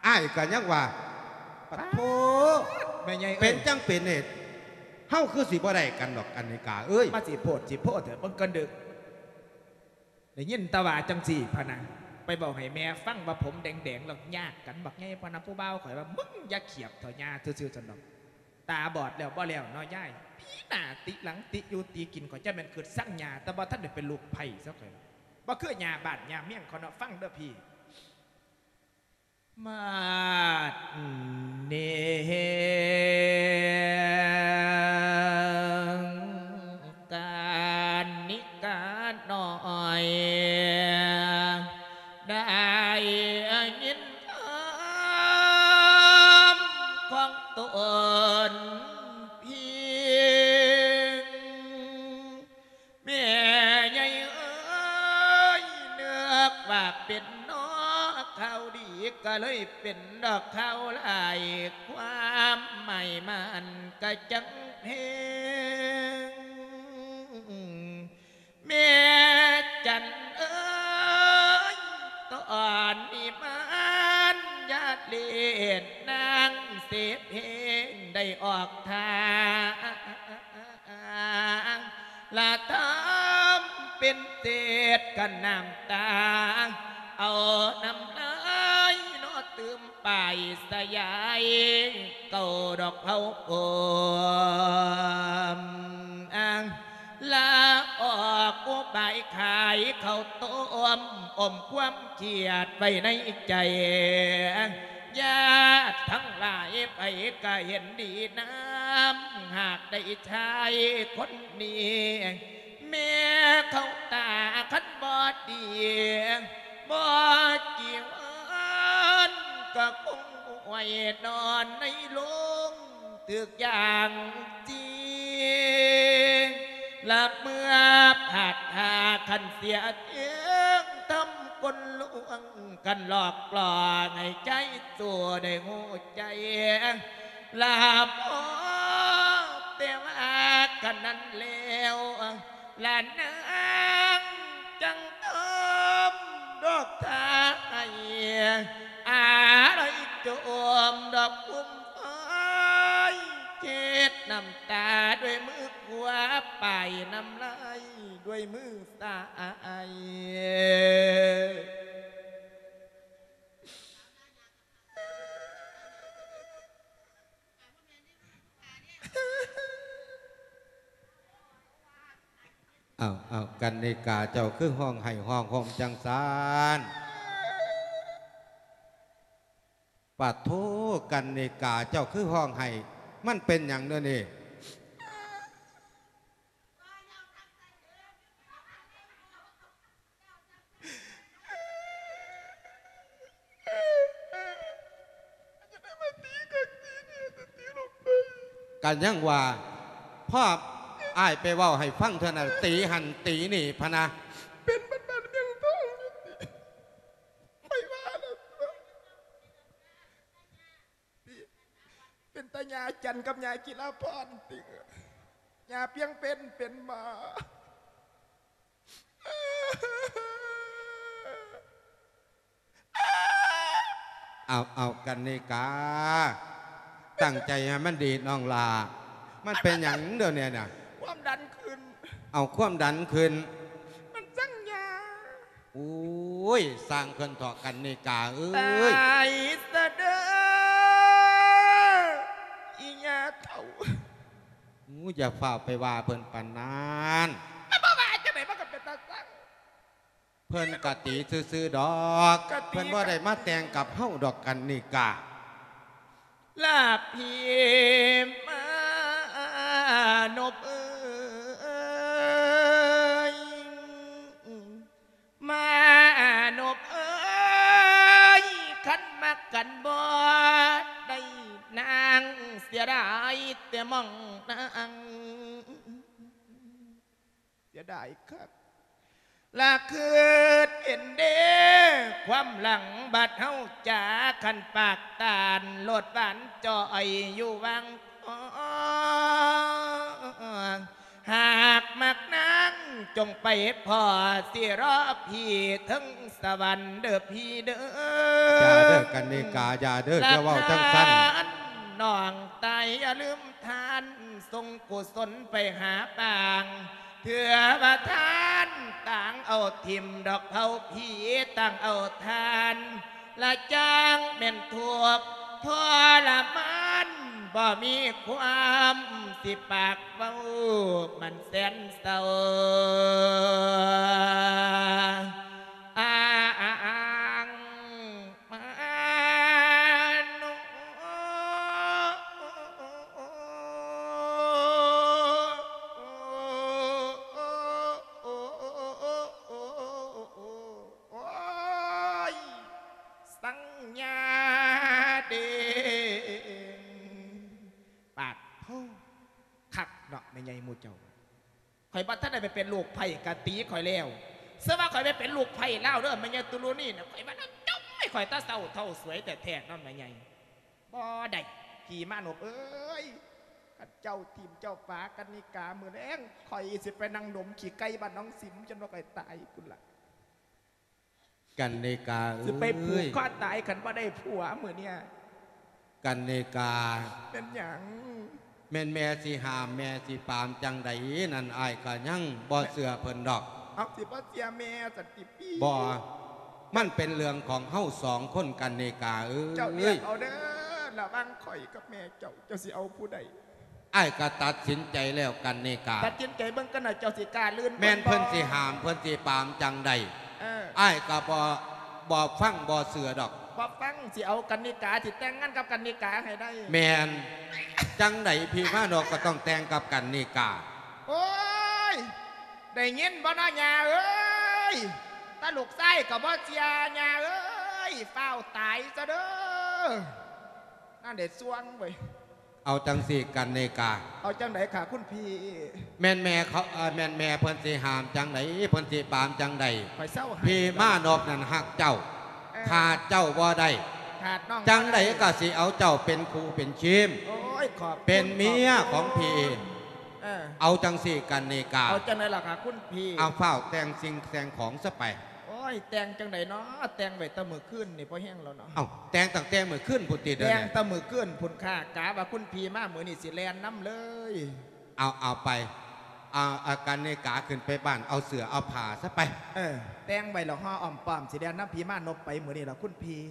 ອ້າຍກໍຍັງວ່າ ປາດໂທ ປາດ ແມ່ໃຫຍ່ເອີຍ ເປັນຈັ່ງເປັນເຫດ ເຮົາຄືຊິບໍ່ໄດ້ກັນດອກ ກັນນິກາເອີຍ. ມາຊິໂພດຊິໂພເຖາະ ເບິ່ງກ່ອນເດີ້. ໄດ້ຍິນແຕ່ວ່າຈັ່ງຊີ້ພະນະ ໄປເວົ້າໃຫ້ແມ່ຟັງວ່າຜົມແດງໆ ແລ້ວຍາກກັນບັກໃຫຍ່ພະນະ. ຜູ້ບ່າວຂ້ອຍວ່າ ມຶງຢ່າຂຽບເຖາະ ຍ່າຊື່ໆ ຊັ້ນດອກ. ຕາບອດແລ້ວບໍ່ແລ້ວເນາະຍາຍ ຕີໜ້າຕິຫຼັງ ຕິຢູ່ຕິກິນ. ຂ້ອຍຈະແມ່ນຄຶດຊັງຍ່າ ແຕ່ບໍ່ທັນໄດ້ເປັນລູກໃຜຊະຂ້ອຍ. ບໍ່ຄືຍ່າບ້ານຍ່າເມງເຂົາເນາະ. ຟັງເດີ້ພີ່. ມາດເນງ ການິການ້ອຍ ໄດ້ຍິນຄວາມຂອງຕົນພີ້ ແມ່ໃຫຍ່ເອີຍ ນຶກວ່າເປັນເນາະຂ່າວດີ ກະເລີຍເປັນດອກຂ່າວຮ້າຍ ຄວາມໝາຍມັນກະຈັ່ງແພງ. ແມ່ຈັນເອີຍ ຕອນນີ້ມານຍາດເລດ ນາງເສເພງໄດ້ອອກທ່າ ລະທຳເປັນເສດກັນນ້ຳຕາ ເອົານ້ຳລາຍເນາະຕື່ມປາຍສະຫຍາຍ ເກົ້າດອກເຜົາໂອມ ລາອອກອຸບາຍຂາຍເຂົ້າຕົ້ມ ອົມຄວາມຄຽດໄວ້ໃນໃຈ ຍາດທັງຫຼາຍໃຜກະເຫັນດີນຳ ຫາກໄດ້ຊາຍຄົນນີ້ ແມ່ເຂົ້າຕາຄັນບໍ່ດີ ບໍ່ກີ່ວັນກະຄົງຫ້ວຍນອນໃນໂລງ ຖືກຢ່າງຈີ ລະເມື່ອພາດທ່າຄັນເສຍເທງ ທຳກົນລວງກັນຫຼອກຫຼອກໃຫ້ໃຈໂສໄດ້ຮູ້ໃຈ ລະພໍແຕ່ວ່າກັນນັ້ນແລ້ວ ລະນາງຈັ່ງທຳດອກທ່າໃຫ້ ອາໄລຈົມດອກກຸມໄຟ ເຈັດນ້ຳຕາດ້ວຍມືຂວາ ປາຍນ້ຳລາຍດ້ວຍມືຊ້າຍ. ອ້າວ ອ້າວ ກັນນິກາ ເຈົ້າຄືຮ້ອງໄຫ້ຮ້ອງໂຮມຈັ່ງຊັ້ນ? ປາໂທ ກັນນິກາ ເຈົ້າຄືຮ້ອງໄຫ້ ມັນເປັນຫຍັງແນວນີ້? ກະຍັງວ່າ ພໍອ້າຍໄປເວົ້າໃຫ້ຟັງເທື່ອນັ້ນ ຕີຫັ້ນຕີນີ້ພະນະ ເປັນບ້ານໆ ເມືອງທອງຢູ່ຕິ ຂ້ອຍວ່າແລ້ວຕົວະ ເປັນຕາຍາຈັນກັບຍາກິລາພອນຕິ ຍາພຽງເພັນເປັນໝໍ. ເອົາ ເອົາ ກັນນິກາ ຕັ້ງໃຈໃຫ້ມັນດີນ້ອງຫຼ້າ ມັນເປັນຫຍັງດຽວນີ້ນະ? ຄວາມດັນຂຶ້ນ. ເອົາ ຄວາມດັນຂຶ້ນ ມັນສັງຍາ. ໂອ້ຍ ຊ່າງເພິ່ນເຖາະ ກັນນິກາເອີຍ. ຕາຍຊະເດີ ອີ່ຍ່າເຖົ້າ. ໂອ້ຍ ຢ່າຟ້າວໄປວ່າເພິ່ນປານນັ້ນ. ມັນບໍ່ວ່າຈັ່ງໃດ ມັນກໍເປັນຕາຊັງ. ເພິ່ນກະຕີຊື່ໆ ດອກ ກະຕີ ເພິ່ນບໍ່ໄດ້ມາແຕ່ງກັບເຮົາດອກ ກັນນິກາ. ລາພີມານົບເອີຍ ມານົບເອີຍ ຄັນມັກກັນບໍ່ໄດ້ນາງ ເສຍດາຍແຕ່ມອງນາງ. ເສຍດາຍຄັກ ລະຄຶດເຫັນເດ້ ຄວາມຫຼັງບັດເຮົາຈາ ຄັນປາກຕານໂລດຫວານຈ່ອຍຢູ່ວັງທອງ ຫາກມັກນາງຈົ່ງໄປພໍ້ ຊິລໍພີ່ເທິງສະຫວັນເດີພີ່ເດີ. ຢ່າເດີ ກັນນິກາ ຢ່າເດີ ຢ່າເວົ້າຈັ່ງຊັ້ນ. ນ້ອງຕາຍຢ່າລືມທ່ານ ສົ່ງກຸສົນໄປຫາປາງ ເທື່ອວ່າທ່ານຕ່າງເອົາຖິ້ມດອກເຜົາຜີ ຕ່າງເອົາທ່ານ ລະຈັ່ງແມ່ນທຸກທໍລະມານ ບໍ່ມີຄວາມຊິປາກເວົ້າ ມັນແສນເສົ້າ ອາ ອາ ອາ ມາໂນ ໂອ້ຍ ສັງຍາເດງ ປາດໂທ້ ຄັກເນາະ ແມ່ໃຫຍ່ໝູ່ເຈົ້າ. ຂ້ອຍບໍ່ທັນໄດ້ໄປເປັນລູກໃພ້ກະຕີຂ້ອຍແລ້ວ. ເຊື່ອວ່າຂ້ອຍໄປເປັນລູກໃພ້ລາວເດີ ແມ່ໃຫຍ່ຕຸລຸນີນະ ຂ້ອຍວ່າລາວຈົ່ມໃຫ້ຂ້ອຍແຕ່ເຊົ້າເທົ່າສວຍແທ້ໆເນາະແມ່ໃຫຍ່. ບໍ່ໄດ້ ຜີມານົບເອີຍ ຄັນເຈົ້າຖິ້ມເຈົ້າປາກັນນິກາ ມື້ແລງຂ້ອຍຊິໄປນັ່ງດົມຂີ້ໄກ່ບ້ານໜອງສິມ ຈົນວ່າຂ້ອຍຕາຍພຸ້ນລະ. ກັນນິກາເອີຍ ຊິໄປຜູກຄໍຕາຍຄັນບໍ່ໄດ້ຜົວມື້ເນີ້ຍ. ກັນນິກາ ເປັນຫຍັງ? ແມ່ນແມ່ຊິຫ້າມແມ່ຊິປາມຈັ່ງໃດນັ້ນ ອ້າຍກໍຍັງບໍ່ເຊື່ອເພິ່ນດອກ. ເອົາ ຊິບໍ່ເຊື່ອແມ່ຊັ້ນຕິພີ່? ບໍ່ ມັນເປັນເລື່ອງຂອງເຮົາສອງຄົນ ກັນນິກາເອີຍ. ເຈົ້າເລືອກເອົາເດີ ລະຫວ່າງຂ້ອຍກັບແມ່ເຈົ້າ ເຈົ້າຊິເອົາຜູ້ໃດ? ອ້າຍກໍຕັດສິນໃຈແລ້ວ ກັນນິກາ. ຕັດສິນໃຈເບິ່ງກັນນະ ເຈົ້າຊິກ້າລື່ນ ແມ່ນເພິ່ນຊິຫ້າມ ເພິ່ນຊິປາມຈັ່ງໃດ ເອີ ອ້າຍກໍບໍ່ ບໍ່ຟັງບໍ່ເຊື່ອດອກ. ບໍ່ຟັງ ຊິເອົາກັນນິກາ ຊິແຕ່ງງານກັບກັນນິກາໃຫ້ໄດ້. ແມ່ນ ຈັ່ງໃດພີ່ມານົບກໍຕ້ອງແຕ່ງກັບກັນນິກາ. ໂອ້ຍ ໄດ້ຍິນບໍ່ເນາະຍ່າເອີຍ? ຕາລູກຊາຍກໍບໍ່ເຊື່ອ ຍ່າເອີຍ ຟ້າວຕາຍຊະເດີ. ນັ້ນເດ ຊ່ວງເວີຍ. ເອົາຈັ່ງຊີ້ກັນນິກາ. ເອົາຈັ່ງໃດຄະຄຸນພີ່? ແມ່ນແມ່ເຂົາ ເອີ ແມ່ນແມ່ເພິ່ນຊິຫ້າມຈັ່ງໃດ ເພິ່ນຊິປາມຈັ່ງໃດ? ຂ້ອຍເຊົາໃຫ້ ພີ່ມານົບນັ້ນຮັກເຈົ້າ ເອີ ຂາດເຈົ້າບໍ່ໄດ້ ຂາດນ້ອງ ຈັ່ງໃດກໍຊິເອົາເຈົ້າເປັນຄູ່ເປັນຄີມ ໂອ້ຍ ຂອບຄຸນ ເປັນເມຍຂອງພີ່. ເອີ ເອົາຈັ່ງຊີ້ກັນນິກາ. ເອົາຈັ່ງໃດລະຄະຄຸນພີ່? ເອົາ ຟ້າວແຕ່ງສິ່ງແຕ່ງຂອງຊະໄປ. ໂອ້ຍ ແຕ່ງຈັ່ງໃດເນາະ ແຕ່ງໄວ້ແຕ່ມື້ຄືນນີ້ພໍແຮງແລ້ວເນາະ. ເອົ້າ ແຕ່ງຕັ້ງແຕ່ມື້ຄືນພຸ້ນຕິ ແຕ່ງແຕ່ມື້ຄືນພຸ້ນຄ່າ ກະວ່າຄຸນພີ່ມາມື້ນີ້ຊິແລ່ນນຳເລີຍ. ເອົາ ເອົາໄປ ເອົາ ກັນນິກາຂຶ້ນໄປບ້ານ ເອົາເສື້ອເອົາຜ້າຊະໄປ. ເອີ ແຕ່ງໄວ້ແລ້ວຫໍ່ອ້ອມປ້ອມ ຊິແລ່ນນຳພີ່ມານົບໄປມື້ນີ້ລະຄຸນພີ່.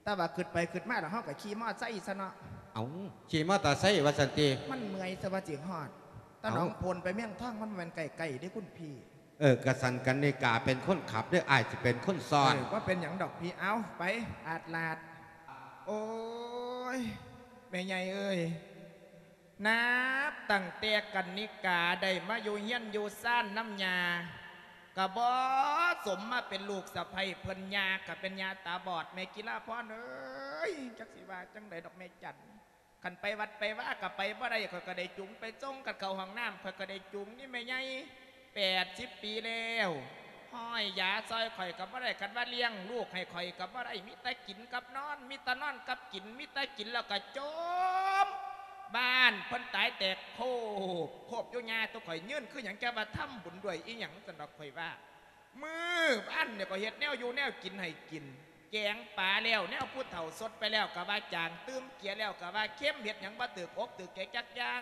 ແຕ່ວ່າຄິດໄປຄິດມາແລ້ວ ເຮົາກໍຂີ່ມໍໄຊຊະເນາະ. ເອົ້າ ຂີ່ມໍຕາໄຊວ່າຊັ້ນຕິ? ມັນເມື່ອຍຊະວ່າຊິຮອດ. ຕາໜອງໂພນໄປເມືອງທອງ ມັນບໍ່ແມ່ນໃກ້ໆເດ້ຄຸນພີ່. ເອີ ກະຊັ້ນກັນນິກາເປັນຄົນຂັບເດີ ອ້າຍຊິເປັນຄົນຊ້ອນ. ເອີ ບໍ່ເປັນຫຍັງດອກພີ່. ເອົາ ໄປອາດລາດ. ໂອ້ຍ ແມ່ໃຫຍ່ເອີຍ ນັບຕັ້ງແຕ່ກັນນິກາໄດ້ມາຢູ່ເຮືອນຢູ່ຊານນຳຍ່າ ກະບໍ່ສົມມາເປັນລູກສະໃພ້ເພິ່ນ. ຍ່າກະເປັນຍ່າຕາບອດ ແມ່ກິລາພອນເອີຍ ຈັກຊິວ່າຈັ່ງໃດດອກແມ່ຈັນ. ຄັນໄປວັດໄປວາກໍໄປບໍ່ໄດ້ ຂ້ອຍກໍໄດ້ຈູງໄປສົ່ງ. ຄັນເຂົ້າຫ້ອງນ້ຳ ຂ້ອຍກໍໄດ້ຈູງນີ້ແມ່ໃຫຍ່. ແປດສິບປີແລ້ວ ຮ້ອຍຢາຊ່ອຍຂ້ອຍກໍບໍ່ໄດ້. ຄັນວ່າລ້ຽງລູກໃຫ້ຂ້ອຍກໍບໍ່ໄດ້. ມີແຕ່ກິນກັບນອນ ມີແຕ່ນອນກັບກິນ ມີແຕ່ກິນແລ້ວກໍຈົ່ມ. ບ້ານເພິ່ນຕາຍແຕກໂຄບໂຄບຢູ່ ຍ່າຕົວະ ຂ້ອຍຢືນຄືຫຍັງ? ແກວ່າທຳບຸນດ້ວຍອີ່ຫຍັງ ຊັ້ນດອກ ຂ້ອຍວ່າ. ມື້ວານນີ້ກໍເຮັດແນວຢູ່ແນວກິນໃຫ້ກິນ, ແກງປາແລ້ວ ແນວຜູ້ເຖົ້າສົດໄປແລ້ວກໍວ່າຈາງ, ຕື່ມເກືອແລ້ວກໍວ່າເຄັມ, ເຮັດຫຍັງບໍ່ຖືກອົກຖືກໃຈຈັກຢ່າງ.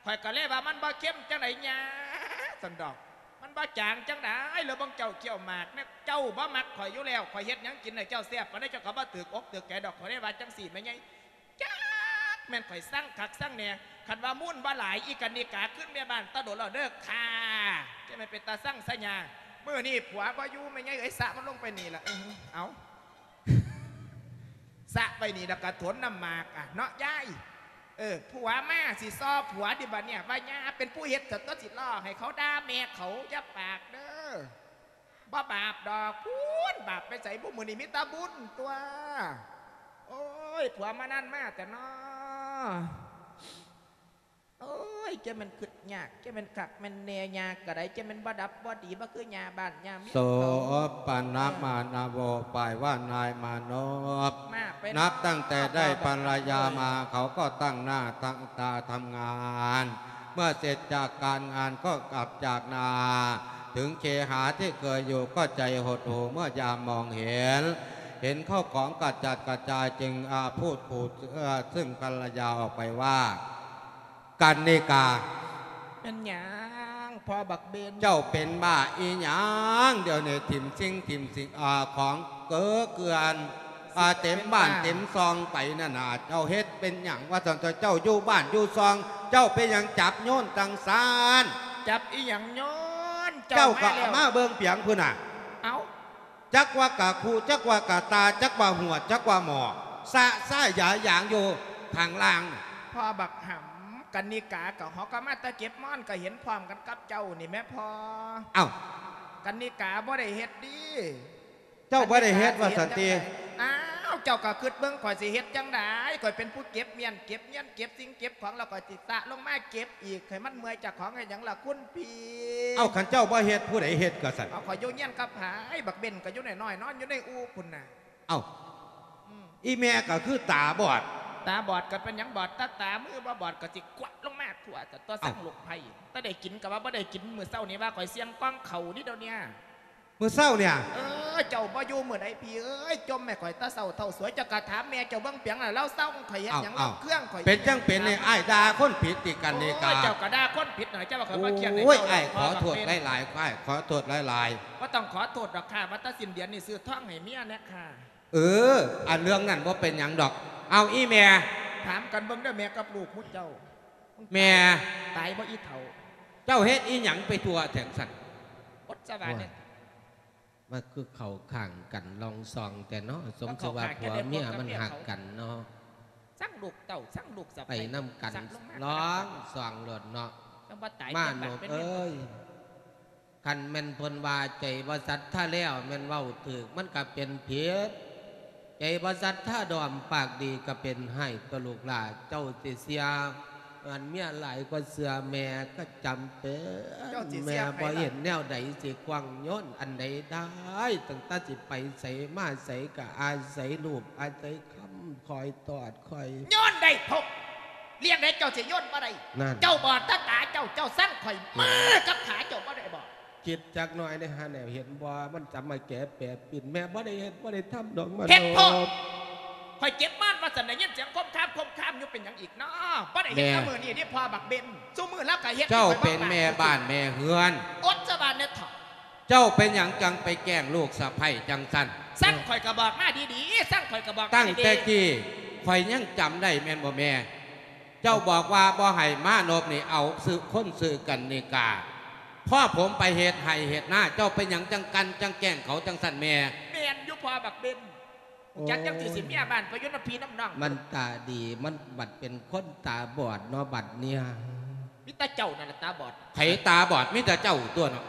ຂ້ອຍກໍເລີຍວ່າ ມັນບໍ່ເຄັມຈັ່ງໃດຍ່າ? ຊັ້ນດອກ. ມັນບໍ່ຈາງຈັ່ງໃດ? ແລ້ວເບິ່ງເຈົ້າຄ້ຽວໝາກແນ່, ເຈົ້າບໍ່ມັກຂ້ອຍຢູ່ແລ້ວ, ຂ້ອຍເຮັດຫຍັງກິນໃຫ້ເຈົ້າແຊບປານໃດ ເຈົ້າກໍບໍ່ຖືກອົກຖືກໃຈດອກ. ຂ້ອຍເລີຍວ່າຈັ່ງຊີ້ແມ່ໃຫຍ່. ຈັກແມ່ນຂ້ອຍຊັງຄັກຊັງແນ່, ຄັນວ່າມູນບໍ່ຫຼາຍ ອີກະນິກາຄືນແມ່ບ້ານແຕ່ດົນແລ້ວເດີຄ່າ. ຈະແມ່ນເປັນຕາຊັງຊະຍາ. ມື້ນີ້ຜົວບໍ່ຢູ່ ແມ່ໃຫຍ່ເອີຍ, ສະມັນລົງໄປນີ້ລະ. ເອີ ເອົາ ສະໄປນີ້ລະກະຖົນນ້ຳໝາກ ອະ ເນາະຍາຍ. ເອີ ຜົວມາຊິຊໍ້ຜົວຕິບາດນີ້ ວ່າຍ່າເປັນຜູ້ເຮັດ ສະຕົວະ ຊິລໍໃຫ້ເຂົາດ່າແມ່ເຂົາ. ຢ່າປາກເດີ. ບໍ່ບາບດອກ ພຸ້ນ ບາບໄປໃສບຸ? ມື້ນີ້ມີແຕ່ບຸນຕົວະ. ໂອ້ຍ ຜົວມານານມາແຕ່ນໍ. ໂອ້ຍ ຈະແມ່ນຄຶດຍາກ ຈະແມ່ນຄັກແມ່ນແນ່ ຍ່າກະໄດ້ ຈະແມ່ນບໍ່ດັບບໍ່ດີ ບໍ່ຄືຍ່າບ້ານຍ່າເມືອງເຂົາ. ໂສປະນະມານະໂວ ແປວ່ານາຍມານົບ. ມາໄປ ນັບຕັ້ງແຕ່ໄດ້ພັນລະຍາມາ ເຂົາກໍຕັ້ງໜ້າຕັ້ງຕາທຳງານ. ເມື່ອເສັດຈາກການງານກໍກັບຈາກນາ ເຖິງເຄຫາທີ່ເຄີຍຢູ່ກໍໃຈຫົດຫູ່ເມື່ອຍາມມອງເຫັນ ເຫັນເຂົ້າຂອງກະຈັດກະຈາຍ ຈຶ່ງ ອາ ພູດຄູ່ ເອີ ຊຶ່ງກັນລະຍາອອກໄປວ່າ ກັນນິກາ ແມ່ນຫຍັງພໍ່ບັກເບັນ? ເຈົ້າເປັນບ້າອີ່ຫຍັງ? ດຽວນີ້ຖິ້ມສິ່ງຖິ້ມສິ່ງ ອາ ຂອງເກີເກືອນ ອາ ເຕັມບ້ານເຕັມຊ່ອງໄປນັ້ນນະ ເຈົ້າເຮັດເປັນຫຍັງວ່າຊັ້ນ? ເຈົ້າຢູ່ບ້ານຢູ່ຊ່ອງ ເຈົ້າເປັນຫຍັງຈັບໂຍນຈັ່ງຊັ້ນ? ຈັບອີ່ຫຍັງໂຍນ? ເຈົ້າ ເຈົ້າກໍມາເບິ່ງປຽງພຸ້ນນະ ເອົ້າ ຈັກວ່າກະຄຸ ຈັກວ່າກະຕາ ຈັກວ່າຫວດ ຈັກວ່າໝໍ້ ສະຊາຍຢາຢາງຢູ່ຂ້າງລ່າງ. ພໍ່ບັກຫຳ ກັນນິກາກໍ ເຮົາກໍມາແຕ່ເກັບມອນ ກໍເຫັນພ້ອມກັນກັບເຈົ້ານີ້ແມ້ພໍ່. ເອົ້າ ກັນນິກາບໍ່ໄດ້ເຮັດເດ້. ເຈົ້າບໍ່ໄດ້ເຮັດວ່າຊັ້ນຕິ? ກັນນິກາຊິເຮັດຈັ່ງໃດ? ອ້າວ ເຈົ້າກໍຄິດເບິ່ງ ຂ້ອຍຊິເຮັດຈັ່ງໃດ? ຂ້ອຍເປັນຜູ້ເກັບມ້ຽນ ເກັບງຽນ ເກັບສິ່ງເກັບຂອງ ແລ້ວຂ້ອຍຊິສະລົງມາເກັບອີກ ໃຫ້ມັນເມື່ອຍເຈົ້າຂອງເຮັດຫຍັງລະຄຸນພີ່? ເອົ້າ ຄັນເຈົ້າບໍ່ເຮັດ ຜູ້ໃດເຮັດກໍຊັ້ນ? ເອົາ ຂ້ອຍຢູ່ຮຽນກັບໃຜ? ບັກເບັນກໍຢູ່ນ້ອຍໆ ນອນຢູ່ໃນອູ່ພຸ້ນນະ. ເອົ້າ ອືມ ອີ່ແມ່ກໍຄືຕາບອດ. ຕາບອດກໍເປັນຫຍັງບອດ? ຕາ ຕາມືບໍ່ບອດກໍຊິກວາດລົງມາທົ່ວ ແຕ່ຕົວ ເອົ້າ ສັງລູກໃຜ ແຕ່ໄດ້ກິນກໍວ່າບໍ່ໄດ້ກິນ ມື້ເຊົ້ານີ້ວ່າຂ້ອຍສ່ຽງກ່ອງເຂົ້ານີ້ດຽວເນີ້ຍ ມື້ເຊົ້າເນີ້ຍ. ເອີ ເຈົ້າບໍ່ຢູ່ມື້ໃດພີ່ເອີຍ ຈົ່ມໃຫ້ຂ້ອຍແຕ່ເຊົ້າເທົ່າສວຍ ເຈົ້າກໍຖາມແມ່ເຈົ້າເບິ່ງປຽງລະ ລາວສັ່ງຂ້ອຍເຮັດຫຍັງ ເອົ້າ ລາວເຄື່ອງຂ້ອຍເຮັດຫຍັງ? ເປັນຈັ່ງເປັນນີ້ ອ້າຍດ່າຄົນຜິດຕິ ກັນນິກາ? ໂອ້ຍ ເຈົ້າກໍດ່າຄົນຜິດນະ ເຈົ້າວ່າຂ້ອຍບໍ່ຄຽດໃຫ້ເຈົ້າ. ໂອ້ຍ ອ້າຍຂໍໂທດຫຼາຍໆ ອ້າຍຂໍໂທດຫຼາຍໆ. ບໍ່ຕ້ອງຂໍໂທດດອກຄ່າ ວ່າແຕ່ສິ້ນເດືອນນີ້ຊື້ທອງໃຫ້ເມຍແດ່ຄ່າ. ເອີ ອັນເລື່ອງນັ້ນບໍ່ເປັນຫຍັງດອກ. ເອົາ ອີ່ແມ່ ຖາມກັນເບິ່ງເດີ ແມ່ກັບລູກໝູ່ເຈົ້າ. ແມ່ ຕາຍບໍ່ອີ່ເຖົ້າ? ເຈົ້າເຮັດອີ່ຫຍັງໄປທົ່ວແທ້ຊັ້ນ? ອົດສະຫວານເດ້. ໂອ້ຍ ມັນຄືເຂົ້າຂ້າງກັນລອງຊອງແຕ່ເນາະ ສົມຊື່ວ່າຜົວເມຍມັນຮັກກັນເນາະ. ສັງລູກເຕົ້າ ສັງລູກສະໃພ້ ໄປນຳກັນ ສັງລົງມາ ລອງຊອງໂລດເນາະ. ມານົບເອີຍ ຄັນແມ່ນເພິ່ນວ່າໃຈບໍ່ສັດທາແລ້ວ ແມ່ນເວົ້າຖືກ ມັນກະເປັນຜິດ. ໃຈບໍ່ສັດທາດອມ ປາກດີກະເປັນຮ້າຍຕໍ່ລູກຫຼ້າ. ເຈົ້າຊິເຊື່ອເຮືອນເມຍຫຼາຍກວ່າເຊື່ອແມ່ກະຈຳເປັນ. ເຈົ້າຊິເຊື່ອໃຜລະ? ແມ່ບໍ່ເຫັນແນວໃດຊິກວ້າງໂຍນອັນໃດໄດ້ ຕັ້ງແຕ່ຊິໄປໃສມາໃສກະອາໄສລູກອາໄສ ຄຳຄອຍຕອດຄອຍ ຍ້ອນໄດ້ພົກລ້ຽງໄດ້ ເຈົ້າຊິໂຍນບໍ່ໄດ້. ນັ້ນ ເຈົ້າບອດຕາຕາເຈົ້າ ເຈົ້າສັງຂ້ອຍມືກັບຂາເຈົ້າບໍ່ໄດ້ບໍ? ຄິດຈັກໜ້ອຍໄດ້ຫາແນວເຫັນບໍ່ ມັນຈະມາແກະແປປິ່ນ ແມ່ບໍ່ໄດ້ເຮັດບໍ່ໄດ້ທຳດອກມະໂນ. ເຮັດໂພດ ຂ້ອຍເຈັບມານວ່າຊັ້ນ ໄດ້ຍິນສຽງຄົມຄາມຄົມຄາມຢູ່ ເປັນຫຍັງອີກເນາະ? ບໍ່ໄດ້ເຮັດແຕ່ມື້ນີ້ເດ້ພໍ່ບັກເບັນ ຊຸມື້ລາວກະເຮັດ. ເຈົ້າເປັນແມ່ບ້ານແມ່ເຮືອນ ອົດສະຫວານແດ່ເຖົ້າ. ເຈົ້າເປັນຫຍັງຈັ່ງໄປແກ້ງລູກສະໃພ້ຈັ່ງຊັ້ນ? ສັງຂ້ອຍກະບອກມາດີໆ ສັງຂ້ອຍກະບອກມາດີໆ. ຕັ້ງແຕ່ກີ້ຂ້ອຍຍັງຈຳໄດ້ແມ່ນບໍ່ແມ່? ເຈົ້າບອກວ່າບໍ່ໃຫ້ມານົບນີ້ເອົາຊື່ຄົນຊື່ກັນນິກາ. ພໍຜົມໄປເຮັດໄຮ່ເຮັດນາ ເຈົ້າເປັນຫຍັງຈັ່ງກັ່ນຈັ່ງແກ້ງເຂົາຈັ່ງຊັ້ນແມ່? ແມ່ນຢູ່ພໍ່ບັກເບັນ. ຈັກຈັ່ງຊິເສຍເມຍບ້ານໄປຢູ່ນຳພີ່ນຳນ້ອງ. ມັນຕາດີ ມັນບັດເປັນຄົນຕາບອດເນາະບັດເນີ້ຍ. ມີແຕ່ເຈົ້ານັ້ນລະຕາບອດ. ໃຜຕາບອດ? ມີແຕ່ເຈົ້າຕົວະເນາະ.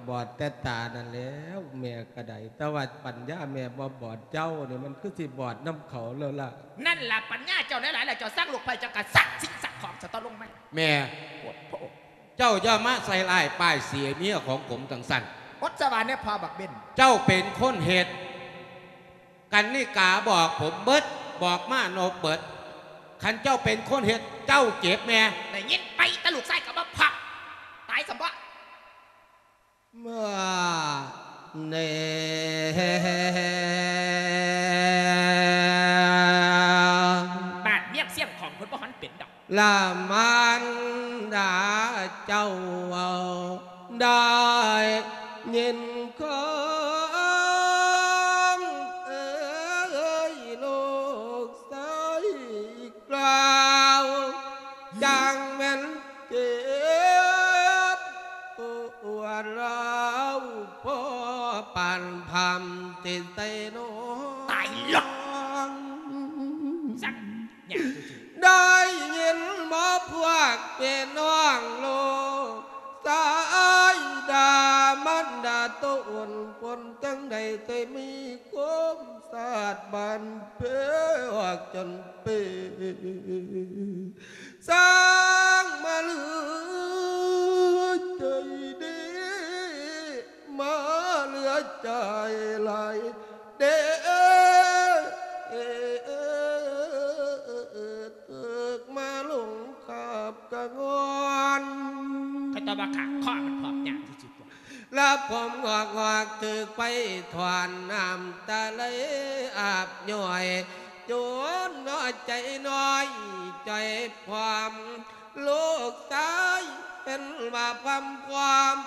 ບອດແຕ່ຕານັ້ນແລ້ວ ແມ່ກະໄດ້ ແຕ່ວ່າປັນຍາແມ່ບໍ່ບອດ ເຈົ້ານີ້ມັນຄືຊິບອດນຳເຂົາແລ້ວລະ. ນັ້ນລະປັນຍາເຈົ້າຫຼາຍໆ ແລ້ວເຈົ້າສັງລູກໃຜ ເຈົ້າກະສັກສິ່ງສັກຂອງສະຕໍ່ລົງມາ. ແມ່ ໂອ້ໂຫ ເຈົ້າຢ່າມາໃສ່ຮ້າຍປ້າຍເສຍເມຍຂອງຜົມຈັ່ງຊັ້ນ. ອົດສະຫວານແດ່ພໍ່ບັກເບັນ. ເຈົ້າເປັນຄົນເຮັດ ກັນນິກາບອກຜົມເບິດ ບອກມານົບເບິດ. ຄັນເຈົ້າເປັນຄົນເຮັດ ເຈົ້າເຈັບແມ່. ໄດ້ຍິນໄປ ແຕ່ລູກຊາຍກະບໍ່ພາ ຕາຍຊະບໍ. ມາແນ່ ບ້ານເມືອງຊຽງຂອງເພິ່ນບໍ່ທັນເປັນດອກ. ລະມານດາເຈົ້າເວົ້າ ໄດ້ຍິນຄວາມເອີຍລູກຊາຍກ່າວ ຈັ່ງແມ່ນເຈັບປວດລາວ ພໍປານພາມຕິໄຊໂນ. ຕາຍລະ ສັກ ຍາກ. ໄດ້ຍິນບໍ່ພວກພີ່ນ້ອງລູກຊາຍ ດາມັນດາໂຕອົນປົນ ຈັ່ງໃດແຕ່ມີຄວາມສາດບານເພອອອກຈົນເປ ສ້າງມາເຫຼືອໃຈດີ ມາເຫຼືອໃຈຫຼາຍເດ້ ເອີກມາລົງຂາບກະງອນ. ຂ້ອຍຕອບວ່າຂ້າ ຂໍ້ມັນພອກຍາກທີ່ສຸດ. ລະຜົມງອກໆ ຖືກໄຟຖອນ ນ້ຳຕາໄຫຼອາບຍ້ອຍ ຈົນໜ້ອຍໃຈນ້ອຍຈ່ອຍພອມ ລູກຊາຍເຫັນວ່າພອມພອມ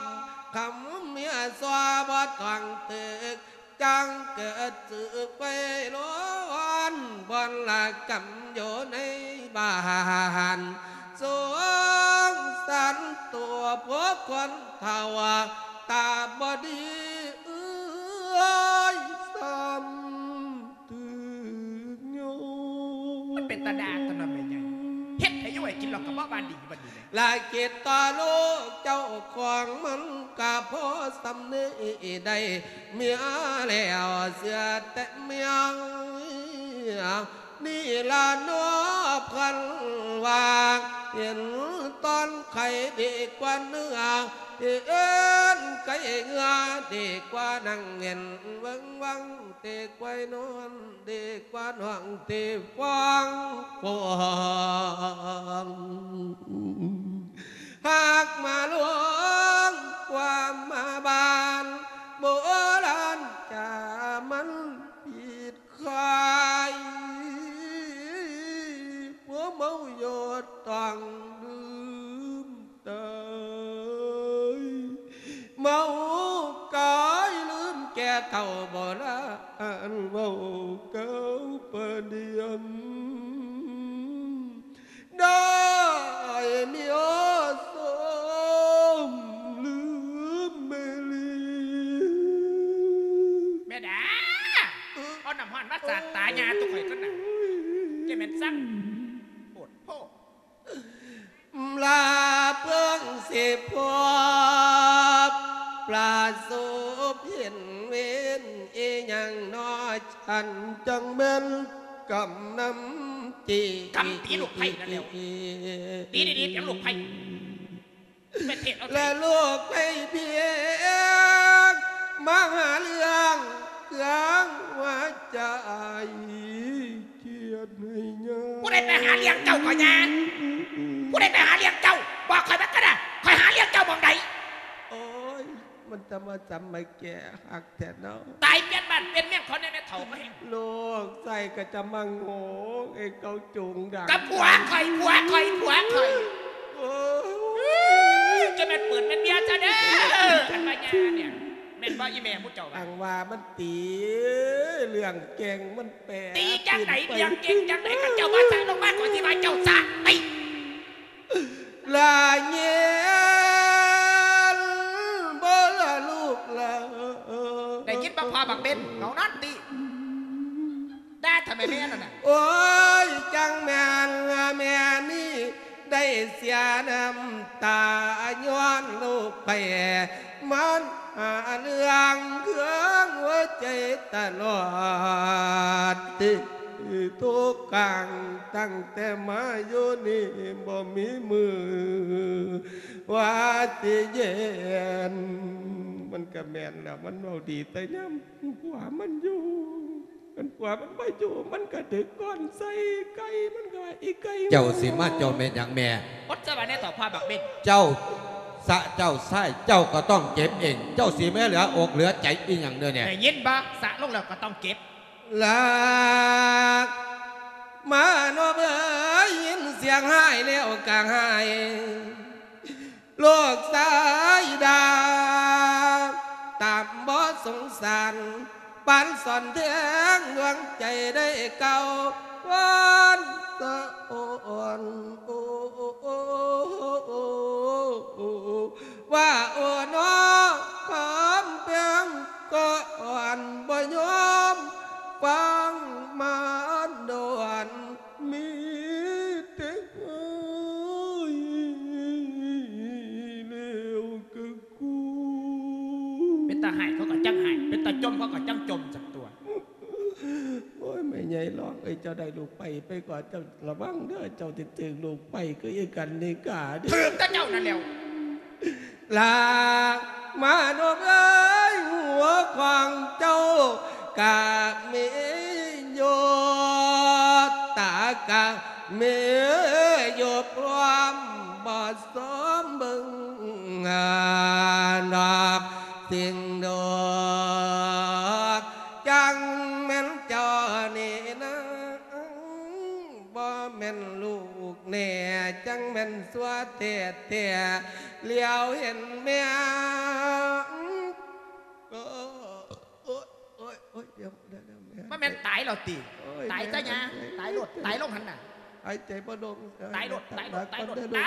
ຄຳເມຍຊົ່ວບໍ່ຕ້ອງຕຶກ ຈັ່ງເກີດສຶກໄປລ້ອນ ບ່ອນລະກຳຢູ່ໃນບ້ານ ສົງສານຕົວພວກຄົນເຖົ້າ ຕາບໍ່ດີເອີຍ ຊ້ຳຖືກໂຍ ມັນເປັນຕາດ່າຕົວເນາະແມ່ໃຫຍ່ ເຮັດໃຫ້ຢູ່ໃຫ້ກິນ ແລ້ວກໍບໍ່ວ່າດີບັດນີ້ ລະຄິດຕໍ່ລູກເຈົ້າຂອງມັນກະພໍສ່ຳນີ້ ໄດ້ເມຍແລ້ວເສຍແຕ່ເມຍ ນີ້ລະເນາະເພິ່ນວ່າ ເຫັນຕອນໄຂ່ດີກວ່າເນື້ອ ເຫັນໄກ່ເຫື່ອດີກວ່າໜັງ ເຫັນເວິ້ງວັງ ເຕະຄວາຍນອນ ເດກວ່ານ້ອງເຕະຟອງຟອງ ຫາກມາຫຼວງ ຄວາມມາບ້ານ ໂບລານຈາມັນຜິດຂາຍ ຜົວເມົາຢອດຕ້ອງລືມ ຕາຍ ເມົາກາຍລືມແກ່ເຖົ້າໂບລານ ເວົ້າກ່າວປະດຽມ ໄດ້ມີໂອສົມລືມແມ່ລີ ແມ່ດາ ເອົານ້ຳຮ້ອນມາສາດຕາຍ່າຕຸຂ້ອຍກ່ອນນະ ຈະແມ່ນສັງ ໂພດໂພ ລາເພິ່ງຊິພົບ ປະສົບເຫັນເວນອີ່ຫຍັງນໍ ອັນຈັ່ງແມ່ນກຳນຳຈີ ກຳຕີລູກໄຜ່ນັ້ນແຫຼ້ວ ຕີດີໆ ເປັນລູກໄຜ່ ໄປເທດເອົາ ແລະລູກໄຜ່ພຽງ ມາຫາເລື່ອງເຄື່ອງຫົວໃຈ ຄຽດໃຫ້ຍາ ຜູ້ໃດໄປຫາລ້ຽງເຈົ້າກໍຍາ ຜູ້ໃດໄປຫາລ້ຽງເຈົ້າ ບອກຂ້ອຍມາກັນນະ ຂ້ອຍຫາລ້ຽງເຈົ້າໝ່ອງໃດ ໂອ້ຍ ມັນຈະມາຈຳມາແກ່ຮັກແທ້ເນາະ ຕາຍປ່ຽນບ້ານປ່ຽນເມືອງເຂົາແດ່ແມ່ເຖົ້າ ມາແຮງ ລູກຊາຍກໍຈະມາໂງ່ ໃຫ້ເຂົາຈູງດັງ ກັບຜົວຂ້ອຍ ຜົວຂ້ອຍ ຜົວຂ້ອຍ ໂອ້ຍ ຈະແມ່ນປືນແມ່ນເບຍຊະເດີ ອັນວ່າຍານີ້ ແມ່ນບໍ່ອີ່ແມ່ໝູ່ເຈົ້າວ່າ ອັງວ່າມັນຕີ ເລື່ອງແກ່ງມັນແປ ຕີຈັ່ງໃດ ເລື່ອງເກັ່ງຈັ່ງໃດ ຄັນເຈົ້າບໍ່ສະລົງມາ ຂ້ອຍຊິວ່າເຈົ້າສະຕິ ລະເຢັນບໍ່ລະລູກລະ ໄດ້ຍິນບໍ່ພໍ່ບັກເບັນ ເວົ້ານັ້ນຕິ ດ່າທຳໄມແມ່ນັ້ນນະ ໂອ້ຍ ຈັ່ງແມ່ນແມ່ນີ້ ໄດ້ເສຍນ້ຳຕາຍ້ອນລູກໄປ ມັນຫາເລື່ອງເຄືອງຫົວໃຈຕະຫຼອດ ທີ່ທຸກຄັ້ງຕັ້ງແຕ່ມາຢູ່ນີ້ ບໍ່ມີມື້ວ່າຊິເຢັນ ມັນກະແມ່ນແລ້ວ ມັນເວົ້າດີແຕ່ຍາມຜົວມັນຢູ່ ຄັນຜົວມັນບໍ່ຢູ່ ມັນກະຖືກຄ້ອນໃສ່ໄກ່ ມັນກະວ່າ ອີ່ໄກ່ ເຈົ້າຊິມາເຈົ້າແມ່ນຫຍັງແມ່ ອົດສະຫວັນແດ່ເຖົ້າພໍ່ບັກເບັນ ເຈົ້າສະເຈົ້າຊາຍ ເຈົ້າກໍຕ້ອງເຈັບເອງ ເຈົ້າຊິມາເຫຼືອອົກເຫຼືອໃຈອີ່ຫຍັງເດີນີ້ ໄດ້ຍິນບໍ່ ສະລົງແລ້ວກໍຕ້ອງເຈັບ ລາກມາໂນເອີຍ ຍິນສຽງຮ້າຍແລ້ວກະຮ້າຍ ລູກຊາຍດ່າ ຕາມບໍ່ສົງສານ ປານສອນແທງດວງໃຈໄດ້ກ່າວວອນສະອອນ ໂອ ວ່າໂອນອ ຄຳແພງກໍອ່ອນ ບໍ່ຍອມຟັງມາດອນ ມີແຕ່ຮ້າຍແລ້ວກໍກູ ເປັນຕາຮ້າຍເຂົາກໍຈັ່ງຮ້າຍ ເປັນຕາຈົ່ມເຂົາກໍຈັ່ງຈົ່ມຊັ້ນຕົວະ. ໂອ້ຍ ແມ່ໃຫຍ່ຫຼອກເອີຍ ເຈົ້າໄດ້ລູກໄປ ໄປກໍເຈົ້າລະວັງເດີ ເຈົ້າຊິຖືກລູກໄປຄືອີກກັນນີ້ກາເດີ ຖືກແຕ່ເຈົ້ານັ້ນແຫຼ້ວ. ລາກມານົບເອີຍ ຫົວຂອງເຈົ້າກະມີຢູ່ ຕາກະມີຢູ່ ພ້ອມບໍ່ສົມເບິ່ງດອກ ຈິງດອກ ຈັ່ງແມ່ນເຈົ້ານີ້ນາ ບໍ່ແມ່ນລູກແນ່ ຈັ່ງແມ່ນຊົ່ວແທ້ໆ ຫຼຽວເຫັນແມ່ ໂອ້ຍ ໂອ້ຍ ໂອ້ຍ ດຽວ ດຽວ ດຽວ ແມ່ ມັນແມ່ນຕາຍແລ້ວຕິ? ໂອ້ຍ ຕາຍຊະຫຍັງ? ແມ່ ຕາຍໂລດ ຕາຍລົງຫັ້ນນະ ຫາຍໃຈບໍ່ລົງ ຕາຍໂລດ ຕາຍໂລດ ຕາຍໂລດ ຕາ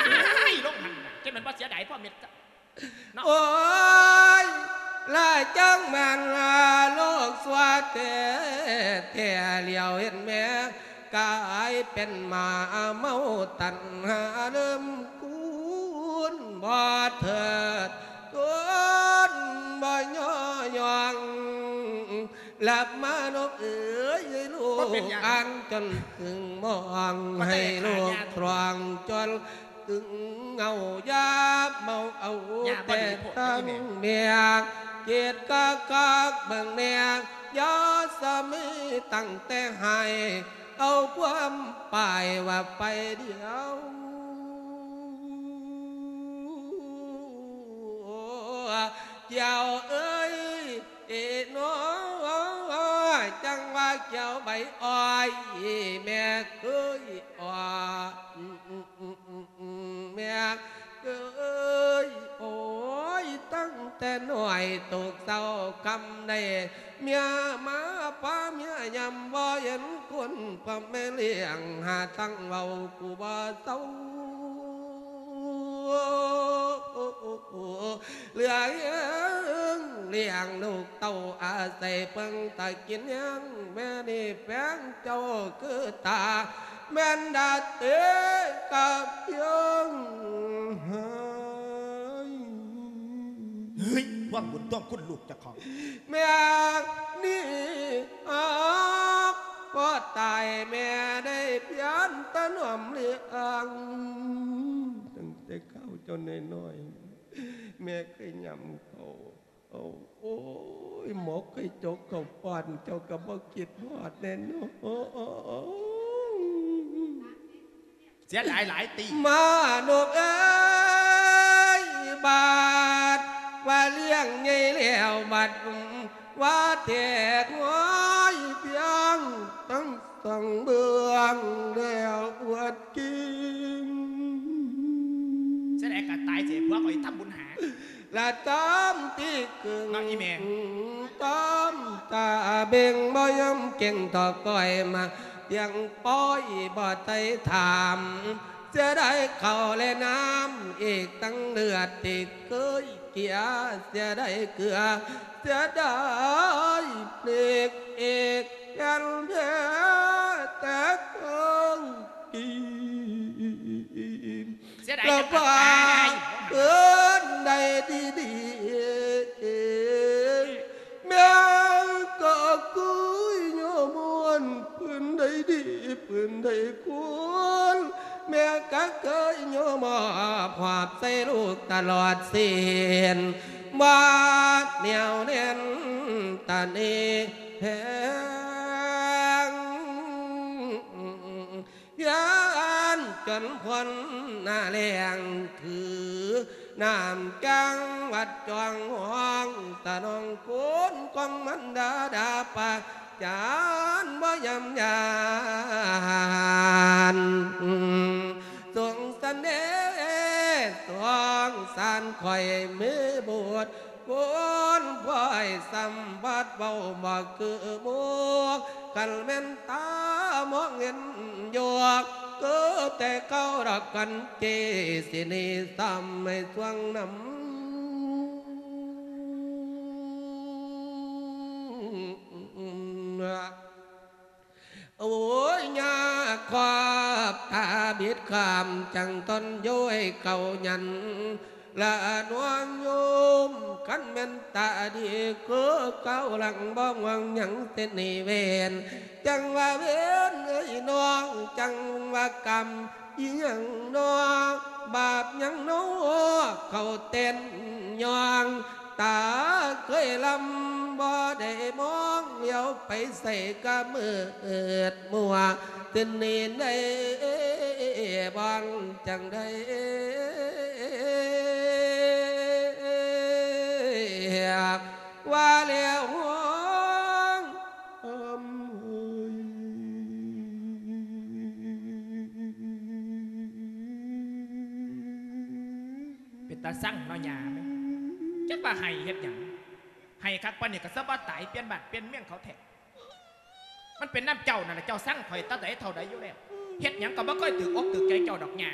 ຍລົງຫັ້ນນະ ເຈົ້າແມ່ນບໍ່ເສຍດາຍພໍ່ເມັດ ເນາະ ໂອ້ຍ ລະຈັ່ງແມ່ນໂລກຊົ່ວແທ້ໆ ຫຼຽວເຫັນແມ່ກາຍເປັນໝາເມົາຕັນຫາ ເລີ່ມຄູນບໍ່ເທີດທົນບໍ່ຍໍຍ້ອງ ລະມະນົບເອີຍ ໃຫ້ລູກອ່ານຈົນເຖິງມອງ ໃຫ້ລູກຕຣອງຈົນ ຕຶງເງົາຢາບເມົາເອົາແຕ່ທັງເມຍ ເກດກະກາກເບິ່ງແນ່ ຢ່າສະມີຕັ້ງແຕ່ໃຫ້ ເອົາຄວາມປາຍວ່າໄປດຽວ ກ່ຽວເອີຍ ເອ ນ້ອຍ ຈັ່ງວ່າກ່ຽວໃບອ້ອຍ ແມ່ເອີຍ ອ້ອຍ ແມ່ເອີຍ ໂອ້ຍ ຕັ້ງແຕ່ນ້ອຍໂຕເຊົາຄຳໃດ ເມຍມາພາເມຍຍຳ ບໍ່ເຫັນຄົນພາແມ່ລ້ຽງ ຫາທັງເວົ້າກູບໍ່ເຊົາ ເຫຼືອແຮງລ້ຽງລູກເຕົ້າ ອາໄສເພິ່ງຕາກິນແຮງ ແມ່ນີ້ແພງເຈົ້າຄືຕາ ແມ່ນດາເຕກະພຽງຫາຍ ເຮີ້ຍ ຫວັງບຸນທວງຄຸນລູກເຈົ້າຂອງ ແມ່ນີ້ອາກ ພໍຕາຍແມ່ໄດ້ພຽງແຕ່ນ້ອມລ້ຽງ ຕັ້ງແຕ່ເຂົ້າເຈົ້ານ້ອຍໆ ແມ່ເຄີຍຫຍ້ຳເຂົ້າ ໂອ້ຍ ໝໍເຄີຍຈົກເຂົ້າປ້ອນ ເຈົ້າກໍບໍ່ຄິດຮອດແນ່ນອນ ເສຍດາຍຫຼາຍຕິ ມະນົບເອີຍ ບາດວ່າລ້ຽງໃຫຍ່ແລ້ວ ບັດວ່າແຕກຫວາຍພຽງ ທັງສອງເບື້ອງແລ້ວອວດກິງ ເສຍດາຍກະຕາຍເສຍ ພວກຂ້ອຍທຳບຸນຫາ ລະຕາມທີ່ກຶງ ເນາະອີ່ແມ່ ຕາມຕາເບັງ ບໍ່ຍອມເກັ່ງຕໍ່ກ້ອຍມາ ພຽງປ້ອຍບໍ່ໄດ້ຖາມ ເສຍດາຍເຂົ້າແລະນ້ຳ ອີກທັງເລືອດທີ່ເຄີຍເກຍ ເສຍດາຍເກືອ ເສຍດາຍເບຣກເອກ ແກ່ນແທ້ແຕ່ເຄີຍກິນ ເສຍດາຍ ລະວ່າເພິ່ນໄດ້ດີໆ ແມ່ກໍຄືຍອມມ່ວນ ເພິ່ນໄດ້ດີ ເພິ່ນໄດ້ຄວນ ແມ່ກໍເຄີຍຍອມມອບຫອບໃສ່ລູກຕະຫຼອດເສັ້ນ ບາດໜຽວແໜ້ນຕາເນແພງ ພຽນຈົນພົ້ນໜ້າແລ້ງ ຖືນ້ຳຈັງຫວັດຈອງຫ້ອງ ສະໜອງຄຸນຂອງມັນດາດາປາຈານ ບໍ່ຍຳຢານ ສົງສານເດ ສົງສານຂ້ອຍມີບຸດ ບຸນພວຍສຳບັດເວົ້າບໍ່ຄືໝູ່ ຄັນແມ່ນຕາມອງເຫັນຢູ່ ຄືແຕ່ເກົ່າດອກກັນເຈ ຊິໜີຊ້ຳໃຫ້ຊ່ວງນຳ ໂອ້ຍ ຍາຂອບຕາບິດຂ້າມ ຈັ່ງຕົນໂຍຍເຂົ້າຢັນ ລະນວງໂຍມ ຄັນແມ່ນຕາດີຄືເກົ່າຫຼັງ ບໍ່ຫວງຫຍັງເສຍໜີ້ເວນ ຈັ່ງວ່າເວນເອີຍນ້ອງ ຈັ່ງວ່າກຳອີ່ຫຍັງນໍ ບາບຫຍັງນໍ ເຂົ້າເຕັ້ນຍ່ອງ ຕາເຄີຍລຳບໍ່ໄດ້ມອງ ຫຼຽວໄປໃສກະມືດມົວ ເສັ້ນນີ້ໄດ້ບ່ອນຈັ່ງໃດ ຕາຊັງເນາະຍ່າເອີຍ ຈັກວ່າໄຫ້ເຮັດຫຍັງ ໄຫ້ຄັກປານນີ້ກໍສະບໍ່ຕາຍ ປ່ຽນບ້ານປ່ຽນເມືອງເຂົາແທ້. ມັນເປັນນຳເຈົ້ານັ້ນລະ ເຈົ້າຊັງຂ້ອຍແຕ່ໃດເທົ່າໃດຢູ່ແລ້ວ ເຮັດຫຍັງກໍບໍ່ເຄີຍຖືກອົກຖືກໃຈເຈົ້າດອກຍ່າ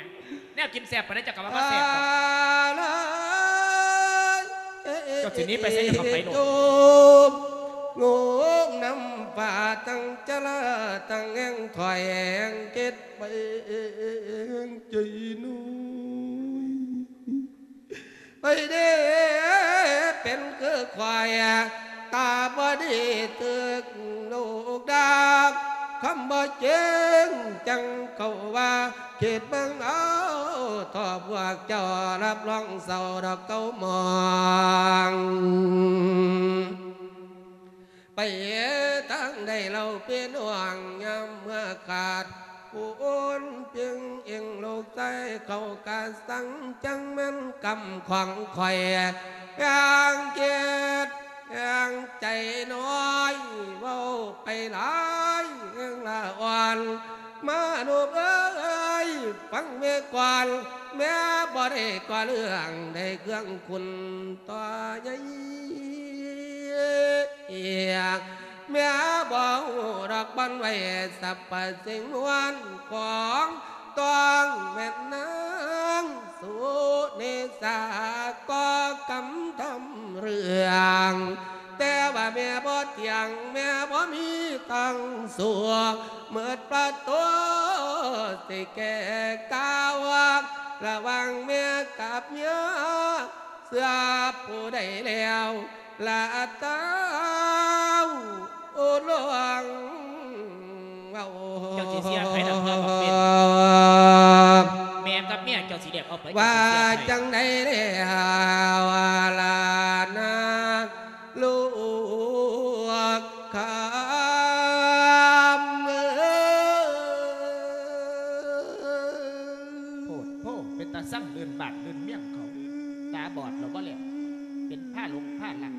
ແນວກິນແຊບປານໃດເຈົ້າກໍວ່າບໍ່ແຊບດອກ. ເຈົ້າຊິໜີໄປໃສເຈົ້າກໍໄປໂລດ. ໂງມນ້ຳຟ້າທັງຈະລາທັງແຮງຖອຍແຮງເຈັດ ໄປເອງໃຈໜ້ອຍ ໄປເດ້ເປັນຄືຄວາຍ ຕາບໍ່ດີຖືກລູກດາ ຄຳບໍ່ຈິງຈັ່ງເຂົາວ່າ ຄິດເບິ່ງເອົາ ຖ້າພວກເຈົ້າຮັບຮອງເຊົາດອກເຂົາມອງ. ໄປທາງໃດເລົ່າເປັນຫ່ວງ ຍາມເມື່ອຂາດຜູ້ອື່ນ ພຽງເອງລູກຊາຍເຂົາກະສັງ ຈັ່ງແມ່ນກຳຂອງຂ້ອຍ ຢ່າງເຈັດຢ່າງໃຈນ້ອຍ ເວົ້າໄປຫຼາຍແຮງລະອ່ອນ ມະນຸດເອີຍ ຟັງແມ່ກ່ອນ ແມ່ບໍ່ໄດ້ກໍ່ເລື່ອງ ໄດ້ເຄື່ອງຄຸນຕໍ່ໃຫຍ່ ແມ່ບໍ່ຮູ້ດອກບ່ອນໄວ້ສັບພະສິ່ງມວນຂອງ ຕ້ອງແມ່ນນາງສຸເນສາກໍ່ກຳທຳເລື່ອງ ແຕ່ວ່າແມ່ບໍ່ທ່ຽງ ແມ່ບໍ່ມີທາງສູ້ ໝົດປະຕູຊິແກ້ກາວ ລະຫວ່າງແມ່ກັບເມຍ ເຊື່ອຜູ້ໃດແລ້ວລະເຕົ້າ ໂອ້ ຫຼວງເວົ້າ ເຈົ້າຊິເຊື່ອໃຜລະເພື່ອບັກເປັນ ແມ່ກັບເມຍເຈົ້າຊິແລກເອົາໃຜ ວ່າ ເຈົ້າຊິເຊື່ອໃຜ ຈັ່ງໃດແລ້ວລະນາ ລູກຄຳເອີຍ ໂພດໂພ ເປັນຕາຊັງລື່ນບ້ານລື່ນເມືອງເຂົາ ຕາບອດແລ້ວບໍ່ແລ້ວ ເປັນພາຫຼົງພາລັກ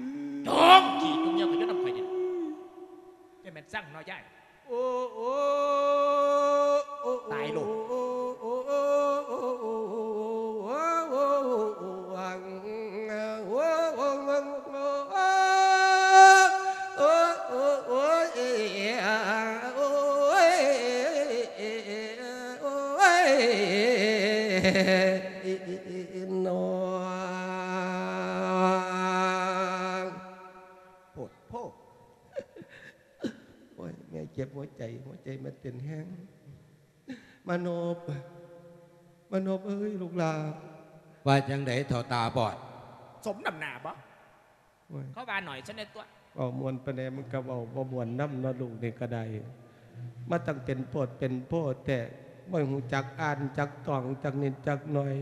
ຈ້ອງຂີ້ຈຸ່ມຍ່ອງກັນຢູ່ນຳຂ້ອຍນີ້ ຈະແມ່ນຊັງເນາະຍາຍ. ໂອ້ ໂອ້ ໂອ້ ຕາຍໂລດ ໂອ້ ໂອ້ ໂອ້ ຍ ໂພດໂພ. ໂອ້ຍ ແມ່ເຈັບຫົວໃຈ ຫົວໃຈແມ່ເຕັ້ນແຮງ ມານົບ ມານົບເອີຍ ລູກຫຼ້າ. ວ່າຈັ່ງໃດເຖົ້າຕາບອດ? ສົມນ້ຳໜ້າບໍ່? ໂອ້ຍ ເຂົາວ່າໜ້ອຍຊະແດ່ຕົວະ. ເວົ້າມ່ວນປານໃດມັນກໍເວົ້າບໍ່ມ່ວນນຳເນາະ ລູກນີ້ກໍໄດ້ ມາຕັ້ງເປັນໂພດເປັນໂພດແທ້ ບໍ່ຮູ້ຈັກອ່ານຈັກຕອງຈັກນິດຈັກໜ່ອຍ.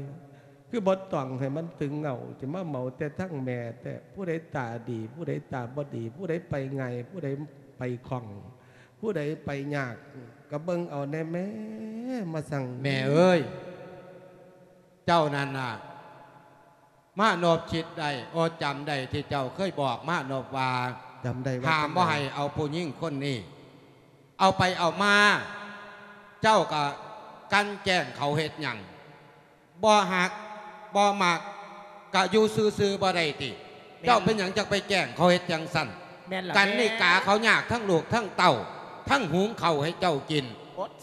ຄືບໍ່ຕ້ອງໃຫ້ມັນຕຶງເຫງົ້າ ຈະມາເໝົາແຕ່ທັງແມ່ແທ້ ຜູ້ໃດຕາດີ ຜູ້ໃດຕາບໍ່ດີ ຜູ້ໃດໄປງ່າຍ ຜູ້ໃດໄປຄ່ອງ ຜູ້ໃດໄປຍາກ ກໍເບິ່ງເອົາແດ່ແມ່ ມາສັ່ງ. ແມ່ເອີຍ ເຈົ້ານັ້ນນະ ມານົບຄິດໄດ້ ໂອ ຈຳໄດ້ທີ່ເຈົ້າເຄີຍບອກມານົບວ່າ ຈຳໄດ້ວ່າ ຫ້າມບໍ່ໃຫ້ເອົາຜູ້ຍິງຄົນນີ້ ເອົາໄປເອົາມາ ເຈົ້າກໍກັ່ນແກ້ງເຂົາເຮັດຫຍັງ? ບໍ່ຮັກບໍ່ມັກກະຢູ່ຊື່ໆບໍ່ໄດ້ຕິ? ແມ່ນ ເຈົ້າເປັນຫຍັງຈັ່ງໄປແກ້ງເຂົາເຮັດຈັ່ງຊັ້ນ? ແມ່ນລະ ກັນນິກາ ແມ່ ເຂົາຍາກທັງລູກທັງເຕົ້າ ທັງຫຸງເຂົ້າໃຫ້ເຈົ້າກິນ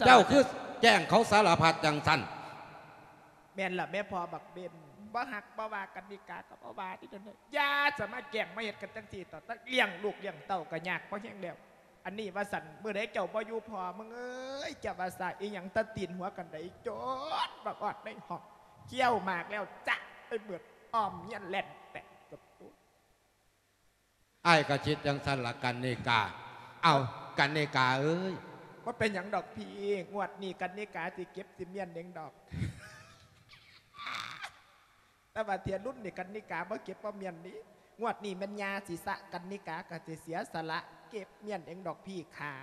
ເຈົ້າຄືແກ້ງເຂົາສາລະພັດຈັ່ງຊັ້ນ? ແມ່ນລະແມ່ພໍ່ບັກເບັນ ບໍ່ຮັກບໍ່ວ່າກັນນິກາກໍບໍ່ວ່າຕິ ຢ່າສະມາແກ້ງມາເຮັດກັນຈັ່ງຊີ້ ຕອນນັ້ນລ້ຽງລູກລ້ຽງເຕົ້າກໍຍາກພໍແຮງແລ້ວ. ອັນນີ້ວ່າຊັ້ນ ມື້ໃດເຈົ້າບໍ່ຢູ່ພໍ່ ມຶງເອີຍ ຈະວ່າສາອີ່ຫຍັງ ຕາຕີນຫົວກັນໄດ ຈົນບັກອອດໃນຫ້ອງ ຄ້ຽວໝາກແລ້ວຈະໄປເບິດ ອ້ອມເຮືອນແລ່ນແຕກກັບຕົວ. ອ້າຍກໍຄິດຈັ່ງຊັ້ນລະກັນນິກາ. ເອົ້າ ກັນນິກາເອີຍ ບໍ່ເປັນຫຍັງດອກພີ່ ງວດນີ້ກັນນິກາຊິເກັບຊິມ້ຽນເອງດອກ. ແຕ່ວ່າເທື່ອລຸ້ນນີ້ກັນນິກາບໍ່ເກັບບໍ່ມ້ຽນນີ້ ງວດນີ້ແມ່ນຍ່າຊິສະ ກັນນິກາກໍຊິເສຍສະຫຼະເກັບມ້ຽນເອງດອກພີ່ຂາ.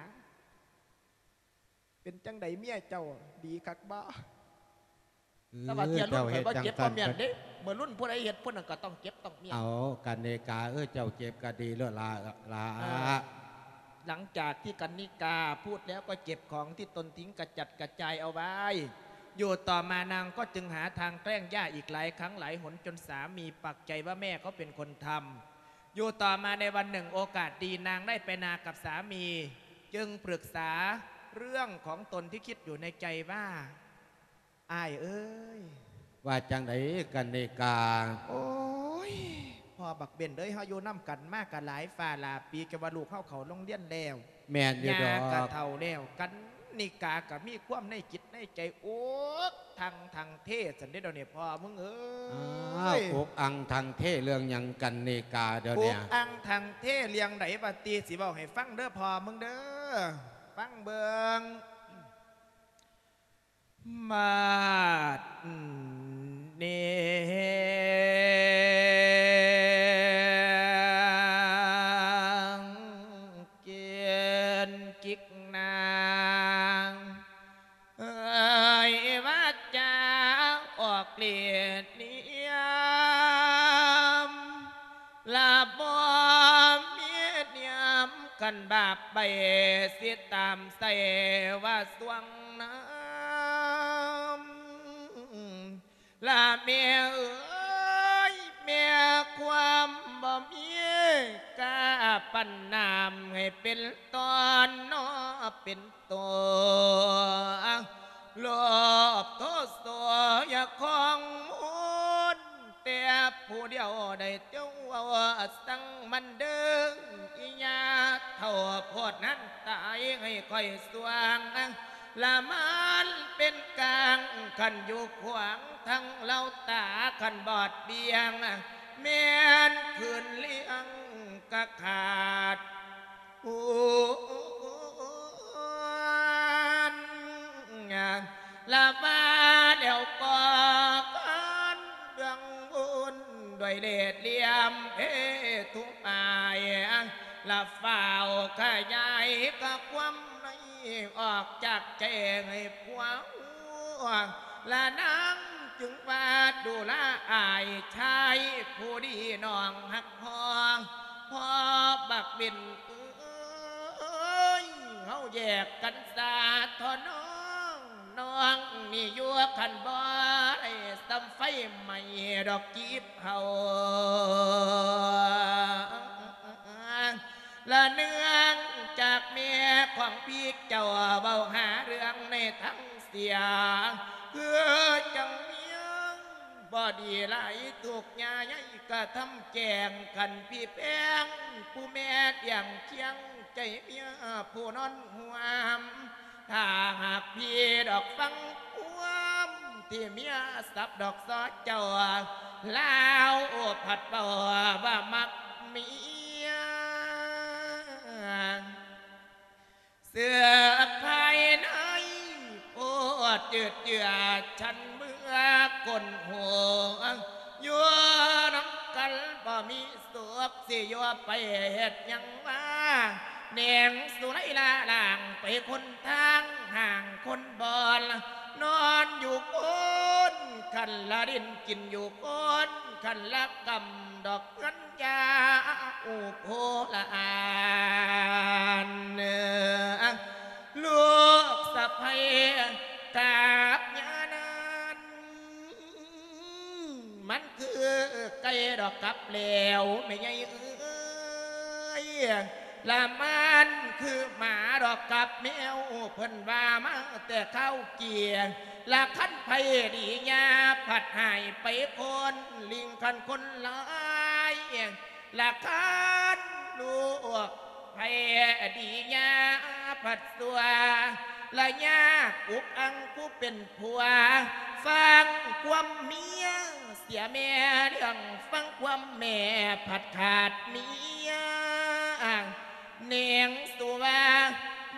ເປັນຈັ່ງໃດເມຍເຈົ້າ ດີຄັກບໍ່? ເອີ ແຕ່ວ່າເທື່ອລຸ້ນຂ້ອຍບໍ່ເກັບບໍ່ມ້ຽນເດ້ ເມື່ອລຸ້ນຜູ້ໃດເຮັດຜູ້ນັ້ນກໍຕ້ອງເກັບຕ້ອງມ້ຽນ. ເອົາ ກັນນິກາເອີຍ ເຈົ້າເກັບກໍດີແລ້ວລະ ລະ. ເອີ ຫຼັງຈາກທີ່ກັນນິກາພູດແລ້ວ ກໍເກັບຂອງທີ່ຕົນຖິ້ມກະຈັດກະຈາຍເອົາໄວ້ อยู่ต่อมานางก็จึงหาทางแกล้งย่าอีกหลายครั้งหลายหน จนสามีปักใจว่าแม่เขาเป็นคนทำ อยู่ต่อมาในวันหนึ่งโอกาสดี นางได้ไปนากับสามี จึงปรึกษาเรื่องของตนที่คิดอยู่ในใจว่า อ้ายเอ้ย ว่าจั่งใดกันนิกา โอ้ย พ่อบักเบนเอ้ย เฮาอยู่นำกันมาก็หลายฟ้าหลายปี จนว่าลูกเฮาเข้าโรงเรียนแล้ว แม่นอยู่ดอก ย่าก็เฒ่าแล้ว กันนิกาก็มีความในจิตในใจ อกอังทังเท ซั่นเด้ เดี๋ยวนี้พ่อมึงเอ้ย อ้าว อกอังทังเทเรื่องหยังกันนิกา เดี๋ยวนี้ อกอังทังเทเรื่องใด ว่าติ สิเว้าให้ฟังเด้อพ่อมึงเด้อ ฟังเบิ่ง บาดนี้ เกณฑ์กิกนาง เอ้ย ว่าจะออกฤทธิ์เนียม ละบ่มีเนียม คันบาปไปสิตามใส่ว่าสวงน้ำ ละแม่เอ๋ย แม่ความบ่มี กล้าปันน้ำให้เป็นตอนนอเป็นตัว โลภโทโสอย่าคองมูล แต่ผู้เดียวได้เจ้าเอาสั่งมันเด้อ อีหญ้าเฒ่าโพดนั้นตายให้ข้อยสวง ละมันเป็นกลาง คันอยู่ขวางทั้งเล่าตา คันบอดเบี่ยง แม่นคืนเลี้ยงกะขาด โอ้ ละว่าแล้วก็กันเรื่องบุญด้วยเล่ห์เหลี่ยมเพทุอาย ละฟ้าวขยายกะความในออกจากใจให้ผัว ละนางจึงว่าดูละอายชายผู้ดีน้องฮักพ้อง พ่อบักเบนเอ้ย เฮาแยกกันซะเถาะน้อง น้องนี่อยู่คันบ่ได้ส่ำไฟไหม้ดอกจีบเฮา ละเนื่องจากแม่ของพี่เจ้าเว้าหาเรื่องในทางเสีย คือจังเมียบ่ดีหลาย ทุกข์ยาใหญ่กระทำแกล้ง คันพี่แพงผู้แม่เลี้ยงเคียงใจเมียผู้นอนห่วม ถ้าหากพี่ดอกฟังความที่เมียสับดอกซอเจ้า ลาวผัดเว้าว่ามักเมีย เสื้อภายในโพดจืดเจือด ฉันเมื่อคนหัว อยู่นำกันบ่มีสุข สิอยู่ไปเฮ็ดหยังว่า แหนงสุไลละล่างไปคนทางห่างคนบอน นอนอยู่คนคันละดิน กินอยู่คนคันละกำ ดอกเงิน ยาอุโพละอานลูกสะใภ้กับยานาน มันคือไก่ดอกกับแล้วแม่ใหญ่เอ้ย ละมันคือหมาดอกกับแมว เพิ่นว่ามาแต่คาวเกีย ละคันไผดียาผัดหายไปคน ลิงคันคนหลาย ละคันลูกไผดียาผัดสัว ละยากอุกอังผู้เป็นผัว ฟังความเมียเสียแม่เรื่อง ฟังความแม่ผัดขาดเมีย เน่งสุว่า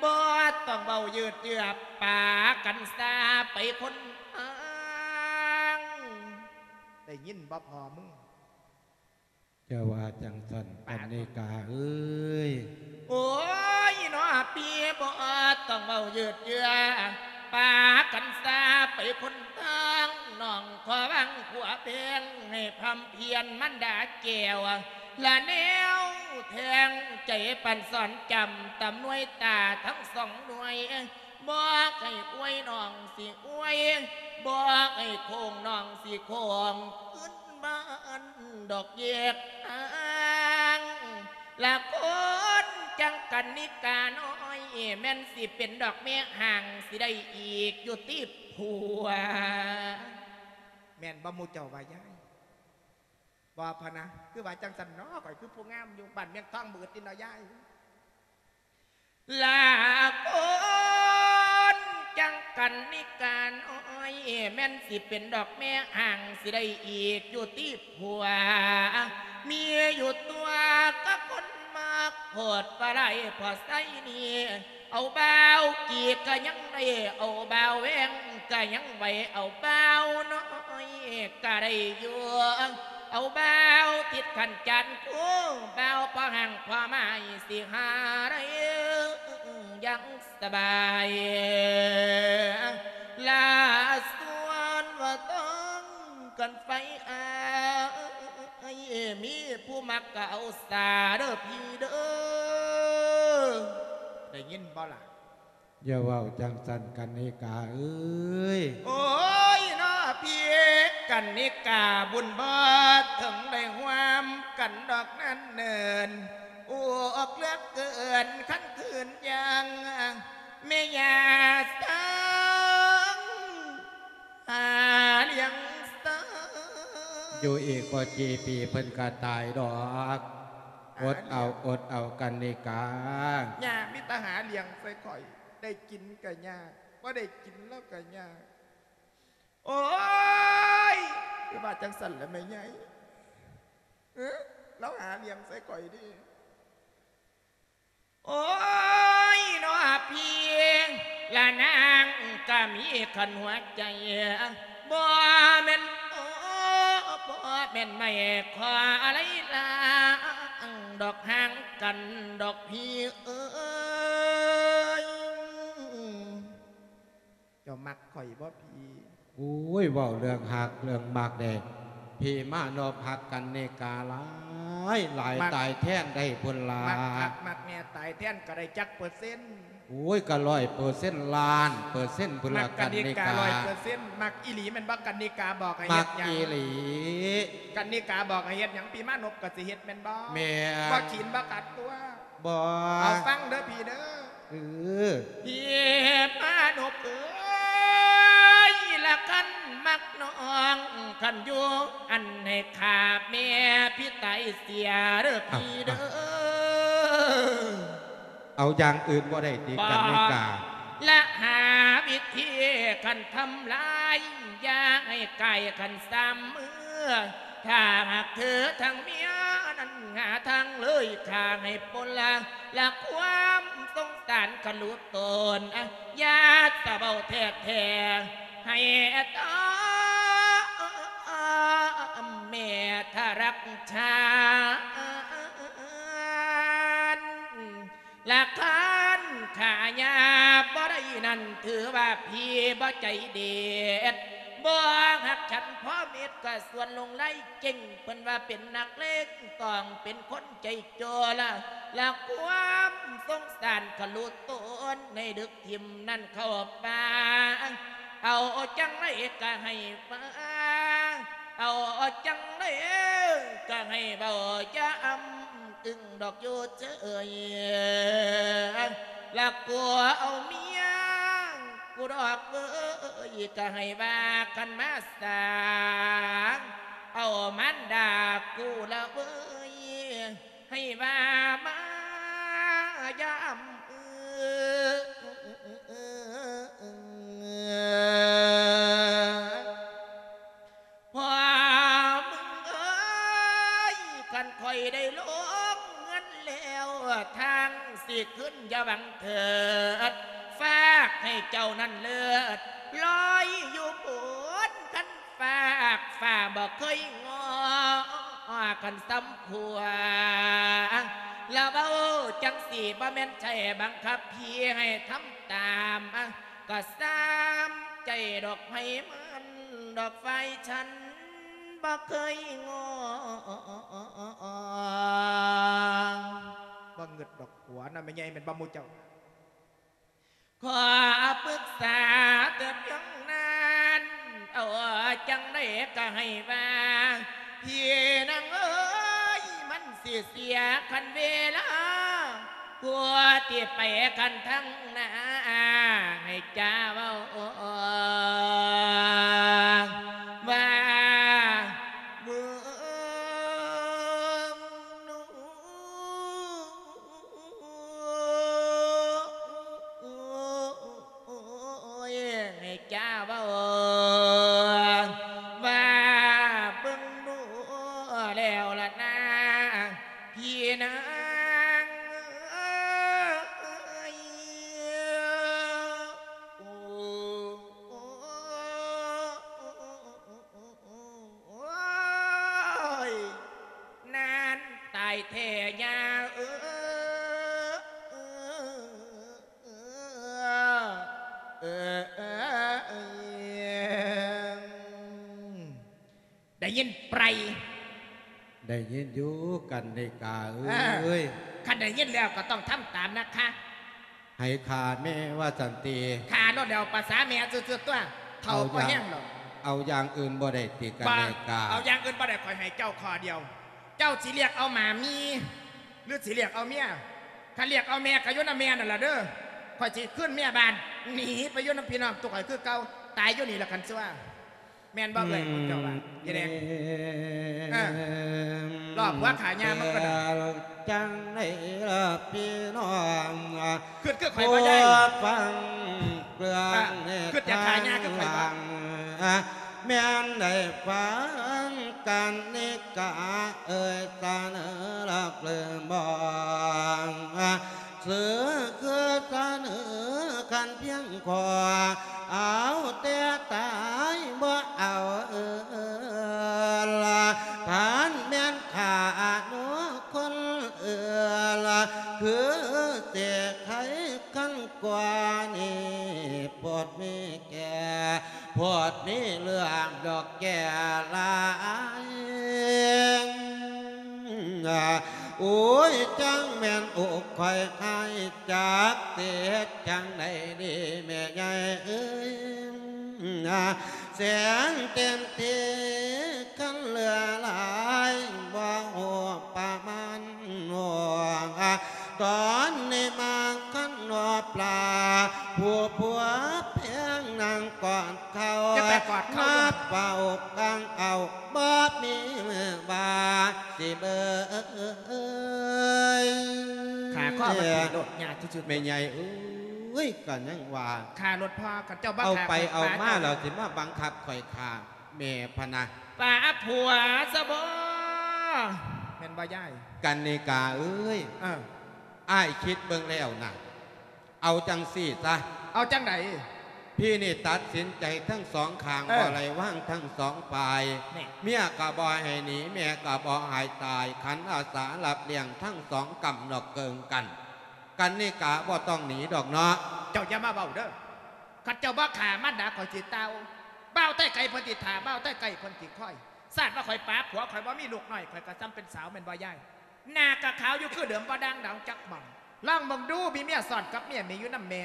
บ่ต้องเว้ายืดเยื้อ ปากันซาไปคนทาง ได้ยินบ่พ่อมึง อย่าว่าจั่งซั่น ปา กันนิกาเอ้ย โอ้ยเนาะ พี่บ่ต้องเว้ายืดเยื้อ ปากันซาไปคนทาง น้องขอวางผัวแพง ให้พร่ำเพียรมันดาแก้ว ละแนวแทงใจปันสอนจำ ตำหน่วยตาทั้งสองหน่วย ບໍ່ໃຫ້ອວຍນ້ອງຊິອວຍ ບໍ່ໃຫ້ໂຄ້ງນ້ອງຊິໂຄ້ງ ຂຶ້ນບ້ານດອກແຍກທາງ ລະຄົນຈັ່ງກັນນິການ້ອຍ ແມ່ນຊິເປັນດອກແມ່ຮ້າງ ຊິໄດ້ອີກຢູ່ຕິຜົວ. ແມ່ນບໍ່ໝູ່ເຈົ້າວ່າຍາຍ? ບໍ່ພະນະ ຄືວ່າຈັ່ງຊັ້ນເນາະ ຂ້ອຍຄືຜູ້ງາມຢູ່ ບ້ານເມືອງທອງບໍ່ອຶດຕິເນາະຍາຍ. ລະຄົນຈັ່ງກັນນິການ້ອຍ ແມ່ນຊິເປັນດອກແມ່ຮ້າງ ຊິໄດ້ອີກຢູ່ຕິຜົວ ມີຢູ່ຕົວກະຄົນມັກໂພດວ່າຫຼາຍພໍໃຊ້ນີ້ ເອົາບ່າວກີກະຍັງໄດ້ ເອົາບ່າວແວງກະຍັງໄຫວ ເອົາບ່າວນ້ອຍກະໄດ້ຢູ່ ເອົາບ່າວທິດຂັນຈານຄູ່ ບ່າວພໍຮັ່ງພໍໝາຍ ຊິຫາໄດ້ຢ່າງສະບາຍ ລະສ່ວນວ່າຕ້ອງກັນໄຟອ້າຍ ມີຜູ້ມັກກະເອົາສາເດີພີ່ເດີ ໄດ້ຍິນບໍ່ລະ? ຢ່າເວົ້າຈັ່ງຊັ້ນກັນນິກາເອີຍ. ໂອ້ຍເນາະພີ່ ກັນນິກາບຸນບໍ່ເຖິງໄດ້ຮ່ວມກັນດອກນັ້ນເນີນ ອຸກເຫຼືອເກີນຄັນຄືນຢ່າງ ແມ່ຍ່າສັງ ຫາລ້ຽງເສີຍ ຢູ່ອີກບໍ່ກີ່ປີເພິ່ນກະຕາຍດອກ. ອົດເອົາ ອົດເອົາກັນນິກາ. ຍ່າມີແຕ່ຫາລ້ຽງໃສ່ຂ້ອຍ ໄດ້ກິນກະຍາກ ບໍ່ໄດ້ກິນລາວກະຍາກ. ໂອ້ຍ ຄືວ່າຈັ່ງຊັ້ນລະແມ່ໃຫຍ່ ເອີ ລາວຫາລ້ຽງໃສ່ຂ້ອຍເດ້. ໂອ້ຍເນາະພີ່ ລະນາງກະມີຄັນຫົວໃຈ ບໍ່ແມ່ນ ໂອ້ ບໍ່ແມ່ນໄມ້ຂໍໄລ່ລ້າງ ດອກຫ່າງກັນດອກພີ່ເອີຍ. ເຈົ້າມັກຂ້ອຍບໍ່ພີ່? ໂອ້ຍ ເວົ້າເລື່ອງຮັກເລື່ອງມັກເດ້ ພີ່ມານົບຮັກກັນນິກາຫຼາຍຫຼາຍ ຕາຍແທນໄດ້ພຸ້ນລະ. ມັກຄັກມັກແນ່ ຕາຍແທນກະໄດ້ຈັກເປີເຊັນ? ໂອ້ຍ ກະຮ້ອຍເປີເຊັນ ລ້ານເປີເຊັນພຸ້ນລະ ກັນນິກາ. ມັກອີ່ຫຼີແມ່ນບໍ່? ກັນນິກາບອກໃຫ້ເຮັດຫຍັງ? ກັນນິກາບອກໃຫ້ເຮັດຫຍັງ ພີ່ມານົບກະຊິເຮັດແມ່ນບໍ່? ແມ່ນ. ບໍ່ຂີນບໍ່ຂັດຕົວະ? ບໍ່. ເອົາຟັງເດີພີ່ເດີ. ເອີ ພີ່ມານົບເອີຍ ລະຄັນມັກນ້ອງ ຄັນຢູ່ອັນໃຫ້ຂ້າແມ່ພີ່ຕາຍເສຍເດີພີ່ເດີ. ເອົາຢ່າງອື່ນບໍ່ໄດ້ຕິ ກັນນິກາ? ລະຫາວິທີຄັນທຳລາຍ ຢ່າໃຫ້ກາຍຄັນສາມມື້ ຖ້າຫາກເທີທັງເມຍນັ້ນຫາທາງເລີຍຂ້າໃຫ້ພົ້ນລະ ລະຄວາມສົງສານກະລຸຕົນ ອາ ຢ່າສະເວົ້າແທ້ໆ ໃຫ້ຕາແມ່ທະລັກຊານ ລະຄັນຂ້າຫຍາບບໍ່ໄດ້ນັ້ນ ຖືວ່າພີ່ບໍ່ໃຈເດັດ ບໍ່ຮັກສັນພໍເມັດ ກະຊວນຫຼົງໄຫຼເກັ່ງ ເພິ່ນວ່າເປັນນັກເລງ ຕ້ອງເປັນຄົນໃຈໂຈລະ ລະຄວາມສົງສານກະລຸຕົນ ໃຫ້ດຶກຖິ້ມນັ້ນເຂົ້າປ່າ ເອົາຈັ່ງໃດກະໃຫ້ວ່າ ເອົາຈັ່ງໃດກະໃຫ້ເວົ້າ ຢ່າອຳ ອຶ້ງດອກຢູ່ເຈີຍ ລະກົວເອົາເມຍ ກູດອກເວີຍ ກະໃຫ້ວ່າຄັນມາສາ ເອົາມານດາກູລະເວີຍ ໃຫ້ວ່າມາຢ່າອຳອຶ້ງ ພໍ່ມຶງເອີຍ ຄັນຂ້ອຍໄດ້ລົງເຮືອນແລ້ວ ທາງຊິຂຶ້ນຢ່າຫວັງເຖີດ ຝາກໃຫ້ເຈົ້ານັ້ນເລີດລອຍຢູ່ພຸ້ນ ຄັນຝາກຟ້າບໍ່ເຄີຍງໍ ຄັນສຳຜົວ ລະເວົ້າຈັ່ງຊີ້ ບໍ່ແມ່ນໃຈບັງຄັບພີ່ໃຫ້ທຳຕາມ ກະສາມໃຈດອກໃຜມັນ ດອກຝ່າຍສັນບໍ່ເຄີຍງໍ ບໍ່ງຶດດອກຜົວນະແມ່ໃຫຍ່ ແມ່ນບໍ່ໝູ່ເຈົ້າ? ຂໍປຶກສາແຕ່ພຽງນັ້ນ ເອົາຈັ່ງໃດກໍໃຫ້ວ່າ ພີ່ນາງເອີຍ ມັນຊິເສຍຄັນເວລາ ຜູ້ທີ່ໄປຄັນທາງໜ້າ ໃຫ້ຈ້າເວົ້າວ່າ ເມືອງ ໂອ້ຍ ໃຫ້ຈ້າເວົ້າວ່າ ເບິ່ງດູແລ້ວລະນາ ພີ່ນາງເອີຍ ໂອ້ ໂອ້ຍ ນານຕາຍແທ້ຍ່າເອີຍ ໄດ້ຍິນໄປ? ໄດ້ຍິນຢູ່ ກັນນິກາເອີຍ. ເອີ ຄັນໄດ້ຍິນແລ້ວກໍຕ້ອງທຳຕາມນະຄະ. ໃຫ້ຂ້າແມ່ວ່າຊັ້ນຕິ? ຂ້າໂລດແລ້ວ ປະສາແມ່ສຸດໆ ຕົວະ ເຖົ້າກໍແຮງແລ້ວ. ເອົາຢ່າງອື່ນບໍ່ໄດ້ຕິ ກັນນິກາ? ເອົາຢ່າງອື່ນບໍ່ໄດ້ ຂ້ອຍໃຫ້ເຈົ້າຂໍ້ດຽວ. ເຈົ້າຊິເລືອກເອົາໝາມີ ຫຼືຊິເລືອກເອົາເມຍ? ຄັນເລືອກເອົາແມ່ກໍຢູ່ນຳແມ່ນັ້ນລະເດີ. ຂ້ອຍຊິຄືນເມຍບ້ານ ໜີໄປຢູ່ນຳພີ່ນ້ອງຕຸກຂ້ອຍຄືເກົ່າ ຕາຍຢູ່ນີ້ລະຄັນຊົ່ວ. ແມ່ນບໍ່ເອື້ອຍ ພວກເຈົ້າວ່າ? ເຮັດແດ່ ເອີ ລອບຫົວຂ້າຍ່າມັນກໍໄດ້. ຈັ່ງໃດລະພີ່ນ້ອງ ຄຶດຄືຂ້ອຍບໍ່ຍາຍ? ຟັງເລື່ອງ ຄຶດຢາກຂ້າຍ່າຄືຂ້ອຍບໍ່? ແມ່ນໄດ້ຟັງກັນນິກາເອີຍ ສະເໜີລະຫຼືບໍ່? ຊື່ຄືສະເໜີຄັນພຽງຂໍ ເອົາແຕ່ຕາຍບໍ່ເອົາເອີລະ. ຄັນແມ່ນຂ້າໜູຄົນເອີລະ ຄືເສກໄຂຄັນກວ່ານີ້ ໂພດມີແກ່ ໂພດມີເລື່ອງດອກແກ່ຫຼາຍ. ໂອ້ຍ ຈັ່ງແມ່ນອົກຂ້ອຍຫາຍ ຈັກຊິເຮັດຈັ່ງໃດດີແມ່ໃຫຍ່ເອີຍ. ແສງເຕັມທີ່ຄັນເຫຼືອຫຼາຍ ບໍ່ຮູ້ປະມານ ຕອນນີ້ມາຄັນນອປລາ ຜູ້ຜົວແພງນາງກອດເຂົ່າ ຢ່າໄປກອດເຂົ່າ ມາປາອົກກາງເອົາ ບໍ່ມີມືວ່າຊິເບີຍ. ຂາຂໍ້ມັນຖືໂລດຍາດສຸດໆ. ແມ່ໃຫຍ່ເອີຍ ກໍຍັງວ່າ ຂ້າໂລດພໍ່ ຄັນເຈົ້າບໍ່ ເອົາໄປເອົາມາແລ້ວ ຊິມາບັງຄັບຂ້ອຍຂ້າແມ່ພະນະ. ປາຜົວຊະບໍ ແມ່ນບໍ່ຍາຍ? ກັນນິກາເອີຍ ເອີ ອ້າຍຄິດເບິ່ງແລ້ວນະ ເອົາຈັ່ງຊີ້ຊະ. ເອົາຈັ່ງໃດ? ພີ່ນີ້ຕັດສິນໃຈທັງສອງຂ້າງ ເອີ ບໍ່ໄດ້ວາງທັງສອງຝ່າຍ. ແມ່ ເມຍກໍບໍ່ໃຫ້ໜີ ແມ່ກໍບໍ່ໃຫ້ຕາຍ ຂັນອາສາຮັບລ້ຽງທັງສອງກຳນອກເກີງກັນ. ກັນນິກາບໍ່ຕ້ອງໜີດອກເນາະ. ເຈົ້າຢ່າມາເວົ້າເດີ. ຄັນເຈົ້າບໍ່ຂ້າມານດາຂ້ອຍຊິຕ່າວ. ບ່າວໄຕ້ໄກ່ເພິ່ນຊິຖ້າ ບ່າວໄຕ້ໄກ່ເພິ່ນຊິຄອຍ. ຊາດວ່າຂ້ອຍປາຜົວ ຂ້ອຍບໍ່ມີລູກນ້ອຍ ຂ້ອຍກໍສ່ຳເປັນສາວແມ່ນບໍ່ຍາຍ? ໜ້າກໍຂາວຢູ່ຄືເດີມ ບໍ່ດ່າງດຳຈັກໝ່ອງ. ລອງເບິ່ງດູ ມີເມຍຊ້ອນກັບເມຍ ມີຢູ່ນຳແມ່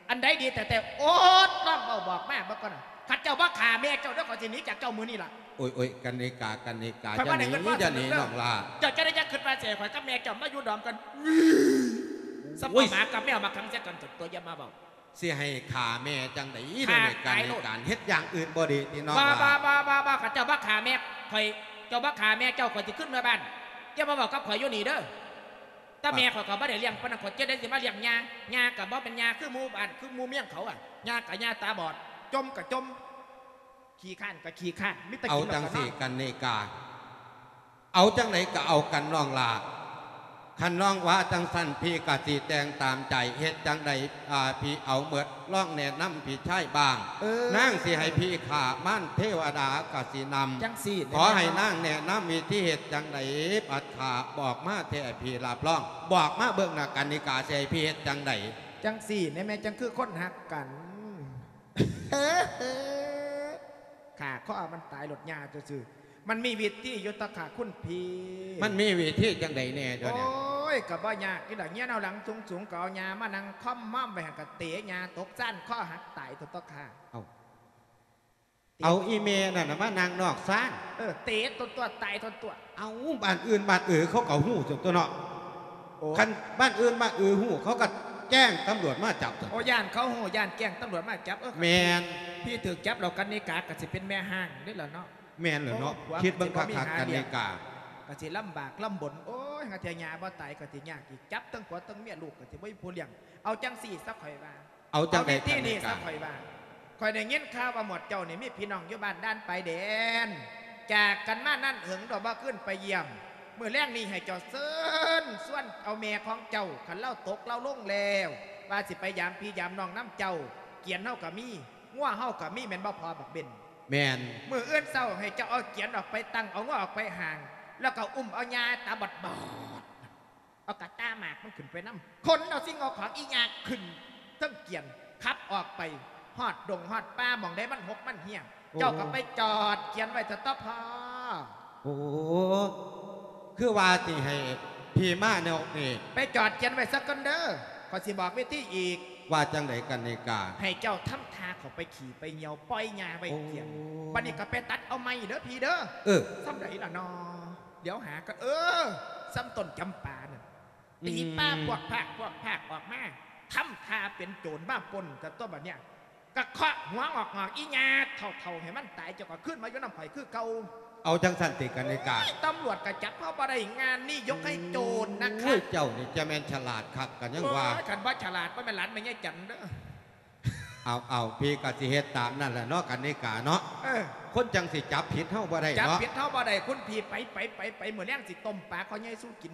ອັນໃດດີແທ້ໆ? ໂອດ ລອງເວົ້າບອກມາເບິ່ງກ່ອນນະ. ຄັນເຈົ້າບໍ່ຂ້າແມ່ເຈົ້າເດີ ຂ້ອຍຊິໜີຈາກເຈົ້າມື້ນີ້ລະ. ໂອ້ຍໆ ກັນນິກາ ກັນນິກາ ຢ່າໜີ ຢ່າໜີນ້ອງຫຼ້າ. ເຈົ້າຈະໄດ້ຢ່າຄິດວ່າຊິໃຫ້ຂ້ອຍກັບແມ່ເຈົ້າມາຢູ່ດອມກັນ. ໂອ້ຍ ສຳປະໝາກັບແມວມາຂັງໃສ່ກັນ ຕົວຢ່າມາເວົ້າ. ຊິໃຫ້ຂ້າແມ່ຈັ່ງໃດເດນີ້ ກັນນິກາ ເຮັດຢ່າງອື່ນບໍ່ດີຕິນ້ອງຫຼ້າ? ບໍ່ ບໍ່ ບໍ່ ບໍ່ ຄັນເຈົ້າບໍ່ຂ້າແມ່ຂ້ອຍ ເຈົ້າບໍ່ຂ້າແມ່ເຈົ້າ ຂ້ອຍຊິຄືນເມືອບ້ານ. ຢ່າມາເວົ້າກັບຂ້ອຍຢູ່ນີ້ເດີ. ແຕ່ແມ່ຂ້ອຍກໍບໍ່ໄດ້ລ້ຽງປານນັ້ນ ຂ້ອຍຈະໄດ້ຊິມາລ້ຽງຍ່າ. ຍ່າກໍບໍ່ແມ່ນຍ່າຄືໝູ່ບ້ານ ຄືໝູ່ເມືອງເຂົາອະ. ຍ່າກໍຍ່າຕາບອດ ຈົ່ມກໍຈົ່ມ ຂີ້ຄ້ານກໍຂີ້ຄ້ານ ມີແຕ່ກິນແລ້ວກໍນອນ. ເອົາຈັ່ງຊີ້ກັນນິກາ ເອົາຈັ່ງໃດກໍເອົາກັນນ້ອງຫຼ້າ. ຄັນນ້ອງວ່າຈັ່ງຊັ້ນ ພີ່ກໍຊິແຕ່ງຕາມໃຈ. ເຮັດຈັ່ງໃດ ອາ ພີ່ເອົາໝົດ ລອງແນະນຳພີ່ຊາຍບ້າງ. ເອີ ນາງຊິໃຫ້ພີ່ຂ້າມານເທວະດາກໍຊິນຳ. ຈັ່ງຊີ້ ຂໍໃຫ້ນາງແນະນຳວິທີເຮັດຈັ່ງໃດ ບັດຂ້າບອກມາແທ້ ໃຫ້ພີ່ຮັບຮອງ. ບອກມາເບິ່ງນະ ກັນນິກາ ຊິໃຫ້ພີ່ເຮັດຈັ່ງໃດ? ຈັ່ງຊີ້ແນ່ແມ່ ຈັ່ງຄືຄົນຮັກກັນ. ຂ້າຂໍເອົາມັນຕາຍໂລດຍ່າຊື່ໆ. ມັນມີວິທີຢູ່ຕະຂ້າຄຸນພີ່. ມັນມີວິທີຈັ່ງໃດແດ່ດຽວນີ້? ໂອ້ ໂອ້ຍ ກໍບໍ່ຍາກຢູ່ດອກ ເຮືອນເຮົາຫຼັງສູງໆ ກໍເອົາຫຍ້າມານັ່ງຄ່ອມມອມໄວ້ຫັ້ນ ກໍເຕະຫຍ້າຕົກຊານ ຄໍຫັກຕາຍໂຕຕົວຂ້າ. ເອົ້າ ເຕະ ເອົາອີ່ແມ່ນັ້ນນະມານັ່ງນອກຊານ. ເອີ ເຕະຕົວຕົວ ຕາຍຕົວຕົວ. ເອົ້າ ບ້ານອື່ນບ້ານເອີເຂົາກໍຮູ້ຕົວເນາະ. ໂອ້ ຄັນບ້ານອື່ນບ້ານເອີຮູ້ ເຂົາກໍແຈ້ງຕຳຫຼວດມາຈັບຕົວ. ໂອ້ ຢ້ານເຂົາຮູ້ ຢ້ານແຈ້ງຕຳຫຼວດມາຈັບ. ເອີ ແມ່ນ ພີ່ຖືກຈັບແລ້ວ ກັນນິກາກໍຊິເປັນແມ່ຮ້າງເດ້ລະເນາະ. ແມ່ນແລ້ວເນາະ. ໂອ້ ຜົວ ຄິດເບິ່ງຄັກໆ ກັນນິກາ ກໍຊິລຳບາກລຳບົນ. ໂອ້ຍ ຫາເທື່ອຫຍ້າບໍ່ຕາຍກໍຊິຍາກອີກ ຈັບທັງຜົວທັງເມຍ ລູກກໍຊິບໍ່ມີຜູ້ລ້ຽງ. ເອົາຈັ່ງຊີ້ຊະ ຂ້ອຍວ່າ. ເອົາຈັ່ງໃດ ເອົາວິທີນີ້ຊະ ກັນນິກາ ຂ້ອຍວ່າ. ຂ້ອຍໄດ້ຍິນຂ່າວວ່າໝວດເຈົ້ານີ້ມີພີ່ນ້ອງຢູ່ບ້ານດ່ານປາຍແດນ ຈາກກັນມານານເຫິງ ດອກບໍ່ຄືນໄປຢ້ຽມ. ມື້ແລງນີ້ໃຫ້ເຈົ້າເຊີນຊວນເອົາແມ່ຂອງເຈົ້າ ຄັນລາວຕົກລາວລົງແລ້ວ ວ່າຊິໄປຢາມພີ່ຢາມນ້ອງນຳເຈົ້າ. ກຽນເຮົາກໍມີ ງົວເຮົາກໍມີ ແມ່ນບໍ່ພໍ່ບັກເບັນ? ແມ່ນ. ມື້ອື່ນເຊົ້າໃຫ້ເຈົ້າເອົາກຽນອອກໄປຕັ້ງ ເອົາງົວອອກໄປຫ້າງ ແລ້ວກໍອຸ້ມເອົາຫຍ້າຕາບອດໆ ເອົາກະຕ່າໝາກມັນຂຶ້ນໄປນຳ ຂົນເອົາສິ່ງເອົາຂອງອີຫຍ້າຂຶ້ນເທິງກຽນ ຂັບອອກໄປຮອດດົງຮອດປ່າ ໝ່ອງໃດມັນຮົກມັນເຮ້ຍ ໂອ້ ເຈົ້າກໍໄປຈອດກຽນໄວ້ຊະເທາະພໍ່. ໂອ້ ຄືວ່າຊິໃຫ້ພີ່ມານອກນີ້ ໄປຈອດກຽນໄວ້ຊະກ່ອນເດີ ຂ້ອຍຊິບອກວິທີອີກ. ວ່າຈັ່ງໃດ ກັນນິກາ? ໃຫ້ເຈົ້າທຳທ່າເຂົ້າໄປຂີ້ໄປຍ່ຽວ ປ່ອຍຫຍ້າໄວ້ກຽນ. ໂອ້ ບັດນີ້ກໍໄປຕັດເອົາໄມ້ເດີພີ່ເດີ. ເອີ ສ່ຳໃດລະນໍ? ດຽວຫາກັນ ເອີ ສ່ຳຕົ້ນຈຳປານັ້ນ ອືມ ຕີປ່າພວກພາກພວກພາກອອກມາ ທຳທ່າເປັນໂຈນມາປຸ້ນ ແຕ່ຕົວບັດເນີ້ຍ ກະເຄາະຫົວງອກໆ ອີຫຍ້າເຖົ້າໆ ໃຫ້ມັນຕາຍ ເຈົ້າກໍຄືນມາຢູ່ນຳຂ້ອຍຄືເກົ່າ. ເອົາຈັ່ງຊັ້ນຕິ ກັນນິກາ? ໂອ້ຍ ຕຳຫຼວດກໍຈັບເຮົາບໍ່ໄດ້ ງານນີ້ຍົກໃຫ້ໂຈນນະຄະ. ໂອ້ຍ ເຈົ້ານີ້ຈະແມ່ນສະຫຼາດຄັກ ກໍຍັງວ່າ. ໂອ້ຍ ຄັນບໍ່ສະຫຼາດ ບໍ່ແມ່ນຫຼານແມ່ໃຫຍ່ຈັນເດີ. ເອົາໆ ພີ່ກໍຊິເຮັດຕາມນັ້ນແຫຼະເນາະ ກັນນິກາເນາະ. ເອີ ຄົນຈັ່ງຊິຈັບຜິດເຮົາບໍ່ໄດ້ເນາະ ຈັບຜິດເຮົາບໍ່ໄດ້. ຄຸນພີ່ ໄປໆໆໆ ມື້ແລງຊິຕົ້ມປາຄໍໃຫຍ່ສູ່ກິນ.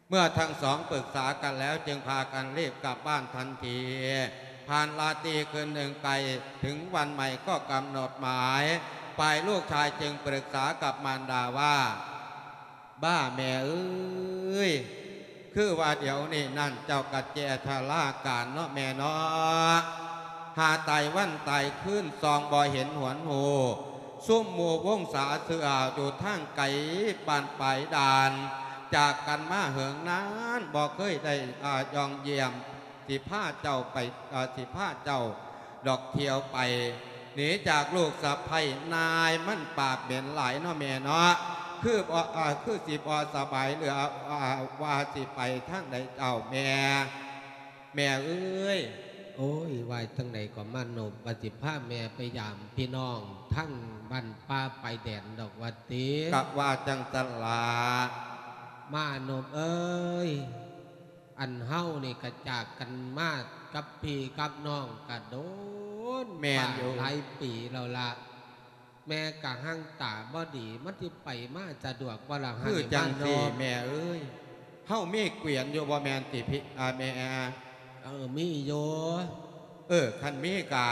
ເມື່ອທັງສອງປຶກສາກັນແລ້ວ ຈຶ່ງພາກັນລີບກັບບ້ານທັນທີ. ຜ່ານລາຕີຄືນໜຶ່ງໄກ ເຖິງວັນໃໝ່ກໍກຳນົດໝາຍ. ຝ່າຍລູກຊາຍຈຶ່ງປຶກສາກັບມານດາວ່າ ບ້າແມ່ເອີຍ ຄືວ່າດຽວນີ້ນັ້ນເຈົ້າກະແຈຊະລາການເນາະແມ່ເນາະ. ຫາຕາຍວັນຕາຍຄືນ ສ່ອງບໍ່ເຫັນຫວນໂຮ. ຊຸມໝູ່ວົງສາເຊື່ອຢູ່ທາງໄກບ້ານປາຍດ່ານ ຈາກກັນມາເຫິງນານ ບໍ່ເຄີຍໄດ້ ອາ ຢ່ອງຢ້ຽມ. ຊິພາເຈົ້າໄປ ອາ ຊິພາເຈົ້າດອກທ່ຽວໄປ ໜີຈາກລູກສະໃພ້ ນາຍມັນປາກເໝັນຫຼາຍເນາະແມ່ເນາະ. ຄືບໍ່ ອາ ຄືຊິບໍ່ສະບາຍ ຫຼື ອາ ວ່າຊິໄປທາງໃດເຈົ້າແມ່? ແມ່ເອີຍ. ໂອ້ຍ ວ່າຈັ່ງໃດກໍມານົບ ວ່າຊິພາແມ່ໄປຢາມພີ່ນ້ອງທາງບ້ານປ່າປາຍແດນດອກວ່າຕິ. ກະວ່າຈັ່ງຊັ້ນລະ ມານົບເອີຍ. ອັນເຮົານີ້ກະຈາກກັນມາກັບພີ່ກັບນ້ອງກະດົນ ແມ່ນຢູ່ ຫຼາຍປີແລ້ວລະ. ແມ່ກະຮັ່ງຕາບໍ່ດີ ມັນຊິໄປມາສະດວກບໍ່ລະ ຄືຈັ່ງຊີ້ ມານົບ ແມ່ເອີຍ. ເຮົາມີກວຽນຢູ່ບໍ່ແມ່ນຕິພີ່ ອາ ແມ່? ເອີ ມີຢູ່. ເອີ ຄັນມີກະ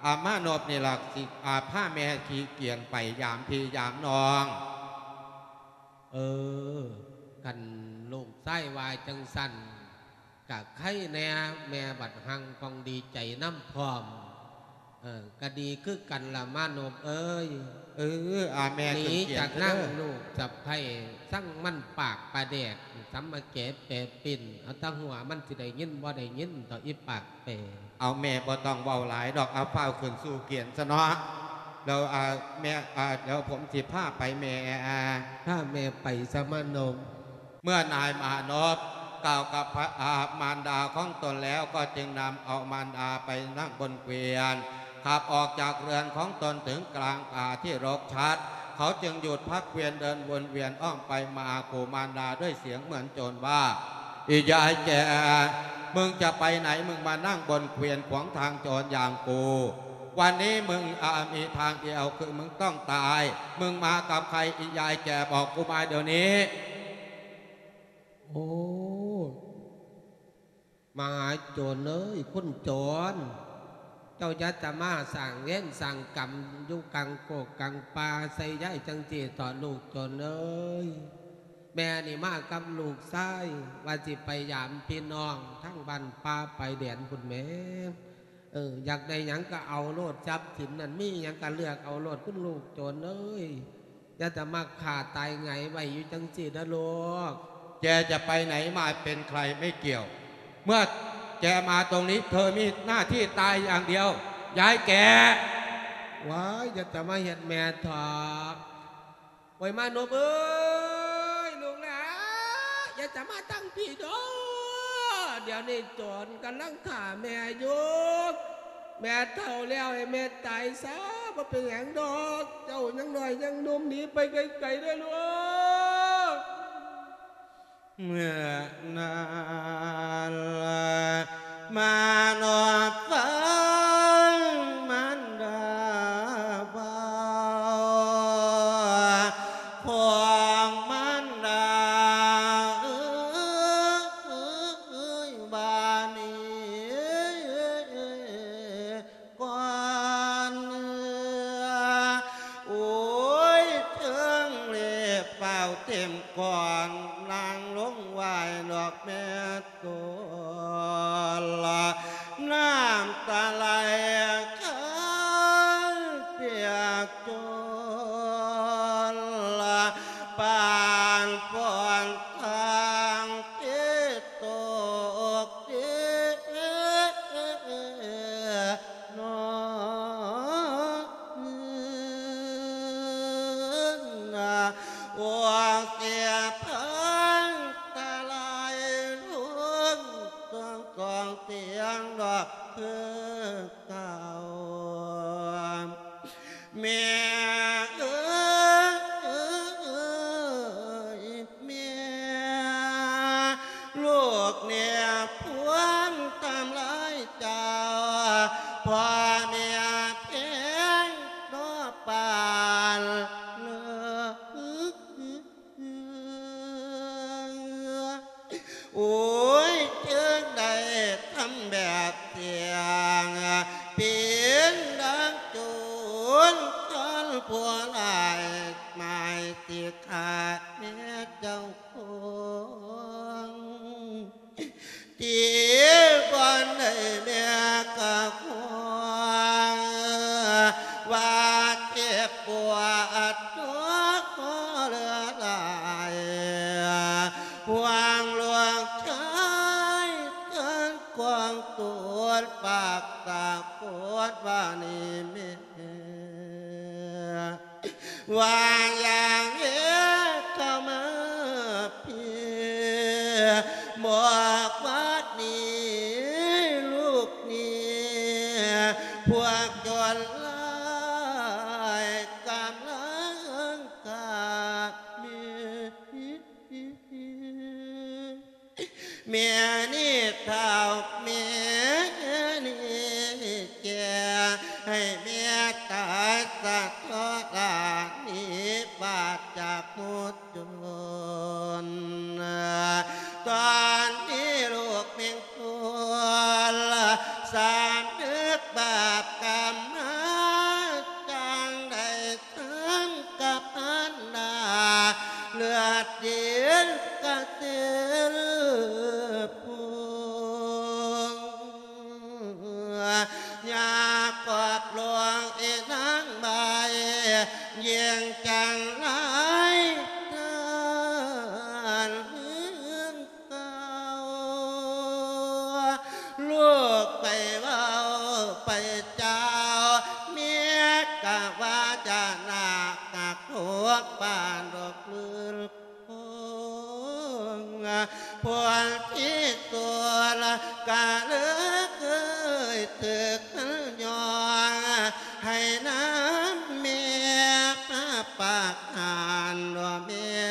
ອາ ມານົບນີ້ລະ ຊິ ອາ ພາແມ່ຂີ່ກວຽນໄປຢາມພີ່ຢາມນ້ອງ. ເອີ ຄັນລູກຊາຍວ່າຈັ່ງຊັ້ນ ກະໄຄແດ່ ແມ່ບັດຮັ່ງປ່ອງດີໃຈນຳພ້ອມ. ເອີ ກະດີຄືກັນລະມານົບເອີຍ. ເອີ ອາ ແມ່ ໜີຈາກນາງລູກສະໃພ້ ສັງມັນປາກປາແດກ ສຳມະແກແປປິ່ນ ເອົາຕາຫົວມັນຊິໄດ້ຍິນບໍ່ໄດ້ຍິນ ເທົ່າອີປາກແປ. ເອົາ ແມ່ບໍ່ຕ້ອງເວົ້າຫຼາຍດອກ ເອົາ ຟ້າວຂຶ້ນສູ່ກຽນຊະເນາະ. ແລ້ວ ອາ ແມ່ ອາ ດຽວຜົມຊິພາໄປແມ່. ພາແມ່ໄປຊະມານົບ. ເມື່ອນາຍມານົບກ່າວກັບພະ ອາ ມານດາຂອງຕົນແລ້ວ ກໍຈຶ່ງນຳເອົາມານດາໄປນັ່ງບົນເກວຽນ ຂັບອອກຈາກເຮືອນຂອງຕົນເຖິງກາງປ່າທີ່ລົກຊັດ. ເຂົາຈຶ່ງຢຸດພັກເກວຽນເດີນວົນວຽນອ້ອມໄປມາ ຂູ່ມານດາດ້ວຍສຽງເໝືອນໂຈນວ່າ ອີຍາຍແກ່ ມຶງຈະໄປໄຫນ? ມຶງມານັ່ງບົນເກວຽນຂວາງທາງໂຈນຢ່າງກູ. ວັນນີ້ມຶງ ອາ ມີທາງດຽວ ຄືມຶງຕ້ອງຕາຍ. ມຶງມາກັບໃຜ ອີຍາຍແກ່? ບອກກູມາດຽວນີ້. ໂອ້ ມະຫາໂຈນເອີຍ ຄຸນໂຈນ ເຈົ້າຢ່າຈະມາສ້າງເວນສ້າງກຳຢູ່ກາງໂຄກກາງປ່າໃສ່ຍາຍຈັ່ງຊີ້ເຖາະ ລູກໂຈນເອີຍ. ແມ່ນີ້ມາກັບລູກຊາຍ ວ່າຊິໄປຢາມພີ່ນ້ອງທາງບ້ານປ່າປາຍແດນພຸ້ນແໝ. ເອີ ຢາກໄດ້ຫຍັງກໍເອົາໂລດ ຊັບສິນນັ້ນມີຫຍັງກໍເລືອກເອົາໂລດ ຄຸນລູກໂຈນເອີຍ. ຢ່າຈະມາຂ້າຕາຍຫງາຍໄວ້ຢູ່ຈັ່ງຊີ້ເດີລູກ. แกจะไปไหนมาเป็นใครไม่เกี่ยว เมื่อแกมาตรงนี้เธอมีหน้าที่ตายอย่างเดียว ยายแก่ ว้าย อย่าจะมาเฮ็ดแม่เถาะ โอ้ย มานพเอ้ย ลูกหลา อย่าจะมาตั้งพี้เด้อ เดี๋ยวนี้โจรกำลังฆ่าแม่อยู่ แม่เฒ่าแล้วให้แม่ตายซะ บ่เป็นหยังดอก เจ้ายังน้อยยังหนุ่ม หนีไปไกลๆ เด้อลูก เมื่อนั้นมานพฟังมารดาเว้า ของมารดาเอ้ย บาดนี้ ก่อน โอ้ย เทิงเล็บเฝ้าเต็มก่อน นั่งลงไหว้ดอกแม่ตน น้ำตาไหลคาเปียกจน ปานฝนทางที่ตก นอน โอ้ เสียพังตาลายลง ต้องกองเตียงดอกเพื่อเก่า แม่เอ๋ย แม่ ลูกเนี่ยพวงตามลายเจ้า พ่อแม่แพงนอปานเลิก โอ้ย จึงได้ทำแบบเสียง เปรียบดังโจร คันผู้ร้ายหมายสิฆ่าแม่เจ้าของ ที่บ่อนให้แม่กะห่วง ว่าเจ็บปวดตัวขอเหลือหลาย ห่วงหลวงชายเกินกวางตูดปากตาโกดว่านี่แม่ ว่าอย่างเฮ็ดเข้ามาเพีย บอกว่านี้ลูกนี้ พวกโจรร้ายกำลังฆ่าแม่ แม่นี้เฒ่า แม่นี้แก่ ให้แม่ตายซะเถาะ หลานหนีบาดจากหมู่โจร ตอนนี้ลูกแม่ง ควรสำนึกบาปกรรมมา จั่งได้ทั้งกับอันดา เลือดเย็นกระเซ็นพุง อยากกอบหลวงอีนางใบ เยี่ยงจังไรท่าน เก่า ลูกไปเว้าไปเจ้า เมียกะว่าจะหนักหนักหัวปานดอกเลือดพอง พวกที่ตัวละกะเลือกเคยถึกยอง ให้น้ำเมียมาปากหานว่าเมีย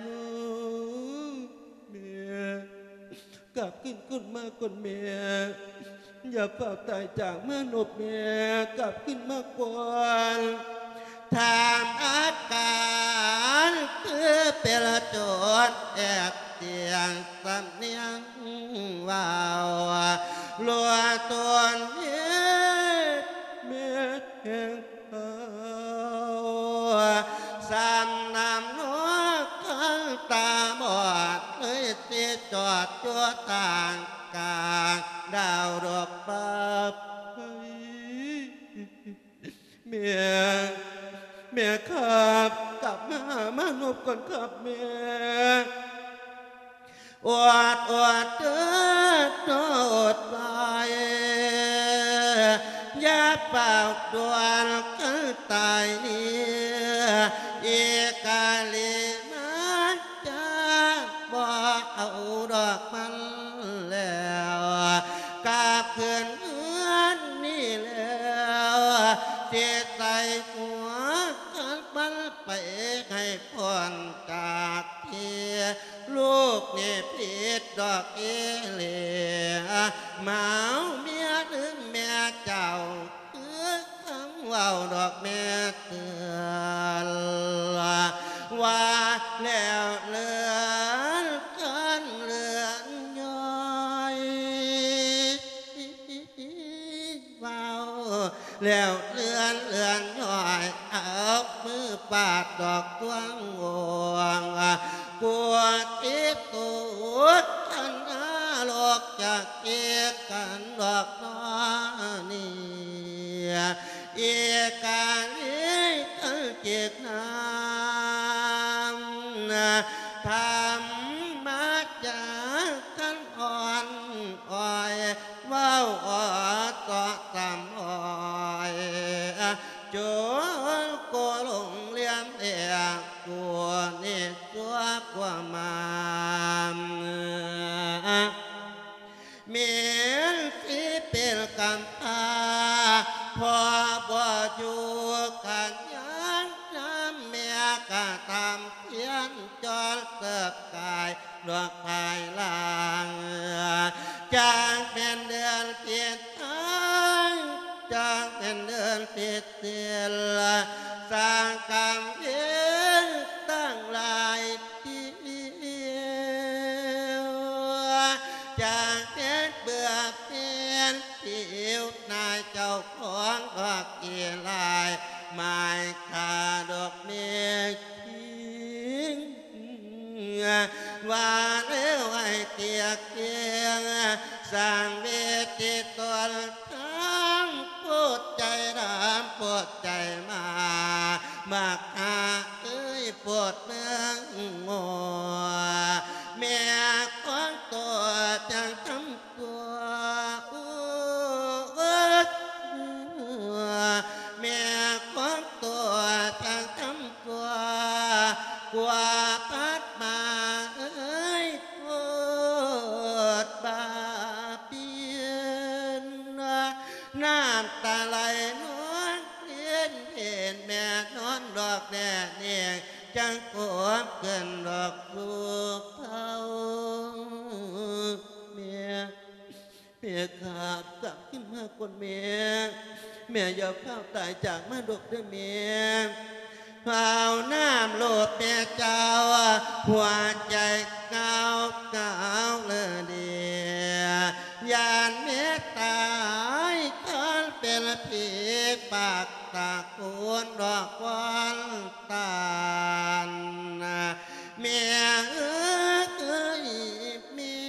ลูกแม่ กลับคืน คืนมาก่อนแม่ อย่าฝากตายจากมานพแม่ กลับคืนมาก่อน ถามอาการคือเป็นโจรแอบเสียงสำเนียงเว้า ลัวตนเฮ็ดแม่แห่ง เฮาสามน้ำนอกทั้งตาบอด เลยสิจอดอยู่ทางกลางดาวดอกบาป แม่ แม่ครับ กลับมาหามานพก่อนครับแม่ ອົດ ອົດເດີ ອົດໄວ້ ຢ່າຟ້າວດ່ວນເກີດຕາຍນີ້ ອີກາລີມາຈາກ ບໍ່ເອົາດອກມັນແລ້ວ ກັບຄືນເຮືອນນີ້ແລ້ວ ຊິໃສ່ຫົວກັບມັນໄປໃຫ້ພົ້ນຈາກທີ່ ລູກນີ້ຜິດດອກອີ່ຫຼີ ມາເອົາເມຍລືມແມ່ເຈົ້າ ຄືຄຳເວົ້າດອກແມ່ເຕືອນ ວ່າແລ້ວເລື່ອນຄັນເລື່ອນຍ້ອຍ ເວົ້າແລ້ວເລື່ອນເລື່ອນຍ້ອຍ ເອົາມືປາດດອກດວງໂອງ ກວດທີ່ສຸດຄັນນະລົກຈາກເກດກັນດອກນ້ອນີ້ ອີກາລີຄັນເກດນຳ ທຳມາຈາກຄັນອ່ອນອ້ອຍ ເວົ້າອອດເຊາະສຳອ້ອຍ ໂຈໂກລົງລຽມແອກ ກູນີ້ຊົ່ວກວ່າມາ ແມ່ນຊິເປັນກຳພ້າ ພໍ່ບໍ່ຢູ່ກັນຍັງນຳ ແມ່ກະທຳພຽນຈອນເສີບກາຍ ດອກພາຍຫຼັງ ຈາກແມ່ນເດືອນຜິດທາງ ຈາກແມ່ນເດືອນຜິດສິນ ສ້າງກຳເວນຕັ້ງຫຼາຍປີ ຈາກເຮັດເບືອເປັນຜິວ ນາຍເຈົ້າຂອງດອກກີລາຍ ໝາຍຂ້າດອກເມກ ຄິງ ວ່າແລ້ວໃຫ້ຕຽກກຽງ ສ້າງເວທີຕົນທາງ ໂພດໃຈດຳໂພດໃຈມາ ບັກຫາເອີຍໂພດເມືອງງົວ ແມ່ຂອງໂຕຈັ່ງທຳ ຕົວ ແມ່ຂອງຕົວຊ່າງທຳຕົວ ກວ່າພັດມາເອີຍໂພດບາບຽນ ນ້ຳຕາໄຫຼນອງເລນເຫັນແມ່ນອນດອກແນ່ເນງ ຈັ່ງກວມຂຶ້ນດອກລູກເຂົາ ແມ່ ແມ່ຂ້າກັບຄືນມາກ່ອນແມ່ ແມ່ຢ່າຟ້າວຕາຍຈາກມາດອກເດີແມ່ ພາວນາມໂລດແມ່ເຈົ້າ ຫົວໃຈເງົາເງົາເລີເດ ຢ້ານແມ່ຕາຍຄັນເປັນຜີປາກຕະກູນດອກຄວັນຕານ ແມ່ເອີຍ ແມ່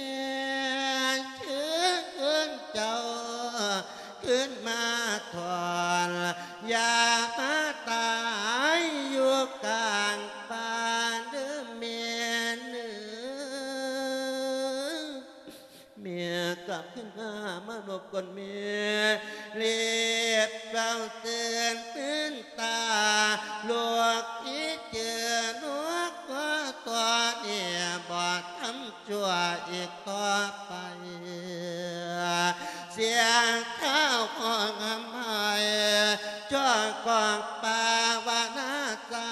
ເຊີນເຈົ້າຄືນມາຖອນ ຢ່າມາຕາຍຢູ່ກາງປ່າເດີແມ່ເອີຍ ແມ່ກັບຄືນມາ ມານອບກ່ອນແມ່ ເລັບເປົ່າຕື່ນຕື່ນຕາ ລູກທີ່ເຈີນກກໍຕົວນີ້ບໍ່ທຳ ຊົ່ວອີກຕໍ່ໄປ ສຽງເທົ້າຂອງຄຳໄພ ຈ້ອງກອງປາວະນາສາ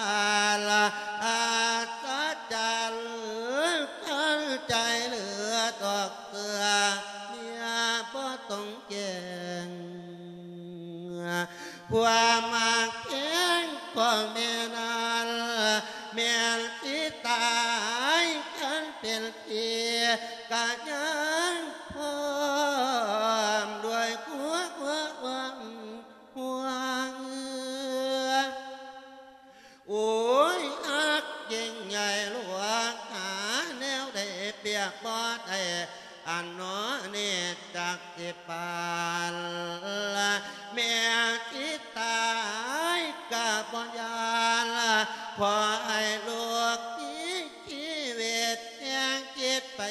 ລະ ອັດສະຈັນ ຄັນໃຈເຫຼືອດອກເສືອ ເມຍບໍ່ຕ້ອງແຈ້ງ ຄວາມຮັກແພງຂອງແມ່ນັ້ນ ແມ່ນຊິຕາຍຄັນເປັນຜີ ກະຍັງພ້ອມດ້ວຍຄວາມຫ່ວງ ໂອ້ຍ ຮັກຍິ່ງໃຫຍ່ຫຼວງ ຫາແນວໃດປຽບບໍ່ໄດ້ ອັນໜໍນີ້ຈັກຊິປານ ແມ່ຊິຕາຍກະບໍ່ຢ້ານ ຂໍໃຫ້ລູກມີຊີວິດ ແຮງຄິດໄປ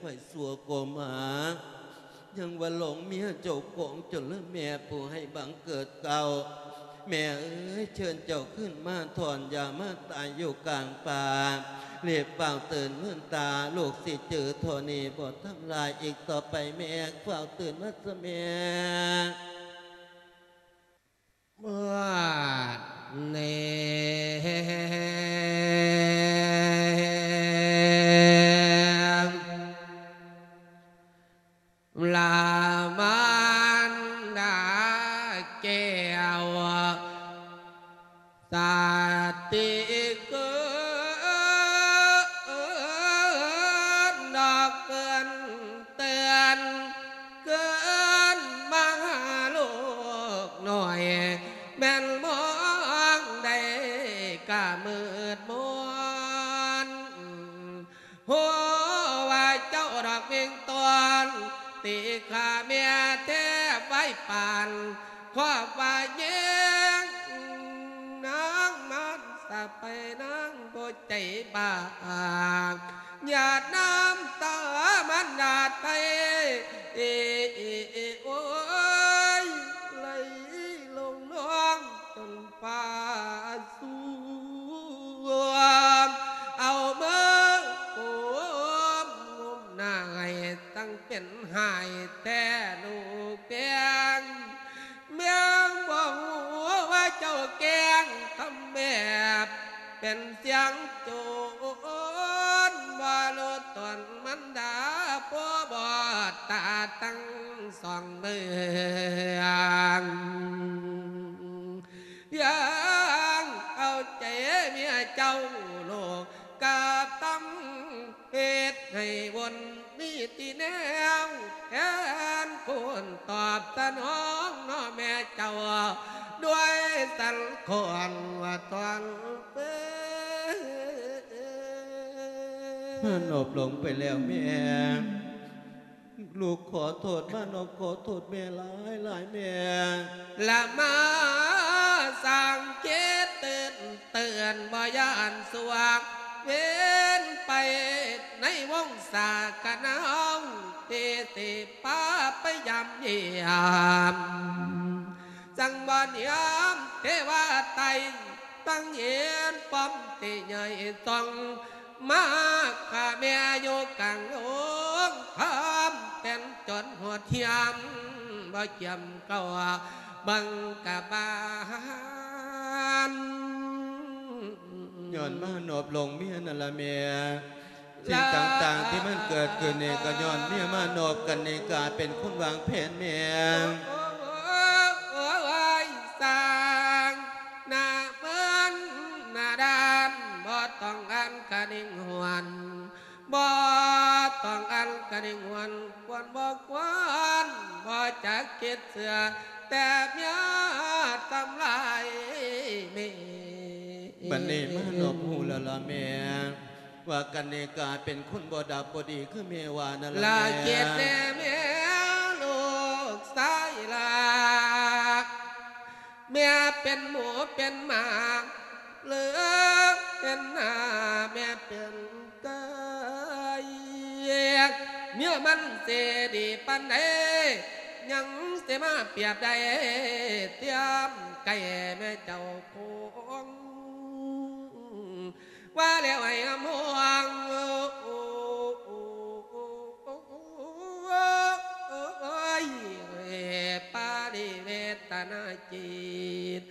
ຂ້ອຍຊົ່ວກໍມາ ຍັງວ່າຫຼອງເມຍເຈົ້າຂອງຈົນເລີຍ ແມ່ຜູ້ໃຫ້ບັງເກີດເກົ່າ. ແມ່ເອີຍ ເຊີນເຈົ້າຂຶ້ນມາຖອນ ຢ່າມາຕາຍຢູ່ກາງປ່າ. ເລບຟ້າວຕື່ນເມືອນຕາ ລູກຊິຈື່ທໍ່ນີ້ບໍ່ທຳລາຍອີກຕໍ່ໄປ. ແມ່ຟ້າວຕື່ນມາຊະແມ່. ເມື່ອນີ້ ລາມານດາແກ້ວ ສາຕິເກີດດອກເກີນເຕືອນ ເກີນມາຫາລູກນ້ອຍ ແມ່ນມອງໄດ້ກະມືດມົນ. ຮູ້ວ່າເຈົ້າດອກເວງຕອນ ຕີຂ້າແມ່ແທບໄວ້ປານ ຄວາມວ່າແຍງນາງມານສະໄປນາງບໍ່ໃຈບາງ ຫຍາດນ້ຳຕາມານດາໄທ ໂອ້ຍ ໄຫຼລົງນອງຈົນຟ້າ ສວມເອົາມືໂອບງຸມໜ້າໃຫ້ ຈັ່ງເປັນຫາຍແທ້ລູກແພງ ແມ່ງບໍ່ຮູ້ວ່າເຈົ້າແກ້ງທຳແບບ ເປັນສຽງໂຈນ ບໍ່ຮູ້ຕົນມັນດາ ຜູ້ບອດຕາທັງສອງເບື້ອງ ຍັງເອົາໃຈເມຍເຈົ້າລູກກາບຕຳ ເຮັດໃຫ້ວົນມີທີ່ແນວ ແທນຄຸນຕອບສະໜອງເນາະແມ່ເຈົ້າ ດ້ວຍສັນຄອນວ່າຕອນເປັນ ມານອບຫຼວງໄປແລ້ວແມ່ ລູກຂໍໂທດ ມານອບຂໍໂທດແມ່ຫຼາຍໆ ແມ່ລະມາສ້າງເຂດຕື່ນເຕືອນ ບໍ່ຢ້ານສວກເວັນໄປໃນວົງສາຄະນາເຮົາ ທີ່ຊິພາໄປຢາມຢ້ຽມ ຈັ່ງບໍ່ນຽມເທວາໄຕ ຕັ້ງເຫັນປ້ອມທີ່ໃຫຍ່ຊ່ອງ ມາຂ້າແມ່ຢູ່ກາງໂລງ ຄວາມເປັນຈົນໂຫດຫ້ຽມ ບໍ່ຈຽມເກົ່າບັງກະບານ ຍ້ອນມານອບຫຼວງເມຍນັ້ນລະແມ່ ສິ່ງຕ່າງໆທີ່ມັນເກີດຂຶ້ນນີ້ ກໍຍ້ອນເມຍມານອບກັນນິກາເປັນຄົນວາງແຜນແມ່ ໂອ້ຍ ສ້າງໜ້າເມີນໜ້າດ້ານ ບໍ່ຕ້ອງອັນກະນິງຫວນ ບໍ່ຕ້ອງອັນກະນິງຫວນ ຄວນບໍ່ຄວນ ບໍ່ຈັກຄິດເຊື່ອ ແຕ່ເມຍທຳລາຍແມ່ ບັດນີ້ມານອບຮູ້ແລ້ວລະແມ່ ວ່າກັນນິກາເປັນຄົນບໍ່ດັບບໍ່ດີຄືແມ່ວ່ານັ້ນລະ ລະແມ່ ຄິດແນ່ແມ່ລູກຊາຍລະ ແມ່ເປັນໝູເປັນໝາ ຫຼືເປັນໜ້າແມ່ເປັນໄກ່ ເມຍມັນຊິດີປານໃດ ຍັງຊິມາປຽບໄດ້ຕຽມໄກ່ແມ່ເຈົ້າຄົງ ວ່າແລ້ວໃຫ້ຫຳຫວງ ໂອ້ຍ ປາລິເວຕະນາຈິດ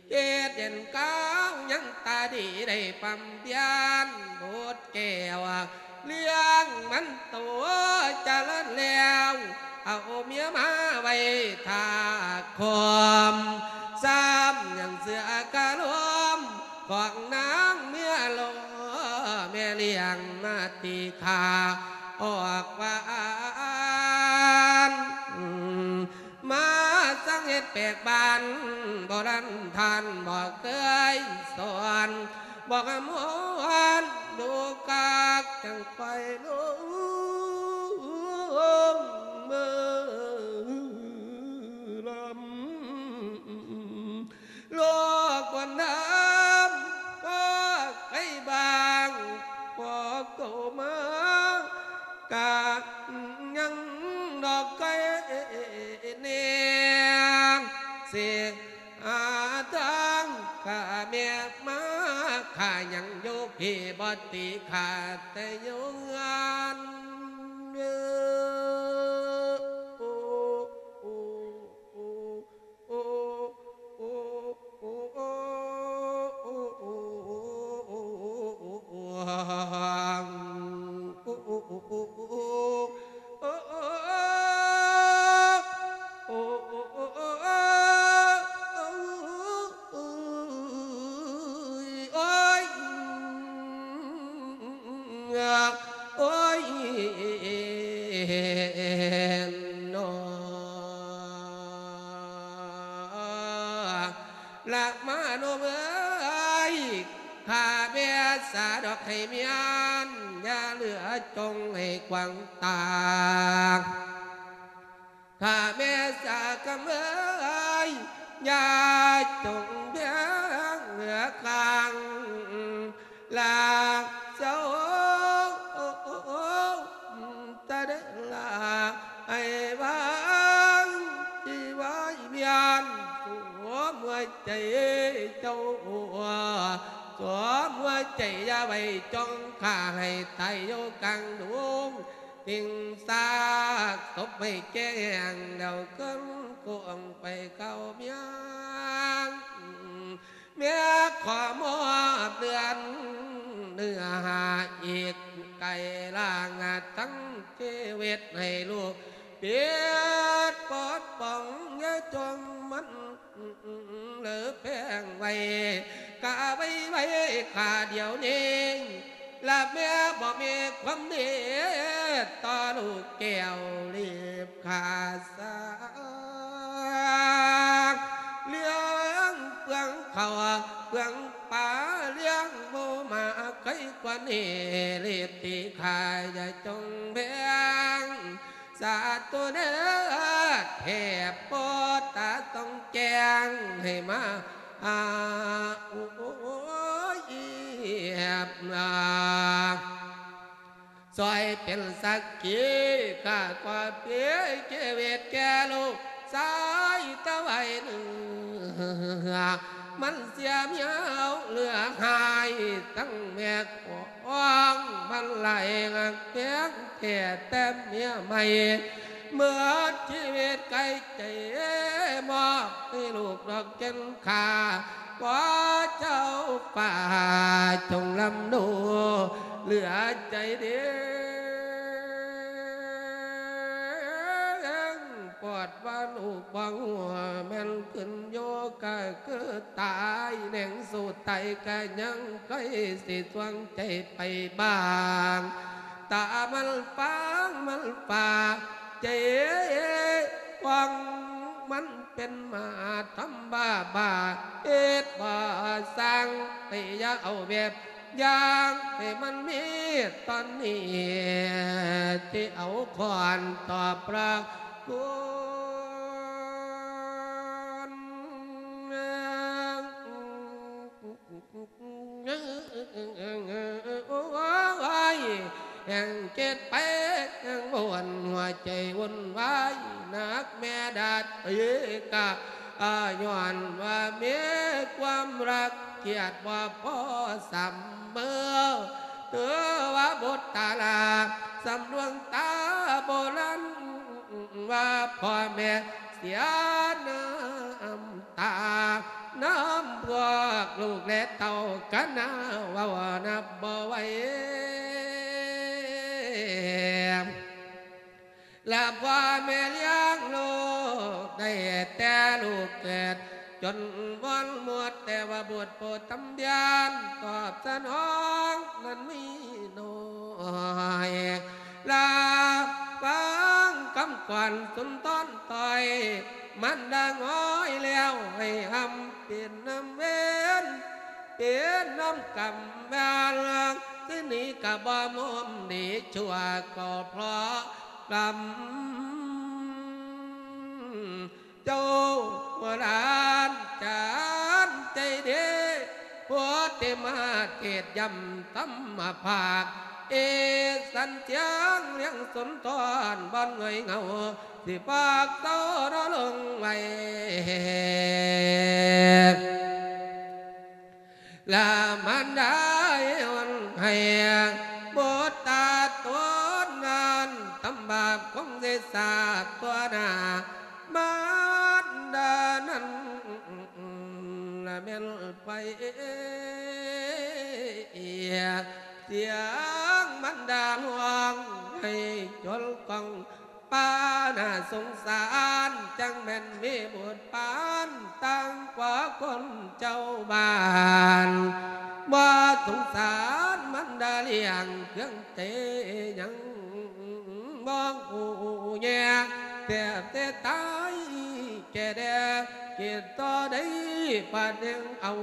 ເຮັດເດັ່ນກາວຍັງຕາດີໄດ້ປ້ຳພຽນບຸດແກ້ວ ລ້ຽງມັນໂຕຈະເລີນແລ້ວ ເອົາເມຍມາໄວ້ຖ້າຄອມ ຊ້ຳຍັງເຊື່ອຄາລົມ ຂອງນາງເມຍຫຼໍ່ ແມ່ລ້ຽງມາຕີຂ້າອອກວ່າອັນ ມາສັ່ງເຮັດແປກບ້ານ ບໍ່ລັນທ່ານບໍ່ເຄີຍສອນ ບໍ່ຫຳຫວນດູກາກ ຈັ່ງຄ່ອຍລົງມືລຳ ໂລກຄວນທຳ ພໍໃກ້ບາງ ພໍເຂົ້າມາກາ ດອກໄກ່ແນງ ເສຍຫາທາງຂ້າແມ່ມາ ຂ້າຍັງຢູ່ພີ້ບໍ່ຕີຂ້າແຕ່ຢູ່ເຮືອນ. ໂອ້ຍ ໂອ້ຍ ນອ ລະມາໂນເອີຍ ຂ້າແມ່ສາດອກໃຫ້ມຽນ ຢ່າເຫຼືອຈົ່ງໃຫ້ກວາງຕາ. ຂ້າແມ່ສາກຳເອີຍ ຢ່າຈົ່ງແບງເຫຼືອຂ້າງ ລາເຈົ້າຕະເດລາ ໃຫ້ວາງທີ່ວາຍວຽນ ສວມຫົວໃຈເຈົ້າ ສວມຫົວໃຈຢ່າໄວ້ຈົ່ງຂ້າ ໃຫ້ຕາຍຢູ່ກາງດົງ ຕິງສາກສົບໃຫ້ແກ່ແຫ້ງ ແລ້ວເຄື່ອນໂຄ້ງໄປເຂົ້າເມືອງ. ແມ່ຂໍມອບເຮືອນເນື້ອຫາອີກໄກລາງ ທັງຊີວິດໃຫ້ລູກປິດປົດປ້ອງ ຢ່າຈົ່ງມັນເລີແພງໄວ້ ກະໄວໄວຂ້າດຽວນີ້ ລະແມ່ບໍ່ມີຄວາມດີຕໍ່ລູກແກ້ວ ລີບຂ້າສາງ ລ້ຽງເປືອງເຂົ້າເປືອງປາ ລ້ຽງໝູໝາໄຄກວ່ານີ້ ລີບຕີຂ້າຢ່າຈົ່ງແບງ ສາທຸເດີ ເທບໂພດຕາຕ້ອງແຈ້ງໃຫ້ມາ ອາ ໂອ້ຍ ອຽບ ອາ ຊ່ອຍເປັນສັກຂີ ຂ້າກໍເປັນຊີວິດແກ່ລູກຊາຍຕະໄວເໜືອ ມັນເສຍເໝີ່ອວເຫຼືອຫາຍ ທັງແມ່ຂອງມັນຫຼາຍຮັກແພງແທ້ແຕ່ເມຍໃໝ່ ເໝິດຊີວິດໄກ ໃຈມອບໃຫ້ລູກດອກແກ່ນຂ້າ ຂໍເຈົ້າຟ້າຈົ່ງລຳດູເຫຼືອໃຈເດ ປອດວ່າລູກບໍ່ຮູ້ແມ່ນຂຶ້ນຢູ່ກະຄືຕາຍ ແໜງສູ້ຕາຍກະຍັງໃກ້ຊິຊ່ວງໃຈໄປບ້າງ ຕາມັນຟາງມັນຟ້າ ໃຈຂອງມັນເປັນມາທຳບ້າບ້າ ເຮັດບໍ່ສ້າງ ໄປຢ່າເອົາແບບຢ່າງ ໃຫ້ມັນມີຕອນນີ້ ທີ່ເອົາຄ້ອນຕອບພະຄຸນ. ໂອ້ຍ ແຮ່ງຄິດໄປແຮ່ງວົນ ຫົວໃຈວຸ່ນວາຍ ໜັກແມ່ດາດເອີຍກະ ຍ້ອນວ່າມີຄວາມລັກກຽດບໍ່ພໍສ່ຳເໝີ ຖືວ່າບຸດຕາລາ ສ່ຳດວງຕາໂບລານ ວ່າພໍ່ແມ່ເສຍນ້ຳຕາ ນຳພວກລູກແລະເຕົ້າກັນນາ ເວົ້ານັບບໍ່ໄຫວ ລະພໍ່ແມ່ລ້ຽງລູກໄດ້ແຕ່ລູກເກີດ ຈົນວອນໝົດ ແຕ່ວ່າບຸດຜູ້ທຳທຽນຕອບສະໜອງນັ້ນມີໜ້ອຍ ລະຟັງຄຳຂວັນສຸນທອນຕ່ອຍ ມັນດາງອ້ອຍແລ້ວໃຫ້ຫ້ຳເປັນນຳເວນ ເປັນນຳກຳວາລ ຊິໜີກະບໍ່ມຸມ ດີຊົ່ວກໍເພາະກຳ ເຈົ້າຫຼານຈານໃຈເດ ໂພດເຕມາເທດຢ້ຳທຳມະພາກ ສັນສຽງລຽງສົນທອນ ບ່ອນເຫງາ ຊິພາກເຊົານອນລົງໄວ້ ລະມານດາຍອນໃຫ້ ບຸດຕາຕົນນັ້ນ ທຳບາບຄົງເສສາຕົວໜ້າ ມານດານັ້ນລະແມ່ນໄປ ສຽງມານດາຮ້ອງໄຫ້ຈົນກ້ອງ ປານາສົງສານ ຈັ່ງແມ່ນມີບຸດປານຕ່າງກວ່າຄົນເຈົ້າບ້ານ ບໍ່ສົງສານມັນດາລ້ຽງເຄື່ອງໃຈຍັງ ມອງອູແຍແທບແຕ່ຕາຍແກ່ແດ່ ຄິດຕໍ່ໃດປາດຍັງເອົາ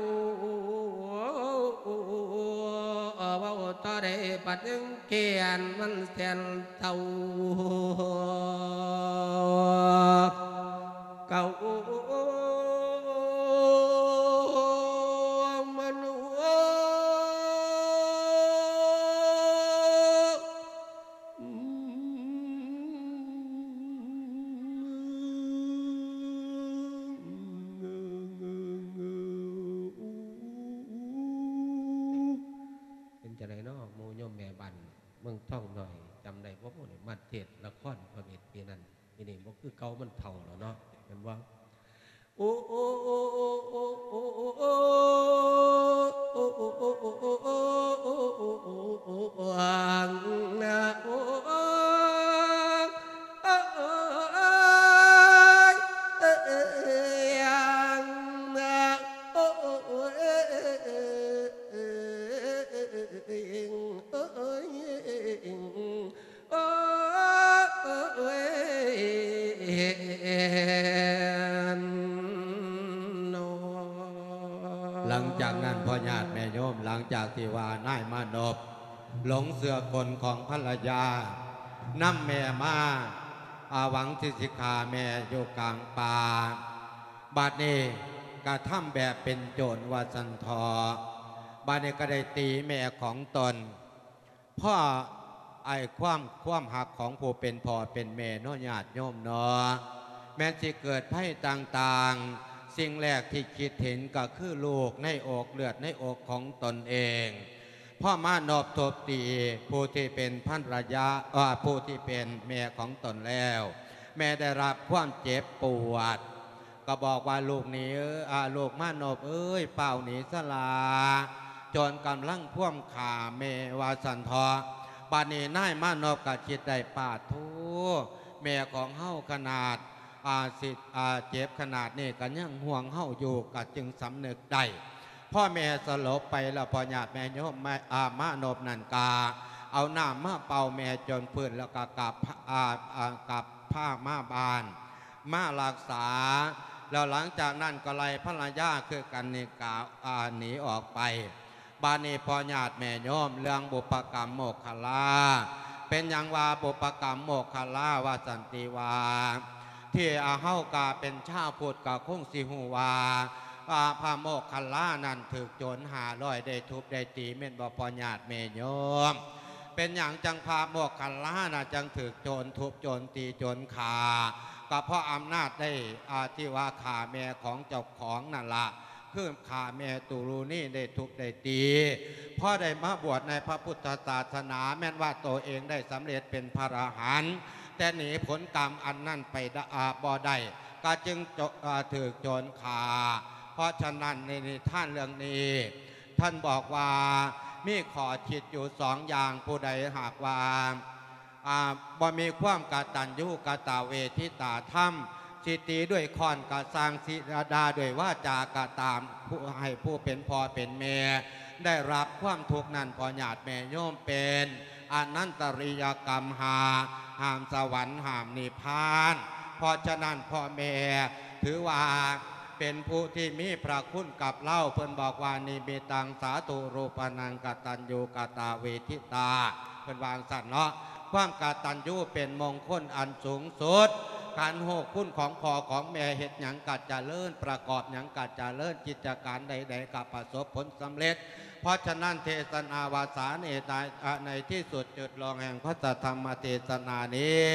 ເວົ້າຕໍ່ໃດປາດຍັງ ແກ່ນມັນແສນເສົ້າ ເກົ່າມັນ ເປັນຈັ່ງໃດເນາະ ໝູ່ໂຍມແມ່ບ້ານ ເມືອງທອງນ້ອຍ ຈຳໄດ້ບໍ່? ມາເທດລະຄອນພະເວດປີນັ້ນ ປີນີ້ບໍ່ຄືເກົ່າ ມັນເຖົ້າແລ້ວເນາະ ແມ່ນບໍ່? ໂອ ໂອ ໂອ ໂອ ໂອ ໂອ ຫຼັງຈາກນັ້ນ ພໍ່ຍາດແມ່ໂຍມ ຫຼັງຈາກທີ່ວ່ານາຍມານົບຫຼົງເຊື່ອກົນຂອງພັນລະຍາ ນຳແມ່ມາ ອາ ຫວັງທີ່ຊິຂ້າແມ່ຢູ່ກາງປ່າ ບາດນີ້ກະທຳແບບເປັນໂຈນວ່າຊັ້ນເຖາະ ບາດນີ້ກະໄດ້ຕີແມ່ຂອງຕົນ ເພາະໄອ້ຄວາມ ຄວາມຮັກຂອງຜູ້ເປັນພໍ່ເປັນແມ່ເນາະ ຍາດໂຍມເນາະ ແມ່ນຊິເກີດໄພຕ່າງໆ ສິ່ງແລກທີ່ຄິດເຫັນກະຄືລູກໃນອົກ ເລືອດໃນອົກຂອງຕົນເອງ ພໍມານົບທຸບຕີຜູ້ທີ່ເປັນພັນລະຍາ ເອີ ຜູ້ທີ່ເປັນແມ່ຂອງຕົນແລ້ວ ແມ່ໄດ້ຮັບຄວາມເຈັບປວດ ກໍບອກວ່າ ລູກໜີ ອາ ລູກມານົບເອີຍ ຟ້າວໜີຊະຫຼ້າ ໂຈນກຳລັງພວມຂ້າແມ່ ວ່າຊັ້ນເຖາະ ບາດນີ້ນາຍມານົບກໍຄິດໄດ້ ປາດໂທ້ ແມ່ຂອງເຮົາຂະໜາດ ອາ ຊິ ອາ ເຈັບຂະໜາດນີ້ ກໍຍັງຫ່ວງເຮົາຢູ່ ກໍຈຶ່ງສຳນຶກໄດ້ ພໍແມ່ສະຫຼົບໄປແລ້ວ ພໍ່ຍາດແມ່ໂຍມ ອາ ມານົບນັ້ນກະເອົານ້ຳມາເປົ່າແມ່ຈົນຟື້ນ ແລ້ວກະກັບ ອາ ອາ ກັບພາມາບ້ານ ມາລັກສາ ແລ້ວຫຼັງຈາກນັ້ນກໍໄລ່ພັນລະຍາຄືກັນນີ້ກະ ອາ ໜີອອກໄປ. ບາດນີ້ພໍ່ຍາດແມ່ໂຍມ ເລື່ອງບຸບປະກຳໂມກຂະລາ ເປັນຫຍັງວ່າບຸບປະກຳໂມກຂະລາ ວ່າສັນຕິວ່າ ທີ່ ອາ ເຮົາກະເປັນຊາວພຸດກະຄົງຊິຮູ້ວ່າ ອາ ພະໂມກຂະລານັ້ນຖືກໂຈນຫ້າຮ້ອຍ ໄດ້ທຸບໄດ້ຕີ ແມ່ນບໍ່ພໍ່ຍາດແມ່ໂຍມ? ເປັນຫຍັງຈັ່ງພະໂມກຂະລານະ ຈັ່ງຖືກໂຈນທຸບໂຈນຕີໂຈນຂ້າ? ກໍເພາະອຳນາດໄດ້ ອາ ທີ່ວ່າຂ້າແມ່ຂອງເຈົ້າຂອງນັ້ນລະ ຄືຂ້າແມ່ຕຸລຸນີໄດ້ທຸບໄດ້ຕີ. ພໍໄດ້ມາບວດໃນພະພຸດທະສາສະໜາ ແມ່ນວ່າໂຕເອງໄດ້ສຳເລັດເປັນພະອະລະຫັນ ແຕ່ໜີຜົນກຳອັນນັ້ນໄປ ອາ ບໍ່ໄດ້ ກໍຈຶ່ງ ອາ ຖືກໂຈນຂ້າ. ເພາະສະນັ້ນ ໃນນິທານເລື່ອງນີ້ ທ່ານບອກວ່າມີຂໍ້ຄິດຢູ່ສອງຢ່າງ ຜູ້ໃດຫາກວ່າ ອາ ບໍ່ມີຄວາມກະຕັນຍູກະຕະເວທິຕາທຳ ຊິຕີດ້ວຍຄ້ອນກະຊ່າງ ຊິດ່າດ້ວຍວາຈາກະຕາມ ຜູ້ ໃຫ້ຜູ້ເປັນພໍ່ເປັນແມ່ໄດ້ຮັບຄວາມທຸກນັ້ນ ພໍ່ຍາດແມ່ໂຍມ ເປັນອະນັນຕະລິຍະກຳຫ້າ ຫ້າມສະຫວັນ ຫ້າມນິບພານ. ເພາະສະນັ້ນ ພໍ່ແມ່ຖືວ່າ ເປັນຜູ້ທີ່ມີພະຄຸນກັບເຮົາ ເພິ່ນບອກວ່າ ນິມິດຕັງສາທຸຣູປະນັງກະຕັນຍູກະຕະເວທິຕາ ເພິ່ນວ່າຈັ່ງຊັ້ນເນາະ. ຄວາມກະຕັນຍູເປັນມົງຄົນອັນສູງສຸດ ການຮູ້ຄຸນຂອງພໍ່ຂອງແມ່ ເຮັດຫຍັງກະຈະເລີນ ປະກອບຫຍັງກະຈະເລີນ ກິດຈະການໃດໆກະປະສົບຜົນສຳເລັດ. เพราะฉะนั้นเทศนาวาสาเนตาในที่สุดจุดลงแห่งพระสัทธรรมเทศนานี้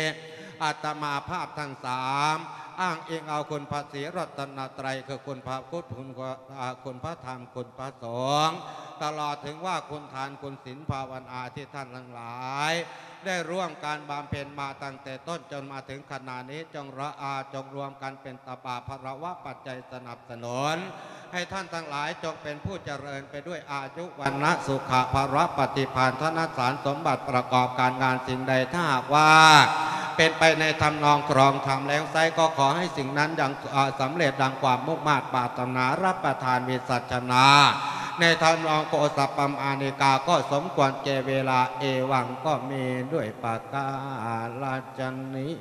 อาตมาภาพทั้งสามอ้างอิงเอาคุณพระศรีรัตนตรัย คือคุณพระพุทธ คุณพระอ่าคุณพระธรรม คุณพระสงฆ์ ตลอดถึงว่าคุณทานคุณศีลภาวนาที่ท่านทั้งหลาย ได้ร่วมการบำเพ็ญมาตั้งแต่ต้นจนมาถึงขณะนี้ จงระอาจงรวมกันเป็นตบะพลวะปัจจัยสนับสนุน ให้ท่านทั้งหลายจงเป็นผู้เจริญไปด้วยอายุวรรณะสุขะพละปฏิภาณธนสารสมบัติประกอบการงานสิ่งใด ถ้าหากว่าเป็นไปในทำนองครองธรรมแล้วไซร้ ก็ขอให้สิ่งนั้นยังอ่าสำเร็จดังความมุ่งมาดปรารถนา รับประทานวิสัชนา ในทำนองโอสถปมาณาติกา ก็สมควรแก่เวลา เอวังก็มีด้วยประการฉะนี้